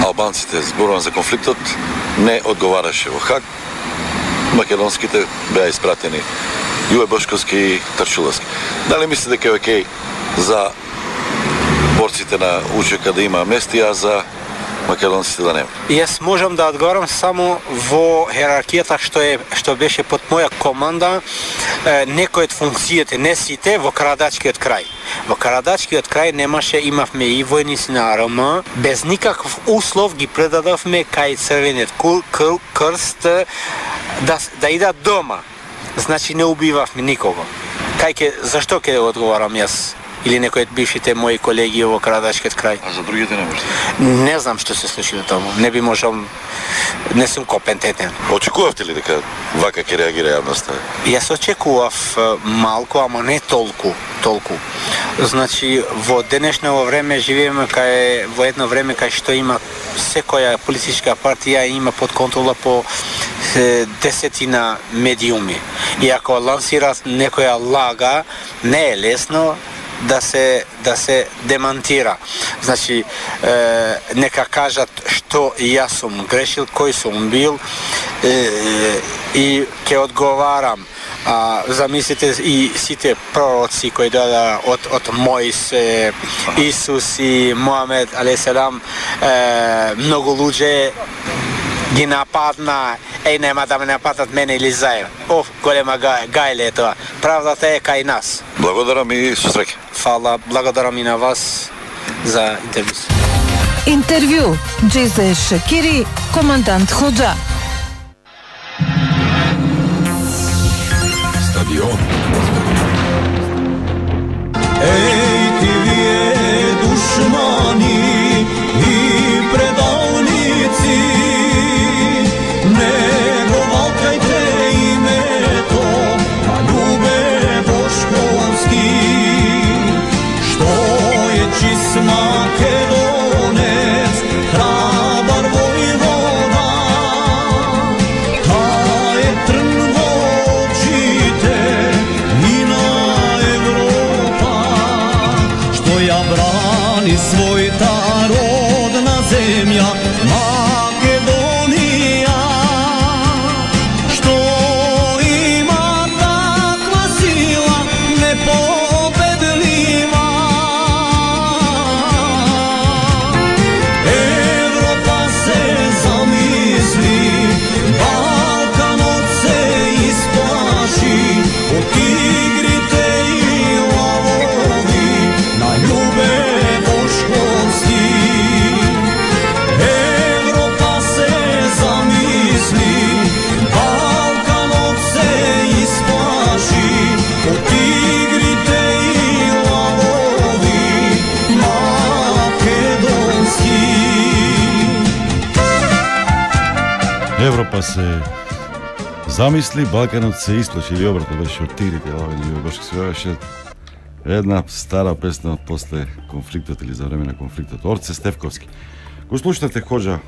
[SPEAKER 3] албанците зборувам за конфликтот не одговараше во Хаг. Македонските беа испратени Јуе Бошковски и Тарчуловски. Дали мислите дека е окей за борците на УЧК да има мести, а за македонците да нема?
[SPEAKER 5] Јас можам да одговорам само во херархијата што е што беше под моја команда, е, некои од функциите, не сите, во Карадачкиот крај. Во Карадачкиот крај немаше, имавме и војници на ар ем, без никаков услов ги предадовме кај Црвениот крст да да идат дома. Значи не убивавме никого. Кај ке, зашто ќе одговарам јас? Или некои од бившите мои колеги во Карадачкиот крај.
[SPEAKER 3] А за другите не може?
[SPEAKER 5] Не знам што се случило таму. Не би можел, не сум компетентен.
[SPEAKER 3] Очекувавте ли дека вака ќе реагира јавноста?
[SPEAKER 5] Јас очекував малку, ама не толку, толку. Значи во денешно време живееме кај во едно време кај што има секоја политичка партија има под контрола по десетина медиуми. И ако лансират некоја лага, не е лесно да се да се демантира. Значи е, нека кажат што јас сум грешил, кој сум бил е, и ќе одговарам. А, замислите и сите пророци кои дојда од од Мојсе, Исус и Моhamед алейхиселам, многу луѓе ги нападна, еј нема да ме нападат мене или заедно. Оф, голема гајле е тоа. Правдата е кај нас.
[SPEAKER 3] Благодарам и со среќа.
[SPEAKER 5] Фала, благодарам и на вас за интервју.
[SPEAKER 4] Интервју Џезе Шакири, командант Хоџа.
[SPEAKER 17] Стадион.
[SPEAKER 6] Еј, ти вие душмани и предалници, не го валкајте името на Љубе Бошковски, што е чист македонец, храбар војвода, тај е трн во очите и на Европа, што ја брани својата родна земја Македонија, што има таква сила непобедлива. Европа се замисли, Балканот се исплаши од тигрите и лавови на Љубе Бошковски. Европа се замисли, Балканот се исплаши од тигрите и лавови македонски.
[SPEAKER 15] Европа се замисли, Балканот се исплаши, или обратно беше од тигрите, лавови на Бошковски. Беше една стара песна од после конфликтот или за време на конфликтот. Орце Стефковски. Го слушнате Хоџа,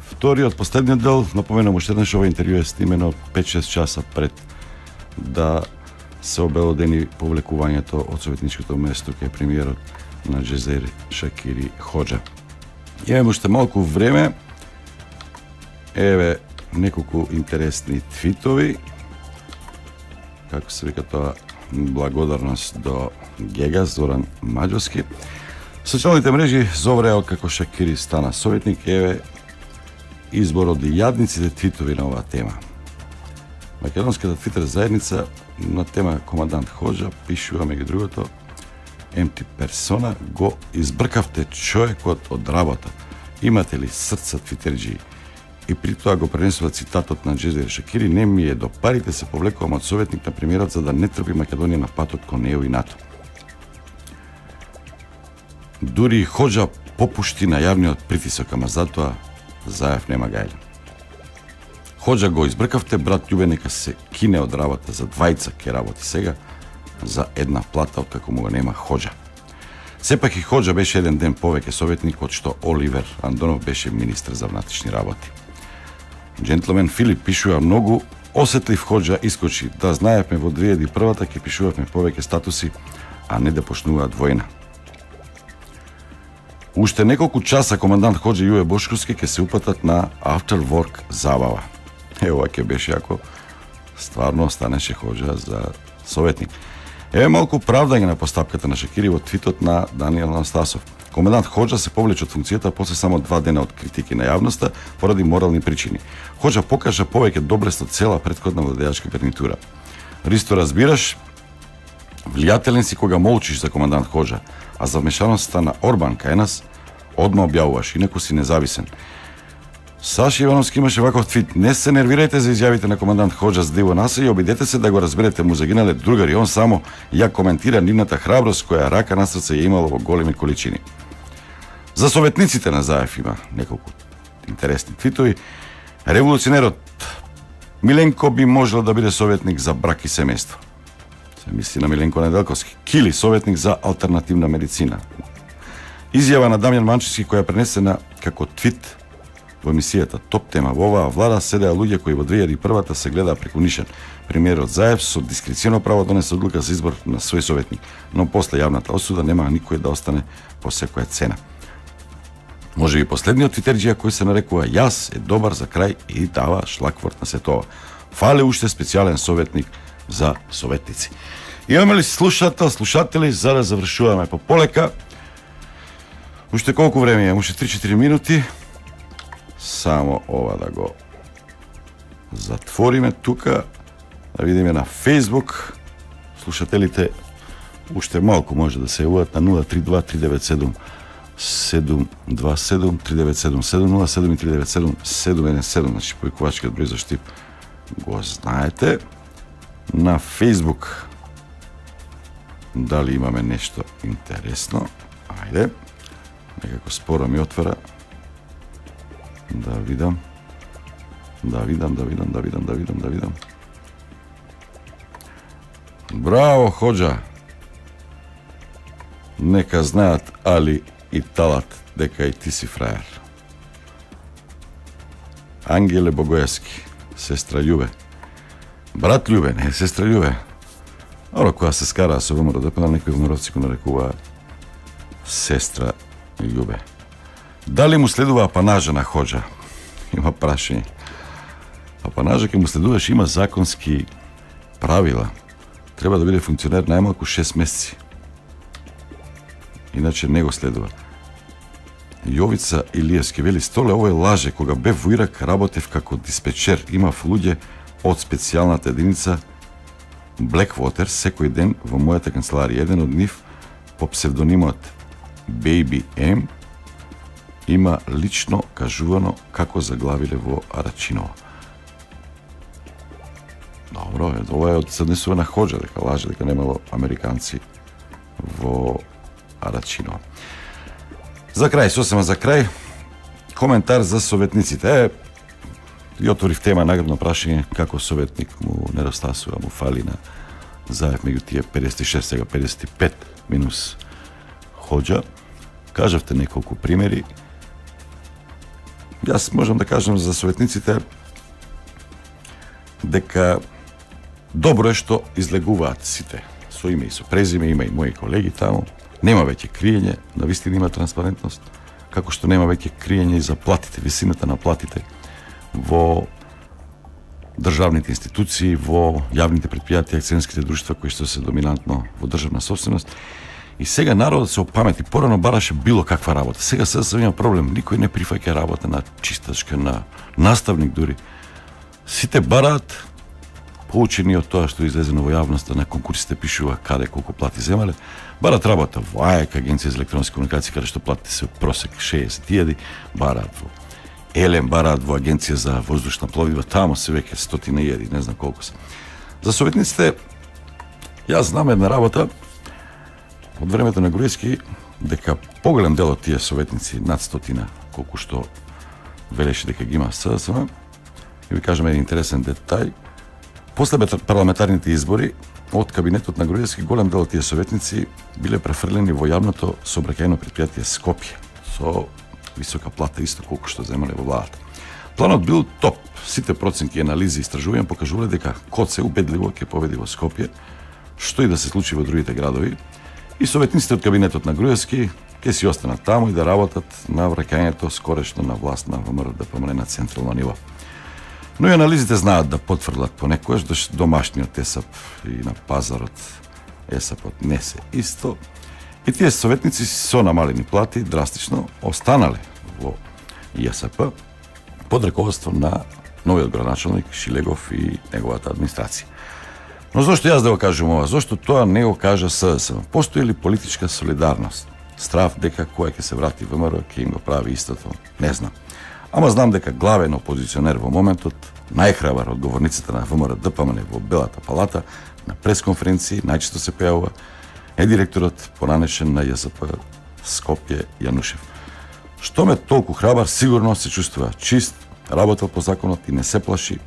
[SPEAKER 15] вториот, последниот дел. Напоменам уште еднаш, ова интервју е снимено пет-шест часа пред да се обелодени повлекувањето од советничкото место кај премиерот на Џезе Шакири Хоџа. Имаме уште малку време. Еве неколку интересни твитови. Како се вика тоа, благодарност до Гега Зоран Маđовски. Социјалните мрежи зовреа како Шакири стана советник. Еве избор од јадниците твитови на оваа тема. Македонската твитер заедница на тема командант Хоџа пишува меѓу другото: Емти персона, го избркавте човекот од работа. Имате ли срца твитерџи? И при тоа го пренесува цитатот на Џезе Шакири: не ми е до парите се повлекувам од советник на премиерот за да не трпи Македонија на патот кон ЕУ и НАТО. Дури Хоџа попушти на јавниот притисок, ама затоа Заев нема гајле. Хоџа го избркавте, брат Љубе нека се кине од работа, за двајца ке работи сега, за една плата откако му го нема Хоџа. Сепак и Хоџа беше еден ден повеќе советник од што Оливер Андонов беше министер за внатрешни работи. Джентлмен Филип пишува: многу осетлив Хоџа искочи, да знаевме во две илјади и првата ќе пишувавме повеќе статуси, а не да почнуваат војна. Уште неколку часа командант Хоџа и Јуе Бошковски ќе се упатат на after work забава. Е, ова ќе беше ако стварно останеше Хоџа за советник. Еве малку правдање на постапката на Шакири во твитот на Даниел Анастасов. Комендант Хоџа се повлече од функцијата после само два дена од критики на јавноста поради морални причини. Хоџа покажа повеќе доблест од цела претходна владеачка гарнитура. Ристо, разбираш, влијателен си кога молчиш за командант Хоџа, а за вмешаноста на Орбан кај нас одма објавуваш, инаку си независен. Саши Ивановски имаше ваков твит: не се нервирајте за изјавите на командант Хоџа с Диво Наса и обидете се да го разберете, му загинале другари, он само ја коментира нивната храброст која рака на срце ја имало во големи количини. За советниците на Заев има неколку интересни твитови. Револуционерот Миленко би можел да биде советник за брак и семејство. Се мисли на Миленко Неделковски. Кили, советник за алтернативна медицина. Изјава на Дамјан Манчевски која пренесена како твит во емисијата Топ тема. Во оваа влада седеа луѓе кои во две илјади и прва се гледаа преку нишен. Премиерот Заев со дискреционо право донесе одлука за избор на свој советник, но после јавната осуда нема никој да остане по секоја цена. Може би последниот твитерџија кој се нарекува Јас е добар за крај и дава шлакворт на сето ова. Фале уште специјален советник за советници. Имаме ли слушател, слушатели, за да завршуваме по полека? Уште колку време имам? Уште три-четири минути. Само ова да го затвориме тука, да видиме на Facebook. Слушателите уште малку може да се јавуваат на нула три два три девет седум седум два седум три девет седум седум нула седум три девет седум седум еден седум, значи појковачкиот број за Штип го знаете. На Facebook дали имаме нешто интересно? Ајде, некако споро ми отвара. Да видам. Да видам, да видам, да видам, да видам, да видам. Браво, Хоџа. Нека знаат Али и Талат дека и ти си фраер. Ангеле Богоевски, сестра Љубе. Брат Љубе, не сестра Љубе. Оро кога се скараа со ВМРО ДП, некои ВМРО-ци го нарекуваа сестра Љубе. Дали му следува апанажа на Хоџа? Има прашање. Апанажа ќе му следуваш, има законски правила. Треба да биде функционер најмалку шест месеци. Иначе не го следува. Јовица Илиевски вели: столе, овој лаже, кога бев во Ирак работев како диспечер, имав луѓе од специјалната единица Blackwater секој ден во мојата канцеларија. Еден од нив по псевдонимот Baby M има лично кажувано како заглавиле во Арачиново. Добро, ова е од Съднесува на Хоџа, дека лаже, дека немало американци во Арачиново. За крај, сосема за крај, коментар за советниците. Е, и отворив тема наградно прашање како советник му недостасува, му фали на Заев меѓу тие педесет и шест, сега педесет и пет минус Хоџа. Кажавте неколку примери. Јас можам да кажам за советниците дека добро е што излегуваат сите со име и со презиме, има и мои колеги таму. Нема веќе криење, навистина има транспарентност, како што нема веќе криење и за платите, висината на платите во државните институции, во јавните предпријатија, акционерските друштва кои што се доминантно во државна собственост. И сега народот се опамети, порано бараше било каква работа. Сега се се има проблем, никој не прифаќа работа на чистачка, на наставник дури. Сите бараат, поучени од тоа што излезено во јавноста, на конкурсите пишува каде колку плати земале, бараат работа во АЕК, Агенција за електронски комуникации, каде што платите се просек шеесет илјади, бараат во Елем, бараат во Агенција за воздушна пловидба, тамо се веќе стотина илјади, не знам колку се. За советниците, јас знам една работа од времето на Груевски, дека поголем дел од тие советници, над стотина, колку што велеше дека ги има СДСМ, и ви кажем еден интересен детај. После парламентарните избори, од кабинетот на Груевски, голем дел од тие советници биле префрлени во јавното сообраќајно предпријатие Скопје, со висока плата, исто колку што земале во владата. Планот бил топ. Сите проценки, анализи и истражувања покажувале дека КоЦ убедливо ќе победи во Скопје, што и да се случи во другите градови. И советниците од кабинетот на Груевски
[SPEAKER 3] ќе си останат таму и да работат на враќањето скорешно на власт на ВМРО Д П М Н на централно ниво. Но и анализите знаат да потврдат понекогаш да домашниот ЕСАП и на пазарот ЕСАПот не се исто. И тие советници со намалени плати драстично останале во ЈСП под раководство на новиот градоначалник Шилегов и неговата администрација. Но зошто јас да го кажам ова? Зошто тоа не го кажа СДСМ? Постои ли политичка солидарност? Страв дека која ќе се врати ВМРО ќе им го прави истото? Не знам. Ама знам дека главен опозиционер во моментот, најхрабар од говорниците на ВМРО Д П М Н во Белата палата, на пресконференции најчесто се појавува е директорот понанешен на ЈСП Скопје Јанушев. Што ме толку храбар, сигурно се чувствува чист, работел по законот и не се плаши.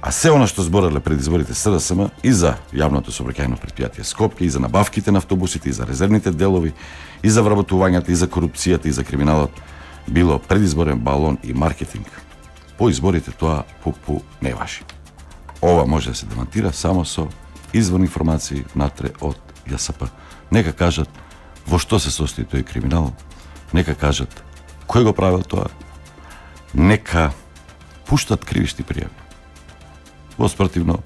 [SPEAKER 3] А се она што збореле пред изборите СДСМ и за јавното сообраќајно претпријатие Скопје, и за набавките на автобусите, и за резервните делови, и за вработувањата, и за корупцијата, и за криминалот, било предизборен балон и маркетинг. По изборите тоа пупу не важи. Ова може да се демонтира само со изворни информации натре од ЈСП. Нека кажат во што се состои тој криминал, нека кажат кој го правил тоа, нека пуштат кривишни пријави. Во спротивно,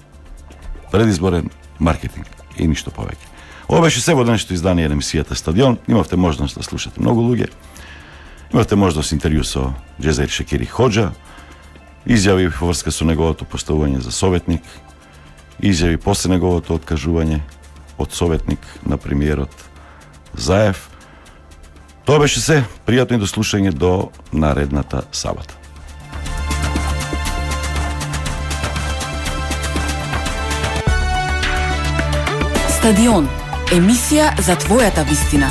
[SPEAKER 3] предизборен маркетинг и ништо повеќе. Ова беше се во денешното издание на емисијата Стадион. Имавте можност да слушате многу луѓе. Имавте можност интервју со Џезаир Шекири Хоџа, изјави во врска со неговото поставување за советник, изјави после неговото откажување од советник на премиерот Заев. Тоа беше се. Пријатно и до слушање до наредната сабота.
[SPEAKER 7] Стадион. Емисија за твојата вистина.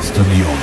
[SPEAKER 17] Стадион.